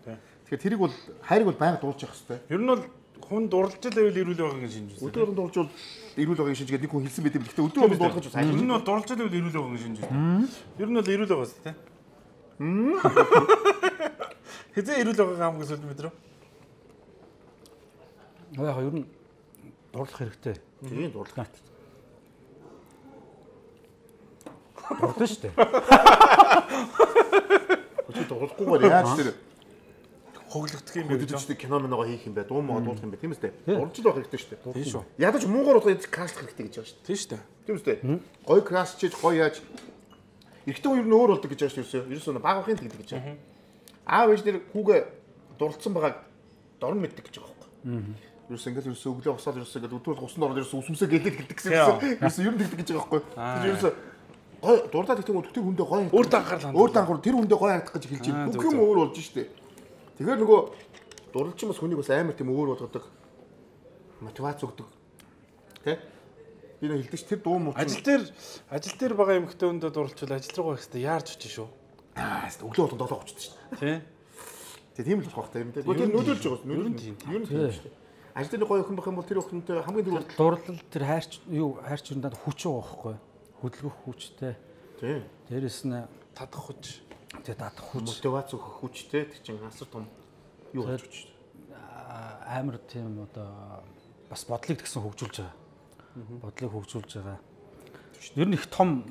Тэгэхээр тэрийг бол хайрыг бол байнга дуулж явах хэрэгтэй. Ер нь бол хүн дурлж л байвал ирүүл байгаа гэж шинж үзсэн. Өдөрөнд дуулж бол ирүүл байгааг шинжгээд нэг хүн хэлсэн байт юм. Гэхдээ өдөрөнд дуулгаж бас Ер нь бол дурлж л байвал ирүүл байгаа гэж шинж үзсэн. Ер нь бол ирүүл байгаа шүү дээ. Хэзээ ирүүл байгаа хамгийн сүүлд мэдрээ. яг ер нь дурлах хэрэгтэй. Тийм дурлах. Дурлаа шүү дээ. Өчигдөр дурлахгүйгээр яаж тэр Хоглогдох юм бэ гэж. өдөрчдөг кино миногоо хийх юм бэ, дуу мага дуулах юм бэ, тийм үстэй. Дурлж л байх хэрэгтэй шүү дээ. Тийм шүү. Ядаж муугаар удаа крашлах хэрэгтэй гэж байгаа шүү дээ. Тийм шүү дээ. Тийм үстэй. Гой краш чиж гой яаж эрэгтэй хүн ер нь өөр болдог гэж байгаа шүү дээ. Ерөөсөө баг багын тэгдэг гэж байгаа. Аав ээж нэр хүүгээ дурлцсан байгааг дорн мэддэг гэж байгаа байхгүй. Ерөөсөө ингээд ерөөсөө өглөө босоод ерөөсөө ингээд өдөрт усан ороод ерөөсөө усмсээ гэлээд гэлдэг гэсэн юм. Ерөөсөө ер нь тэгдэг гэж байгаа байхгүй. Тэр ерөөсөө гой дурлаад гэдэг нь тэр хүндээ гой Өөр данхаар л өөр данхаар тэр хүндээ гой харагдах гэж хэлж байна. Бүх юм өөр болж штэ. Тэгэхээр нөгөө дурлалч бас хүнийг бас амар тийм өөр болгодог. Мотивац өгдөг. Тэ? Би нэг хэлдэг ш тэр дуу муу. Ажил дээр ажил дээр байгаа эмэгтэй хүндээ дурлчвал ажил руу гэх хэвээр яарч очиж шүү. Аа, өглөө болон долоо очдог ш. Тий. Тэгээ тийм л болох байх та юм дээ. Тэр нөлөөлж байгаа. Нөлөөлж тийм. Юу нь тийм шүү дээ. Ажил дээр гоё охин байх юм бол тэр охинтой хамгийн түрүү Дурлал тэр хайрч юу хайрч юм даа хүч байгаа байхгүй. Хөдөлгөх хүчтэй. тийм. Дээрэс нь Тадах хүч. тэгээ дадах хүч. Мотивац өгөх хүчтэй тэр чинь асар том юу болж хүч. Амар тийм одоо бас бодлыг тэгсэн хөгжүүлж байгаа. Бодлыг хөгжүүлж байгаа. Ер нь их том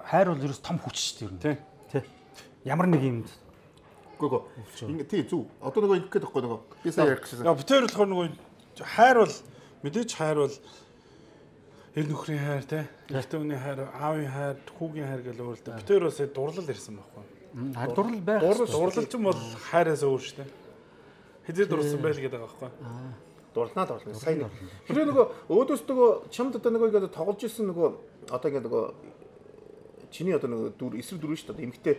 хайр бол ерөөс том хүч шүү дээ ер нь. Тий. Тий. Ямар нэг юмд Гүгөө. Ингээ тий зүг. Одоо нөгөө ингэх гээд байхгүй нөгөө. Би сая ярих гэсэн. Яа битээр болохоор нөгөө хайр бол мэдээж хайр бол эр нөхрийн хайр те. Эртний хүний хайр, аавын хайр, хүүгийн хайр гэл өөрөлдөө. Битээр бас дурлал ирсэн байхгүй. хайр дурлал байх. Дурлал ч юм бол хайраас өөр шүү дээ. Хэзээ дурлсан байл гэдэг байгаа байхгүй. Дурлнаа дурлна. Сайн нэг. Тэр нөгөө өөдөөс нөгөө чамд одоо нөгөө ингээ тоглож ирсэн нөгөө одоо ингээ нөгөө чиний одоо нөгөө дүр эсрэг дүр шүү дээ. Эмхтэй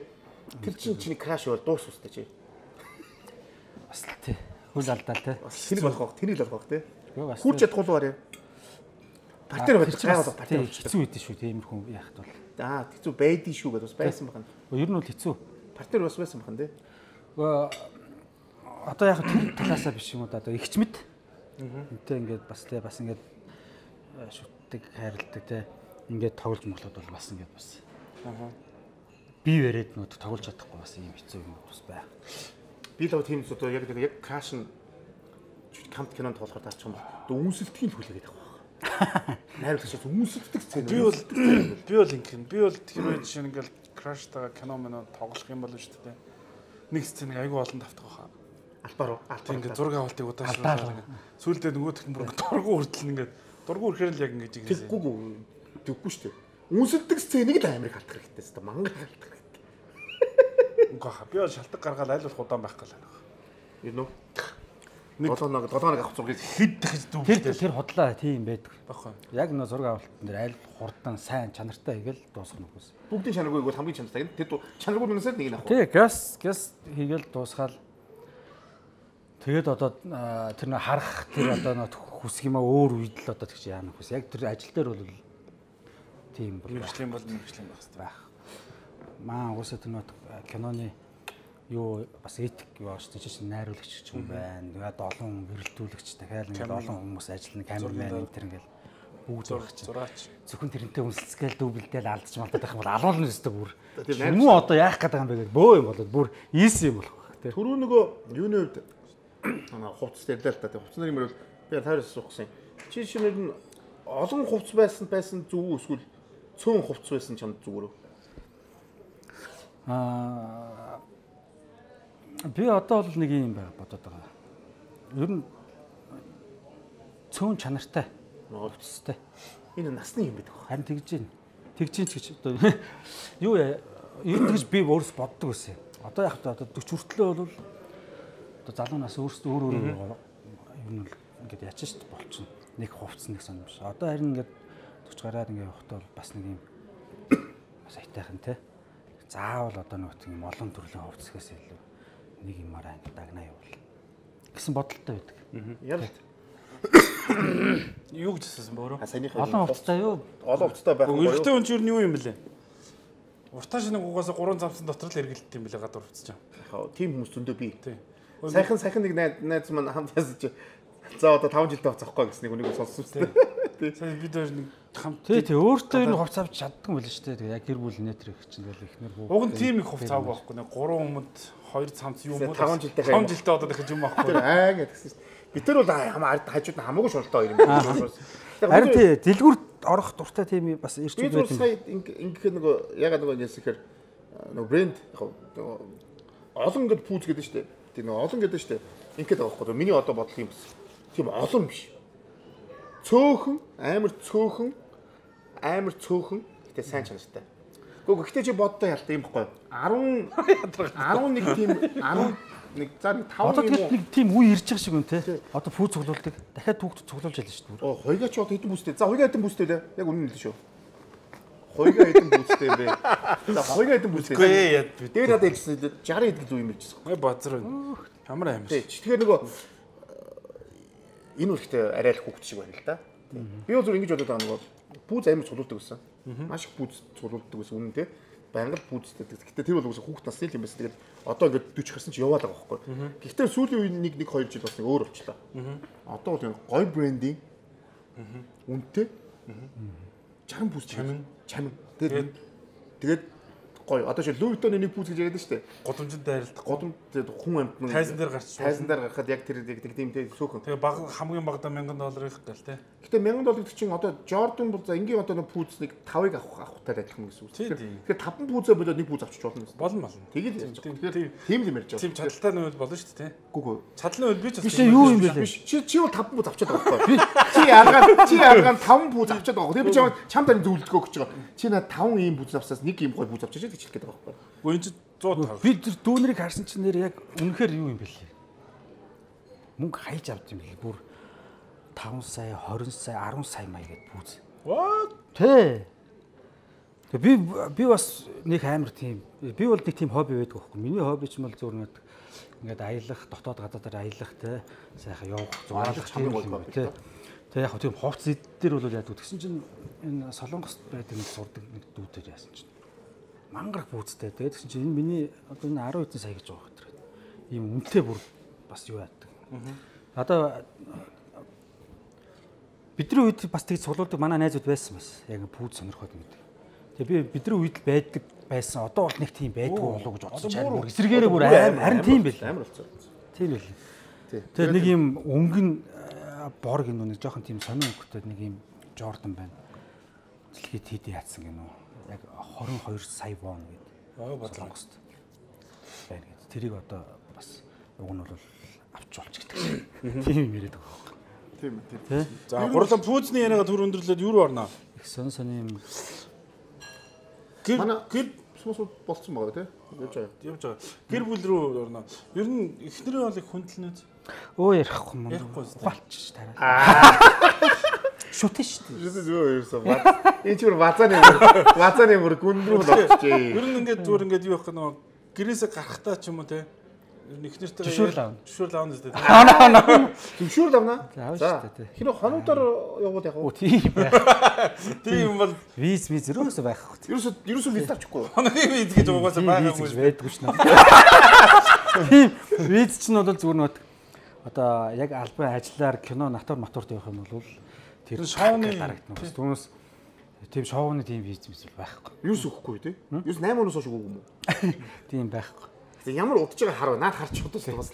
тэр чинь чиний краш бол дуус үстэй чи. Бас л тий. Хөл алдаал тий. Тэр болох байх. Тэрийг л болох байх тий. Бас Хурж ядах уу арай. Партер байж гайвал партер тий. Хэцүү байдэн шүү тиймэрхүү яахт бол. Аа хэцүү байдгийн шүү гэдээ бас байсан байна. Ер нь бол хэцүү. Партер бас байсан байна тий. Одоо яг тэр талаасаа биш юм уу одоо ихч мэд. Үнтэй ингээд бас тий бас ингээд шүтдэг хайрладаг тий. Ингээд тоглож моглоод бол бас ингээд бас. Аа. Би яриад нөт тоглож чадахгүй бас юм хэцүү юм бас байх. Би л тийм ч одоо яг яг краш нь камт кинонд тоглохоор таарч юм байна. Одоо үнсэлтгийн хүлээгээд байгаа. Найруулагч үнсэлдэг сцен. Би бол би бол ингэн. Би бол тэр үед жишээ нь ингээл краштайгаа кино мөн тоглох юм бол шүү дээ. Нэг сценийг айгүй олон давтах байхаа. Альбаар уу? Тийм ингээд зураг авалтыг удаашруулаад сүүлдээ нөгөөх нь бүр дургу хүртэл ингээд дургу ирэхээр л яг ингэж ингэсэн. Тэггүй тэггүй шүү дээ. Үнсэлдэг сценийг л амирыг халтах хэрэгтэй шүү дээ. Мангар халтах хэрэгтэй. Үгүй хаа. Би бол шалтгаан гаргаад айл болох удаан байх гал байна. Юу нөө? Нэг долоо нэг долоо нэг авах зургийг хэд дахиж Тэр дүүхтэй тэр худлаа тийм байдаг. байхгүй. Яг нөө зураг авалтан дээр аль хурдан сайн чанартай хийгээл дуусгах нь үгүйс. бүгдийн чанаргүй бол хамгийн чанартай. Тэр чанаргүй нүнсэд нэг нь авах. Тий, газ газ хийгээл дуусгаал. Тэгээд одоо тэр нөө харах тэр одоо нөө хүсэх юм аа өөр үед л одоо тэгж яана хүс. Яг тэр ажил дээр бол тийм бол Мэргэжлийн бол мэргэжлийн байх хэрэгтэй. байх. Маа уусаа тэр нөө киноны юу бас этик юу ааш тийм чинь найруулагч ч юм байна. Тэгээд олон гэрэлтүүлэгч дахиад ингээд олон хүмүүс ажиллана, камермен энэ төр ингээл бүгд байх чинь. Зураач. Зөвхөн тэрнтэй үнсэлцгээл дүүбэлдээл алдчих малтаад байх юм бол алуулна өстой бүр. Юм уу одоо яах гэдэг юм бэ гэдэг бөө юм болоод бүр ийсэн юм болох байх тий. Түрүү нөгөө юуны үед аа хувцас ярьлаа л та. Хувцас нарын мөр би таарс суусан. Чи шинээр нь олон хувцас байсан байсан зүг үү эсвэл цөөн хувцас байсан чамд зүгээр үү? Аа би одоо бол нэг юм байна бодоод байгаа. Ер нь цөөн чанартай хувцастай. Энэ насны юм байдаг. Харин тэгж гин. Тэгж гин ч гэж одоо юу яа ер нь тэгж би өөрөөс боддог байсан. Одоо яг одоо forty хүртлөө бол одоо залуу нас өөрсдөө өөр өөр ер нь ингээд яач шүү дээ болчихно. Нэг хувцас нэг сон юм шиг. Одоо харин ингээд forty гараад ингээд явахдаа бол бас нэг юм бас айтайхан те. Заавал одоо нэг тийм олон төрлийн хувцасгаас илүү нэг юмараа ингээд дагнаа явуул гэсэн бодолтой байдаг. Яа. Юу гэж хэлсэн бөөрөө? Олон хувцастай юу? Олон хувцастай байх юм. Өргөтэй хүн чинь юу юм бэлээ? Уртаа шинэ гугаас гурван завсан дотор л эргэлдэх юм бэлээ гадуур хувцас чам. Яг тийм хүмүүс зөндөө бий. Тийм. Сайхан сайхан нэг найз маань хамт ясаж за одоо five жилдээ хувцас авахгүй гэсэн нэг үнийг сонссон шүү дээ. Сайн бид хоёр нэг хамт тий тий өөртөө энэ хувцас авч чаддаг юм байл шүү дээ. Яг гэр бүл нэтэр их чинь тэгэл ихнэр хөө. Уг нь тийм их хувцас авах байхгүй нэ гурван өмд хоёр цамц юм уу? five жилдээ five жилдээ одоо дахиж юм авахгүй. Аа гэдгсэн шүү дээ. Бид нар бол хамаа хажууд нь хамаагүй шуналтай хоёр юм байна. Харин тий дэлгүүр орох дуртай тийм бас ирч үү байдаг. Би сая ингэхээр нөгөө ягаад нөгөө ингэсэхээр нөгөө брэнд олон гэд пүүз гэдэг шүү дээ. Тийм нөгөө олон гэдэг шүү дээ. Ингээд байгаа байхгүй. Миний одоо бодлого юм бас. Тийм олон биш. Цөөхөн, амар цөөхөн, амар цөөхөн гэтээ сайн чанартай. Гэхдээ гэхдээ чи боддоо ялтай юм байхгүй. ten eleven тийм eleven за нэг five юм уу? Нэг тийм үе ирж байгаа шиг юм те. Одоо пүүз цуглуулдаг. Дахиад түүхт цуглуулж ялна шүү дээ. Оо, хоёгаа ч одоо хэдэн бүстэй. За хоёгаа хэдэн бүстэй лээ. Яг үнэн л шүү. Хоёгаа хэдэн бүстэй юм бэ? За хоёгаа хэдэн бүстэй. Үгүй яа. Дээр надад хэлсэн sixty хэд л үе юм хэлчихсэн. Ой базар байна. Ямар амар. Тий. Тэгэхээр нөгөө энэ үрхтэй арай л хүүхд шиг байна л да. Би бол зүр ингэж бодоод байгаа нөгөө пүүз амар цуглуулдаг гэсэн. Маш их пүүз цуглуулдаг гэсэн үнэн те. Байнгал пүүзтэй. Гэхдээ тэр бол үгүй хүүхд насны юм байсан. Тэгээд одоо ингээд forty гарсан чи яваад байгаа байхгүй. Гэхдээ сүүлийн үеийн нэг нэг two жил бас нэг өөр болчлаа. Одоо бол гой брендинг үнэтэй чарам пүүз чамин чамин. Тэгээд тэгээд гой одоо чи Louis Vuitton-ы нэг пүүз гэж яриад шүү дээ. Годомжинд дайралдаг. Годом хүн амт тайзан дээр гарч тайзан дээр гарахад яг тэр нэг тиймтэй сөөхөн. Тэгээ баг хамгийн багадаа one thousand доллар их гал те. Гэтэ one thousand доллар чинь одоо Jordan бол за ингийн одоо нэг пүүз нэг five-ыг авах авахтай адилхан гэсэн үг. Тэгэхээр five пүүзээ болоод нэг пүүз авчиж болно гэсэн. Болно болно. Тэгээд тэгэхээр тийм л юм ярьж байгаа. Тийм чадaltaй нь болно шүү дээ те. Гүгөө. Чадлын үйл би ч бас юу юм бэ? Чи чи бол five пүүз авчаад байгаа байхгүй. Чи ялгаад чи ялгаад five пүүз авчаад байгаа. Тэгээ би чамд чамд тань зөвлөдгөө гэж байгаа. Чи наа five ийм пүүз авсаас нэг ийм гой пүүз авчиж гэж хэлэх гээд байгаа байхгүй. Гүн чи one hundred би тэр дүүнэрийг харсан чинь нэр яг үнэхээр юу юм бэ лээ. Мөнгө хайж авд юм бэл бүр five сая, twenty сая, ten сая маяг гэд пүүз. What? Тэ. Тэг би би бас нэг амар тийм би бол нэг тийм хобби байдаг байхгүй. Миний хобби ч юм бол зөв нэг ингээд аялах, дотоод гадаадаар аялах те сайхан явах, зураалах тийм юм те. Тэг яг тийм хувц эддэр бол яадаг гэсэн чинь энэ Солонгост байдаг нэг сурдаг нэг дүүдээр яасан чинь мангарах пүүзтэй. Тэгээд гэсэн чинь энэ миний одоо энэ ten хэдэн сая гэж байгаа хэрэг. Ийм үнэтэй бүр бас юу яадаг. Одоо бидний үед бас тэгж цуглуулдаг манай найзууд байсан бас. Яг пүүз сонирхоод байдаг. Тэгээ би бидний үед л байдаг байсан. Одоо бол нэг тийм байдгүй болов гэж бодсон чинь бүр эсрэгээрээ бүр аим харин тийм байл. Амар болцоо. Тийм байл. Тэгээ нэг юм өнгөн бор гинөө нэг жоохон тийм сонин өнгөтэй нэг юм Jordan байна. Дэлхийд хийдий яатсан гинөө. Яг twenty-two сая вон гэдэг. Аа бодлонгост. байна гэдэг. Тэрийг одоо бас уг нь бол авч болж гэдэг. Тийм юм яриад байгаа байхгүй. Тийм тийм. За гурлан пүүзний яриага төр өндөрлөөд юу руу орноо? Их сон сони юм. Гэр гэр сумс болцсон байгаа тий. Явж байгаа. Явж байгаа. Гэр бүл рүү орноо. Ер нь эхнэрээ бол их хүндэлнэ. Өө ярихгүй юм. Ярихгүй ухаалч тарай. Аа. Шүтэн шүү дээ. Юу юу ерөөсөө бат. Энэ ч бүр базааны базааны бүр гүн рүү болчихжээ. Ер нь ингээд зүгээр ингээд юу явах нөгөө гэрээсээ гарахтаа ч юм уу те. Ер нь эхнэртэйгээ зөвшөөрөл аавна. Зөвшөөрөл аавна зү. Зөвшөөрөл аавна. За. Хиро хоногдоор яваад яг. Оо тийм байх. Тийм бол виз виз ерөөсөө байхгүй. Ерөөсөө ерөөсөө виз авчихгүй. Хоногийн виз гэж угаасаа байгаагүй байдгүй ш нь. Тийм виз чинь бол зүгээр нэг одоо яг албан ажиллаар кино натур матурт явах юм бол тэр шоуны дарагдана. Түүнээс тийм шоуны тийм бизнес байхгүй. Юус өгөхгүй тий. Юус найман оноос хойш өгөөгүй юм уу? Тийм байхгүй. Тэг ямар удаж байгаа харав. Наад харч удаж бас.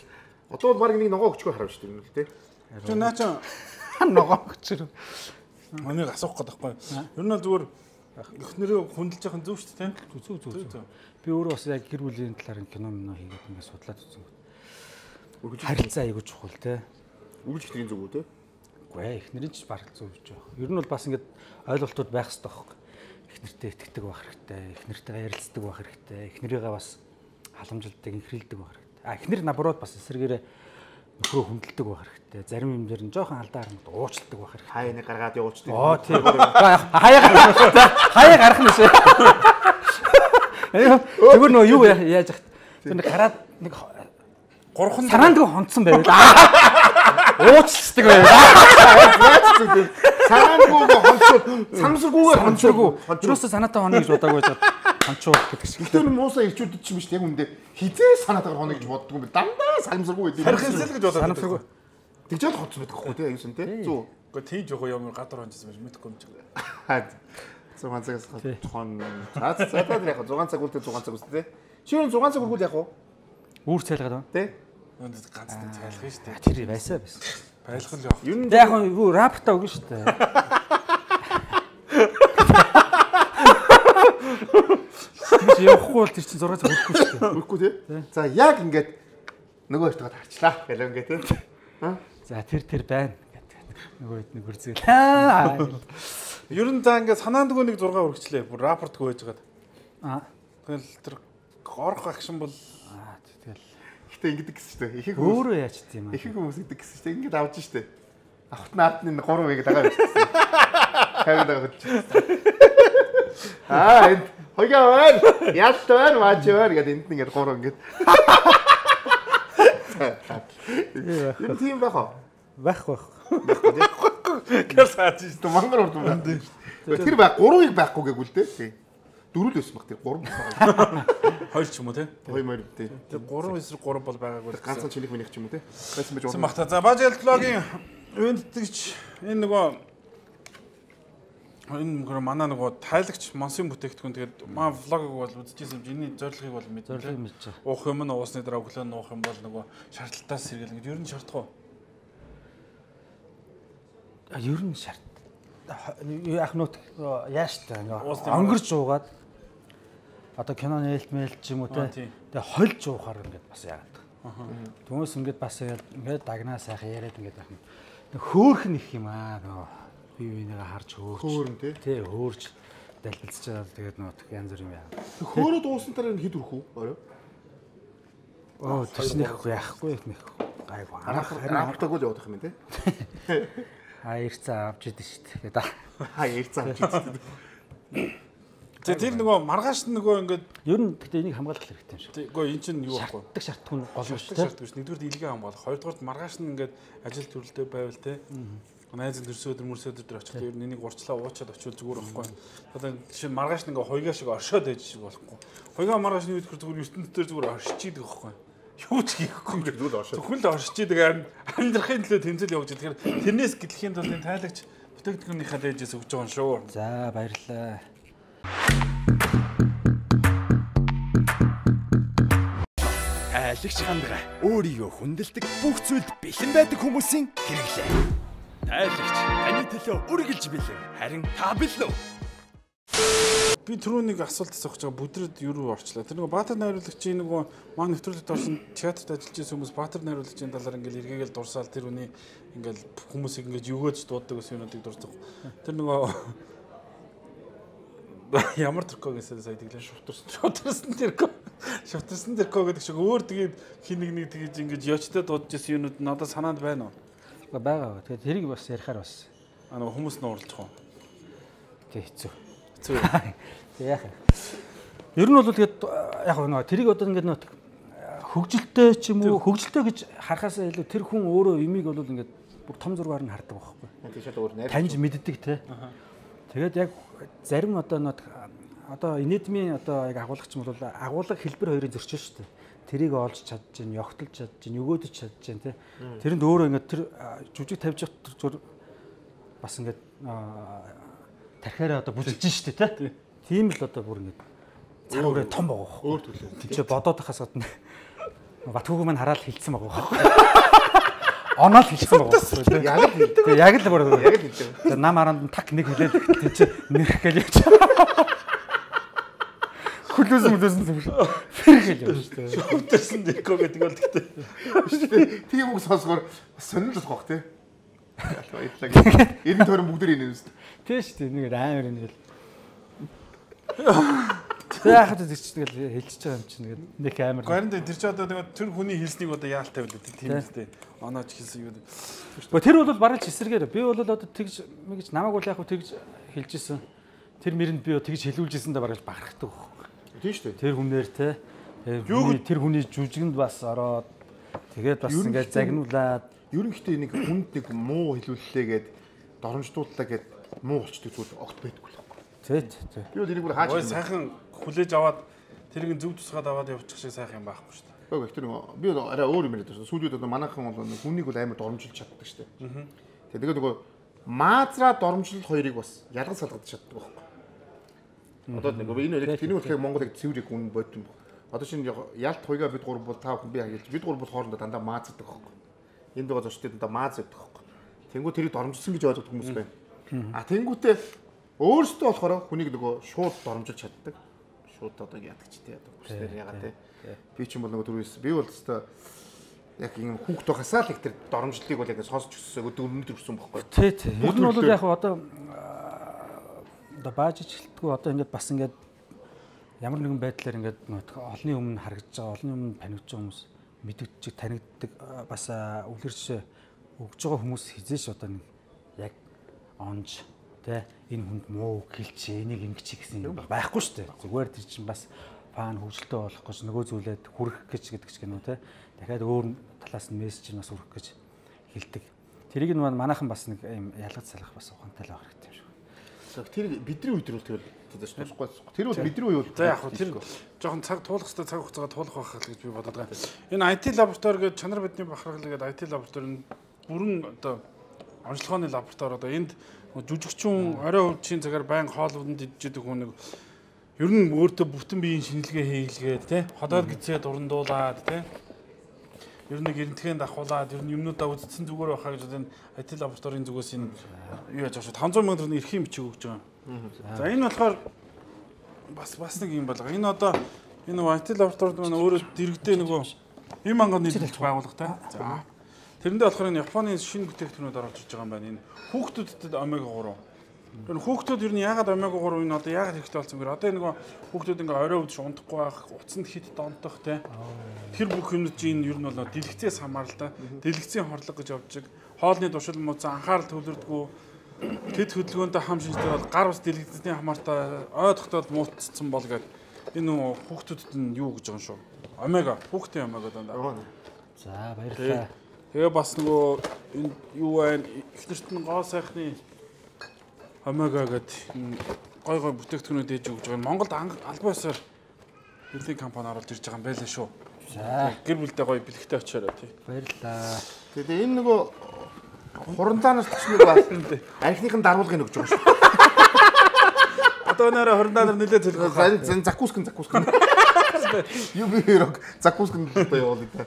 Одоо бол баг нэг ногоо өгчгүй харав шүү дээ юм л тий. Чи наа чи ногоо өгчрөө. Манайг асуух гэдэг байхгүй. Ер нь бол зүгээр эхнэрээ хүндэлж яхан зөв шүү дээ. Зүг зүг зүг. Би өөрөө бас яг гэр бүлийн талаар кино минь хийгээд ингээд судлаад үзсэн. Харилцаа айгуу чухал тий. Үргэлж ихний зүг үү тий. Үгүй эхнэрийн ч бараг зөв гэж байгаа. Ер нь бол бас ингээд ойлголтууд байх хэрэгтэй байхгүй. Эхнэртэй итгэдэг байх хэрэгтэй. Эхнэртэйгээ ярилцдаг байх хэрэгтэй. Эхнэрийгээ бас халамжилдаг, инхрилдэг байх хэрэгтэй. А эхнэр набрууд бас эсрэгээрээ нөхрөө хүндэлдэг байх хэрэгтэй. Зарим юм дээр нь жоохон алдаа хармад уучладаг байх хэрэгтэй. Хаяа нэг гаргаад явуулчдаг. Оо тийм. Хаяа гарах нь шүү. Хаяа гарах нь шүү. Тэгвэр нөө юу яаж яах. Тэр нэг гараад нэг гурхан санаандгүй хонцсон байвал уучлцдаг байвал санаандгүй хонцсон самсаргүйгээр хонцоогүй юусаа санаатай хоно гэж бодоагүй жаад хонцоолох гэдэг шиг. Тэр муусаа ирчүүдэд ч юм биш яг үндэ хизээ санаатайгаар хоно гэж боддгоо би дандаа самсаргүй байдаг. харихсэл гэж бодоод санамсаргүй. Тэгжээд хоцсон байдаг хөө тий аюусан тий. Зүг. Гэхдээ тийм жоо ямар гадар хонцсон байж мэдэхгүй юм чиг. зургаан цагаас хон. За за та яг зургаан цаг үлдээ зургаан цаг үстэ тий. Чи юу зургаан цаг үргүүл яг уу? Үүр цайлгаад байна. Тий. Өнөд ганцтай цайлах шүү дээ. Тэр байсаа байсан. Байлгал явах. Ер нь яг юу рапта өгнө шүү дээ. Тэр явахгүй бол тэр чинь зураг цаг өгөхгүй шүү дээ. Өгөхгүй тий. За яг ингээд нөгөө хоёртойгоо харчлаа гэл ингээд тий. За тэр тэр байна гэдэг. Нөгөө хэд нэг үрзээл. Ер нь за ингээд санаандгүй нэг зураг өргөчлээ. Бүр рапортгүй байжгаад. Аа. Тэгэл тэр орох акшн бол Аа тэгэл Гэтэ ингэдэг гэсэн шүү дээ. Ихэнх өөрөө яаж тийм юм. ихэнх хүмүүс ингэдэг гэсэн шүү дээ. Ингээд авч шүү дээ. Авахт наадны гурав байгаад байгаа юм шүү дээ. Хайгаад байгаа ч. Аа энэ хоёроо байна. Яалт байна, маач байна гэдэг энд ингээд гурав ингээд. Энэ тийм байх уу? Байх байх. гэр саач шүү. Тэ мангар урд юм. Тэр байх гурвыг байхгүй гээгүүл дээ. Дөрөв л байсан баг тэр гурав. Хоёр ч юм уу те. Хоёр мөр дээ. Тэр гурван эсрэг гурав бол байгаагүй. Ганцхан чилих минийх ч юм уу те. Байсан байж Сэн болно. багта. За бажил блогийн ивэнтгэж энэ нөгөө энэ нөгөө манай нөгөө тайлагч Монсын бүтээгдэхүүн тэгээд маа влогыг бол үзчихсэн юм. Эний зорилгыг бол мэдээ. Зорилгыг мэдчихэ. Уух юм нь уусны дараа өглөө нуух юм бол нөгөө шаардлагатаас сэргээл ингэ ер нь шаардах уу? А ер нь шарт. Ах нут яаш та өнгөрч уугаад одоо кино нээлт мэйлт ч юм уу те. Тэгээ хольж уухаар ингээд бас яагаад. Түүнээс ингээд бас ингээд дагнаа сайхан яриад ингээд байх юм. Хөөх нэх юм аа нөгөө бие бинийгээ харж хөөрч. Хөөрн тий. Тий хөөрч дэлбэлцэж байгаа тэгээд нөгөө янз бүр юм яа. Хөөрөө дуусан дараа хэд өрөх үү? Орой. Оо төснөх яахгүй нэх. Гайгүй. Арахтаггүй л явах юм тий. А ирцээ авч идэв шүү дээ. Тэгээд Аа ярьцаа авч идэв. Тэгээ тэр нөгөө маргааш нөгөө ингээд ер нь гэхдээ энийг хамгаалах хэрэгтэй юм шиг. Тэггүй эн чинь юу байхгүй. Шаарддаг шаардлагын гол нь шүү Шаарддаг шүү. Нэгдүгээр илгээ хамгаалах. Хоёрдугаар маргааш нь ингээд ажил төрөлтэй байвал те. Найз төрсө өдөр мөрсө өдөр очих. Тэр энийг урчлаа уучаад очивол зүгээр байхгүй. Одоо жишээ нь маргааш нь ингээ хойгаа шиг оршоод байж шиг болохгүй. Хойгаа маргааш нь үдгэр зүгээр ертөнд дээр зүгээр оршиж идэг байхгүй. Юу ч хийхгүй ингээ зүгээр оршоо. Зөвхөн л оршиж идэг амьдрахын төлөө тэмцэл явуулж байгаа. Тэгэхээр тэрнээс гэтлэхийн тулд энэ тайлагч бүтээгдэхүүнийхээ дээжээс өгч байгаа юм шүү. За баярлалаа. Тайлагч хандгаа өөрийгөө хүндэлдэг бүх зүйлд бэлэн байдаг хүмүүсийн хэрэглээ. Тайлагч таны төлөө үргэлж бэлэн. Харин та бэлэн үү? Би түрүүнийг асуулт асуух гэж байгаа бүдрээд юу руу орчлаа. Тэр нөгөө Баатар найруулагчийн нөгөө маань нэвтрүүлэгт орсон театрт ажиллаж байсан хүмүүс Баатар найруулагчийн талаар ингээл эргээгээл дурсаал тэр үний ингээл хүмүүсийг ингээд югөөж дууддаг гэсэн юмнуудыг дурсдаг. Тэр нөгөө ямар тэрко гэсэн сая тэглээ шувтарсан. Шувтарсан тэрко. Шувтарсан тэрко гэдэг шиг өөр тэгээд хин нэг нэг тэгж ингээд ёчтой дуудаж байсан юмнууд надад санаанд байна уу? Байгаа. Тэгээд тэрийг бас ярихаар бас. А нөгөө хүмүүс нь уралдах уу? Тэг хэцүү. Хэцүү. Тэг яах вэ? Ер нь бол тэгээд яг нөгөө тэрийг одоо ингээд нөт хөгжилтэй ч юм уу хөгжилтэй гэж харахаас илүү тэр хүн өөрөө юмыг бол ингээд бүр том зургаар нь хардаг байхгүй. Тийшээ өөр найр. Таньж мэддэг те. Тэгээд яг зарим одоо нөт одоо инедмийн одоо яг агуулгач юм бол агуулга хэлбэр хоёрын зөрчил шүү дээ. Тэрийг олж чадж гин, ёгтолж чадж гин, өгөөдөж чадж гин те. Тэрэнд өөрөө ингээд тэр жүжиг тавьж явах зүр бас ингээд тархиараа одоо бүжиглж штэ тий. Тийм л одоо бүр ингээд цаг үрээ том байгаа. Өөр төлөө. Тэг чи бодоод байхаас гадна Батхүүг маань хараад хилцсэн байгаа. Оноод хилцсэн байгаа. Яг л хэлдэг. Яг л бүр яг л хэлдэг. Нам аранд так нэг хэлээд тий чи нэрх гээл явж. Хүлээс мүлээс нь фэрхэл явж штэ. Шүвдэрсэн дэко гэдэг бол тэгтээ. Тийм үг сонсгоор сонирхол болох бах тий. Баярлалаа. Эрен тойрон бүгд ирнэ үст. Тий штэ нэг амар юм гэл. Яахад тэр чинь тэгэл хэлчихэж байгаа юм чинь нэг амар. Харин тэр чинь одоо тэр хүний хэлснийг одоо яалтай байлаа тийм үстэй. Онооч хэлсэн юу. Гэхдээ тэр бол бараг ч эсэргээр би бол одоо тэгж мэгж намайг бол яг хөө тэгж хэлжсэн. Тэр мэрэнд би тэгж хэлүүлжсэндээ бараг бахархдаг. Тийм шүү дээ. Тэр хүнээр те тэр хүний жүжигэнд бас ороод тэгээд бас ингээд загнуулаад ерөнхийдөө нэг хүнд нэг муу хэлүүллээгээд доромждууллаа гэд муу болчдөг зүйл огт байдгүй л. Тий, тий. Би бол энийг бүр хааж байна. Ой сайхан хүлээж аваад тэрийг зүг тусгаад аваад явуучих шиг сайхан юм байхгүй шүү дээ. Ой тэр би бол арай өөр юм яриад байна. Сүүлүүд одоо манайхан бол хүнийг бол амар доромжилж чаддаг шүү дээ. Тэгээд нөгөө маазраа доромжлол хоёрыг бас ялгаж салгаж чаддаг байхгүй. Одоо нэг энэ нэг тэнийг болохоор Монголыг цэврийг үн бодсон. Одоо шинэ ялт хоёгаа бид гурав бол тав хүн би хэлж бид гурав бол хоорондоо дандаа мааздаг байхгүй. Энд байгаа зочдод дандаа мааз өгдөг байхгүй. Тэнгүү тэрийг доромжилсан гэж ойлгох хүмүүс байна. А тэнгүүтээ өөрөөсөө болохоор хүнийг нөгөө шууд доромжилж чаддаг. Шууд одоо яадаг ч тий одоо хүснээр яагаад тий. Би ч юм бол нөгөө түрүүс би бол өстой яг юм хүүхд тохасаа л их тэр доромжлыг бол яг сонсч өссөн өдөр өссөн байхгүй. Тий тий. Ер нь бол яг одоо одоо баажиж хэлтгүү одоо ингээд бас ингээд ямар нэгэн байдлаар ингээд олны өмнө харагдаж байгаа, олны өмнө танигдж байгаа хүмүүс мэддэг, танигддаг бас үлгэрч өгж байгаа хүмүүс хизээш одоо нэг яг онж тэ энэ хүнд муу хэлч энийг ингэж гэсэн юм байхгүй шүү дээ. Зүгээр тэр чинь бас фан хөвжөлтөө болох гэж нөгөө зүйлээд хүрэх гэж гэдэг ч гэнэ үү тэ. Дахиад өөр талаас нь мессеж нь бас хүрэх гэж хэлдэг. Тэрийг нь манайхан бас нэг юм ялгаж салах бас ухаантай л байх хэрэгтэй юм шиг. Тэр бидний үед л тэгэл тусахгүй. Тэр бол бидний үе бол. За яг хөө тэр жоохон цаг туулах хэрэгтэй цаг хугацаагаа туулах байх л гэж би бодоод байгаа. Энэ ай ти лаборатори гэдэг чанар бидний бахархал гэдэг ай ти лаборатори нь бүрэн одоо онцлогооны лаборатори одоо энд жүжигчүүн орой өвчийн цагаар байн хоолунд идчихдэг хүн нэг ер нь өөртөө бүтэн биеийн шинжилгээ хийлгээд тий ходоод гизээд урандуулаад тий ер нь гэрнтхэн давхуулаад ер нь юмнуудаа үзсэн зүгээр байхаа гэж энэ ай ти лабораторийн зүгээс энэ юу яаж авах таван зуун мянган төгрөгийн эрхийн бичиг өгч байгаа. За энэ болохоор бас бас нэг юм байна. Энэ одоо энэ ай ти лабораторид маань өөрөө дэрэгдээ нөгөө эм анганы нийлүүлж байгуулгатай. За тэрэндээ болохоор энэ Японы шинэ бүтээгдэхүүнүүд оруулж ирж байгаа юм байна. Энэ хүүхдүүдэд омега гурав. Тэр хүүхдүүд ер нь яагаад омега гурав энэ одоо яагаад хэрэгтэй болсон гэхээр одоо нөгөө хүүхдүүд ингээ орой өвдөж унтахгүй байх, уцанд хит донтох тий. Тэр бүх юмнууд чинь ер нь бол дэлгэцээс хамааралтай. Дэлгэцийн хорлог гэж явж байгаа. Хоолны душил мууцсан анхаарал төвлөрдгөө тэд хөдөлгөөнтэй хам шинжтэй бол гар ус дэлгэцийн хамаартай ой тогтоод муутцсан бол гээд энэ хүүхдүүдэд нь юу гэж байгаа юм шүү. Омега, хүүхдийн омега даа. За баярлалаа. Тэгээ бас нөгөө энэ юу байна? Эхнэрт нь гоо сайхны омега гэдэг гой гой бүтээгдэхүүнүүд ээж өгж байгаа. Монголд албан ёсоор хэдийн компани оруулж ирж байгаа юм байлаа шүү. За гэр бүлдээ гоё бэлэгтэй очиороо тий. Баярлалаа. Тэгээ энэ нөгөө хурандаанаас төчнөг бас архиныхын даруулгыг өгж байгаа шүү. Одоо нэрэ хурандаанаар нэлээд төлөх. Зэн закускэн закускэн. Юу би хэрэг закускэн гэдэг явуулъя та.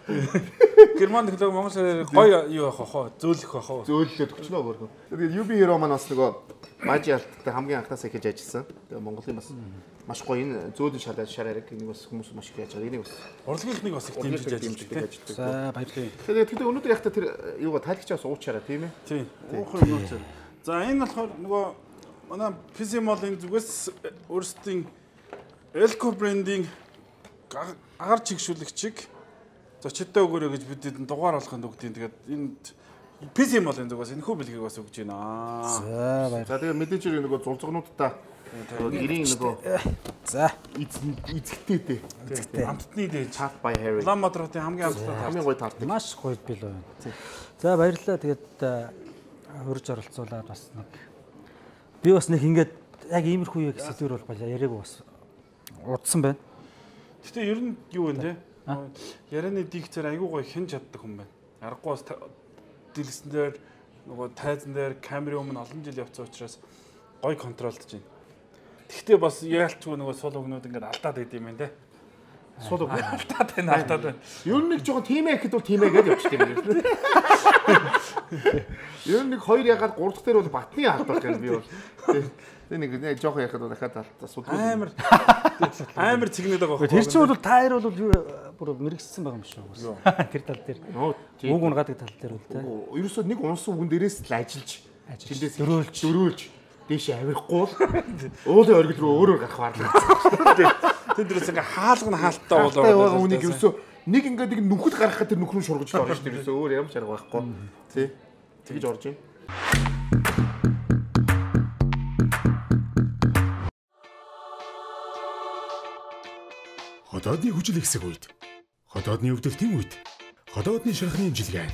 Герман технологи Монгол гоё юу яах вэ? Зөөлөх байх уу? Зөөллөө төгчнөө өөрөө. Тэгээд ю би хиро маань бас нөгөө бажи алттай хамгийн анхнаасаа хийж ажилласан. Тэгээд Монголын бас маш гоё энэ зөөлөн шалаад шараарэг энийг бас хүмүүс маш их яаж байгаа. Энийг бас урлагийнх нэг бас их дэмжиж ажилладаг. За баярлалаа. Тэгээд тэгээд өнөөдөр яг та тэр юугаа тайлгчаас уучаараа тийм ээ. Тийм. Уухын юм уу. За энэ болохоор нөгөө манай пи си Mall-ын зүгээс өөрсдийн Elco брендинг агаар чигшүүлэгчиг зочдтой өгөөрэй гэж бидэд дугаар болгохын үгдийн тэгээд энэ пи си Mall-ын зүгээс энэ хүү бэлгийг бас өгч байна. За баярлалаа. За тэгээд мэдээж хэрэг нөгөө зулцгнуудтай гэрийн нөгөө за эзэгтэй дээ. эзэгтэй. Амтны дээж Tart by Harry. Улаанбаатарын хамгийн амттай хамгийн гоё тарт. маш гоё бил байна. За баярлалаа. Тэгээд хурж оролцуулаад бас нэг би бас нэг ингээд яг иймэрхүү яг сэдвэр бол баяа яриаг бас удсан байна. Гэтэ ер нь юу вэ те? Ярианы дикцээр айгүй гоё хэн чаддаг хүн байна. Аргагүй бас дэлгэснээр нөгөө тайзан дээр камерын өмнө олон жил явцсан учраас гой контролдож байна. Тэгтээ бас яалтчгүй нөгөө сул өгнүүд ингээд алдаад байд юм байна те. Сул үг алдаад байна алдаад байна. Ер нь нэг жоохон тимээ гэхэд бол тимээ гэж явчихдаг юм. Ер нь нэг хоёр ягаад гурав дахь дээр бол батны алдах гэж би бол. Тэг нэг нэг жоохон яхад бол дахиад асуудаг. Амар амар цэгнээд байгаа байхгүй. Тэр чинь бол та хоёр бол бүр мэрэгссэн байгаа юм шүү. Тэр тал дээр. Үг унгадаг тал дээр бол тэ. Ерөөсөө нэг унсан үгэн дээрээс л ажиллаж тэндээс дөрөөлж дөрөөлж дээшээ авихгүй бол уулын оргил руу өөрөөр гарах барлаа. Тэнд дээрээс ингээ хаалгана хаалттай болоо. Үнийг ерөөсөө нэг ингээд нэг нүхэд гаргахад тэр нүхрүү шургаж орно шүү дээ. Ерөөсөө өөр ямар ч арга байхгүй. Тий. Тэгж орж байна. Ходоодны хүчил ихсэх үед, ходоодны өвдөлтийн үед, ходоодны шархны имчилгээ.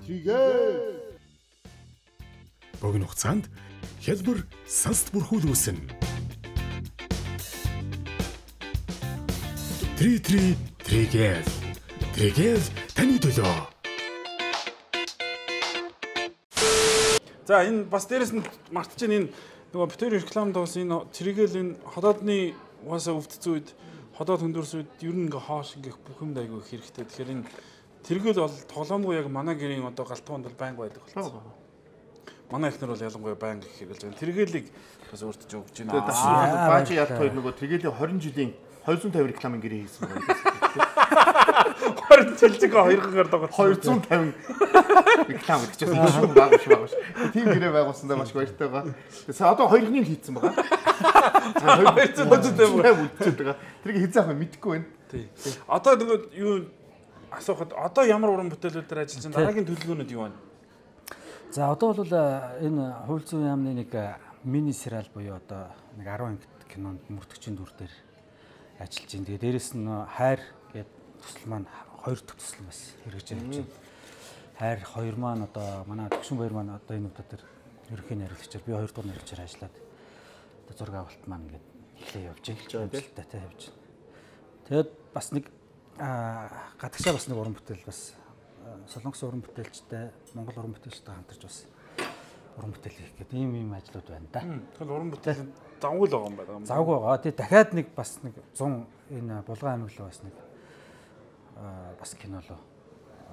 Тэгээ. Богино хугацаанд хялбар сансд бүрхүүл үүснэ. Три три тригэл. Тригэл таны төлөө. За энэ бас дээрэс нь мартаж энэ нөгөө битэр рекламд бас энэ цэрэгэл энэ ходоодны угаасаа өвдсөн үед ходоод хөндөрсөн үед ер нь ингээ хоош ингээ бүх юм айгүй хэрэгтэй. Тэгэхээр энэ тэргэл бол тоглоомгүй яг манай гэрийн одоо галтгоонд бол байнга байдаг болсон. Манай эхнэр бол ялангуяа байнга их хэрэглэж байна. Тэргэлийг бас өөртөө өгч байна. Баажи ялт хоёр нөгөө тэргэлийн хорин жилийн хоёр зуун тавин рекламын гэрээ хийсэн байна. хорин жилиг хоёр гараад байгаа. хоёр зуун тавин реклам гэж байна. Шүү баг шүү баг. Тийм гэрээ байгуулсандаа маш баяртай байгаа. Тэгээ одоо хоёрын л хийцэн байгаа. хоёр зуун тавин үлдчихэж байгаа. Тэрийг хийцэн авах мэдэхгүй байна. Тий. Одоо нөгөө юу асуухад одоо ямар уран бүтээлүүд дээр ажиллаж байгаа дараагийн төлөвлөгөөнүүд юу байна? За одоо бол энэ хууль зүйн яамны нэг мини сериал буюу одоо нэг арван кинонд мөрдөгчийн дүр дээр ажиллаж байна. Тэгээ дээрэс нь хайр гэдэг төсөл маань хоёр дахь төсөл бас хэрэгжиж байна. Хайр хоёр маань одоо манай төгшин баяр маань одоо энэ удаа дээр ерөнхий найруулагчаар би хоёр дахь найруулагчаар ажиллаад одоо зураг авалт маань ингээд эхлээ явж байгаа тийм дата явж байна. Тэгээд бас нэг гадагшаа бас нэг уран бүтээл бас солонгос уран бүтээлчтэй монгол уран бүтээлчтэй хамтарч бас уран бүтээл хийх гэдэг ийм ийм ажлууд байна да. Тэгэхээр уран бүтээл завгүй л байгаа юм байна. Завгүй байгаа. Тэгээ дахиад нэг бас нэг цун энэ булган аймаг руу бас нэг бас кино руу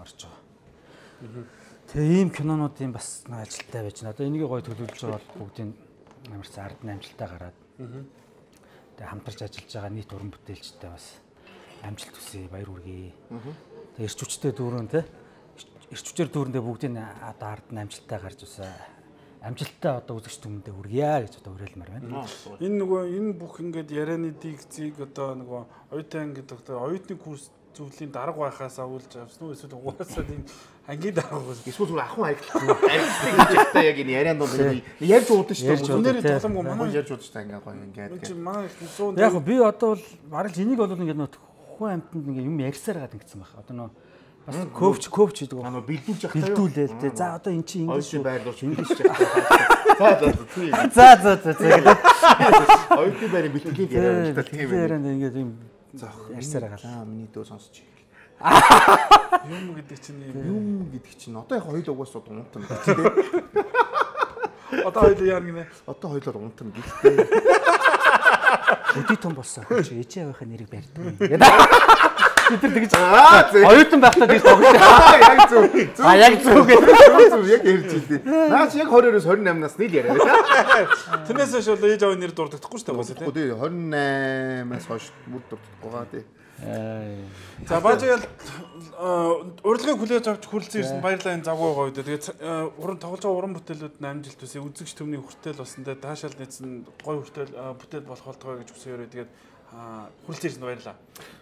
орж байгаа. Тэгээ ийм кинонуудын бас нэг ажилттай байж байна. Одоо энийг гоё төлөвлөж байгаа бол бүгдийн ямар ч ард амжилттай гараад. Тэгээ хамтарч ажиллаж байгаа нийт уран бүтээлчтэй бас амжилт хүсье, баяр хүргэе. Тэгээ эрч хүчтэй дүүрэн те эрч хүчээр дүүрэндээ бүгдийн одоо ард нь амжилттай гарч усаа амжилттай одоо үзэгч түмэндээ хүргье гэж одоо уриалмаар байна. Энэ нөгөө энэ бүх ингээд ярианы дикцийг одоо нөгөө оюутан гэдэг оюутны курс зөвлөлийн дарга байхаас авуулж авсан уу эсвэл угаасаа тийм ангийн дарга бас эсвэл зүгээр ахын аялал аялалтай гэж та яг энэ ярианд бол ярьж уудсан шүү дээ. Өнөөдөр тоглоом манай ярьж уудсан ингээ гоё ингээд. Манай их яг би одоо бол бараг энийг бол ингээд нөт хүн амтнд ингээ юм ярьсаар гад ингэсэн байх. Одоо нөө бас коуч коуч гэдэг нь бэлдүүлж явах таа. Бэлдүүлээл те. За одоо эн чинь ингэж байрлуулж ингэж явах. За за тийм. За за за за. Оюутны байрны бэлтгэлийн яриа л та тийм ээ. Ярианд ингээд юм ярьсаар гал. Аа миний дөө сонсож ий. Юм гэдэг чинь юм гэдэг чинь одоо яг хоёул угаас унтан гэдэг тийм. Одоо хоёул яар гинэ. Одоо хоёулаар унтан гэхдээ өдий том болсон. Чи ээжээ авахын нэрийг барьдаг. Бид нар тэгж оюутан байхдаа тэгж тоглож байгаа. Яг зөв. А яг зөв гэдэг. Зөв яг ярьж илээ. Наач яг двадцать-оос двадцать восемь нас нийл яриа байна. Тэрнээс хойш бол ээж аваа нэр дурддаггүй шүү дээ бас тийм. Тий двадцать восемь-аас хойш бүр дурддаггүй байгаа тий. За баажаал урилгыг хүлээж авч хүрлцэн ирсэн баярлалаа энэ завгүй байгаа үед. Тэгээд уран тоглож байгаа уран бүтээлүүд нь амжилт төсөө үзэгч төмний хүртэл болсон. Тэгээд таашаал нийцэн гой хүртэл бүтээл болох болтгоо гэж хүсэөрөө тэгээд хүрлцэн ирсэн баярлалаа.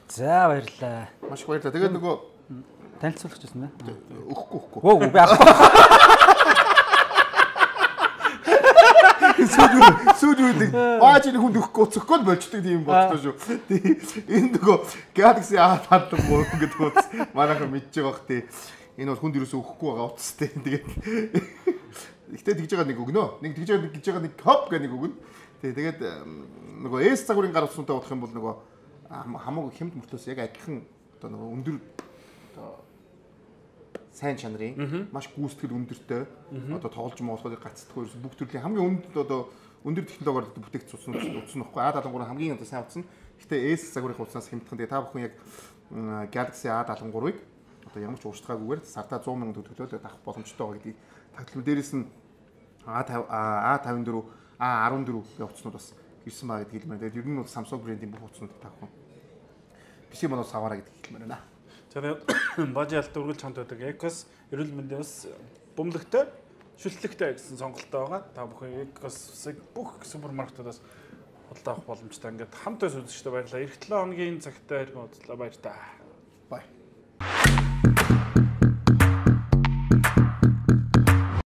За баярлалаа. Маш их баярлалаа. Тэгээд нөгөө танилцуулах гэсэн нэ. Өгөхгүй өгөхгүй. Өө би авахгүй. Сүүл сүүл баажны хүнд өгөхгүй уцхгүй л болчдөг тийм болчихлоо шүү. Энэ нөгөө Galaxy A хатдаг муу гэдэг утас манайхан мэдж байгаа бох тий. Энэ бол хүнд юусоо өгөхгүй байгаа утас тий. Тэгээд ихтэй тэгж байгаа нэг өгнө. Нэг тэгж байгаа нэг гэж байгаа нэг хоп гэх нэг өгнө. Тий тэгээд нөгөө S загварын гар утсантай бодох юм бол нөгөө хамаагүй хямд мөртлөөс яг адилхан одоо нэг өндөр одоо сайн чанарын маш гүйцэтгэл өндөртэй одоо тоглож моолохыг гацдаггүй ерөөс бүх төрлийн хамгийн өнд одоо өндөр технологиор бүтээгдсэн утсан утсан нөхгүй А седемдесет три хамгийн одоо сайн утсан. Гэхдээ S загварын утаснаас хямдхан. Тэгээ та бүхэн яг Galaxy А седемдесет три-ыг одоо ямар ч ууштгаагүйгээр сартаа сто мянган төгрөгөөр авах боломжтой байгаа гэдгийг тагтлал дээрээс нь А фифти фор, А фифти фор гэх утаснууд бас ирсэн байгаа гэдгийг хэлмээр. Тэгээд ер нь бол Samsung брендийн бүх утаснууд та бүхэн пи си модоос аваарай гэдгийг хэлмээр байна. За тэгээд бажаалт үргэлж хамт байдаг Ecos эрүүл мэндийн бас бөмбөлөгтэй шүтлэгтэй гэсэн сонголттой байгаа. Та бүхэн Ecos-ыг бүх супермаркетуудаас худалдаа авах боломжтой. Ингээд хамт үзэгчтэй баярлалаа. Эх долоо хоногийн цагтаа иргэн уулзлаа баяр та. Бай.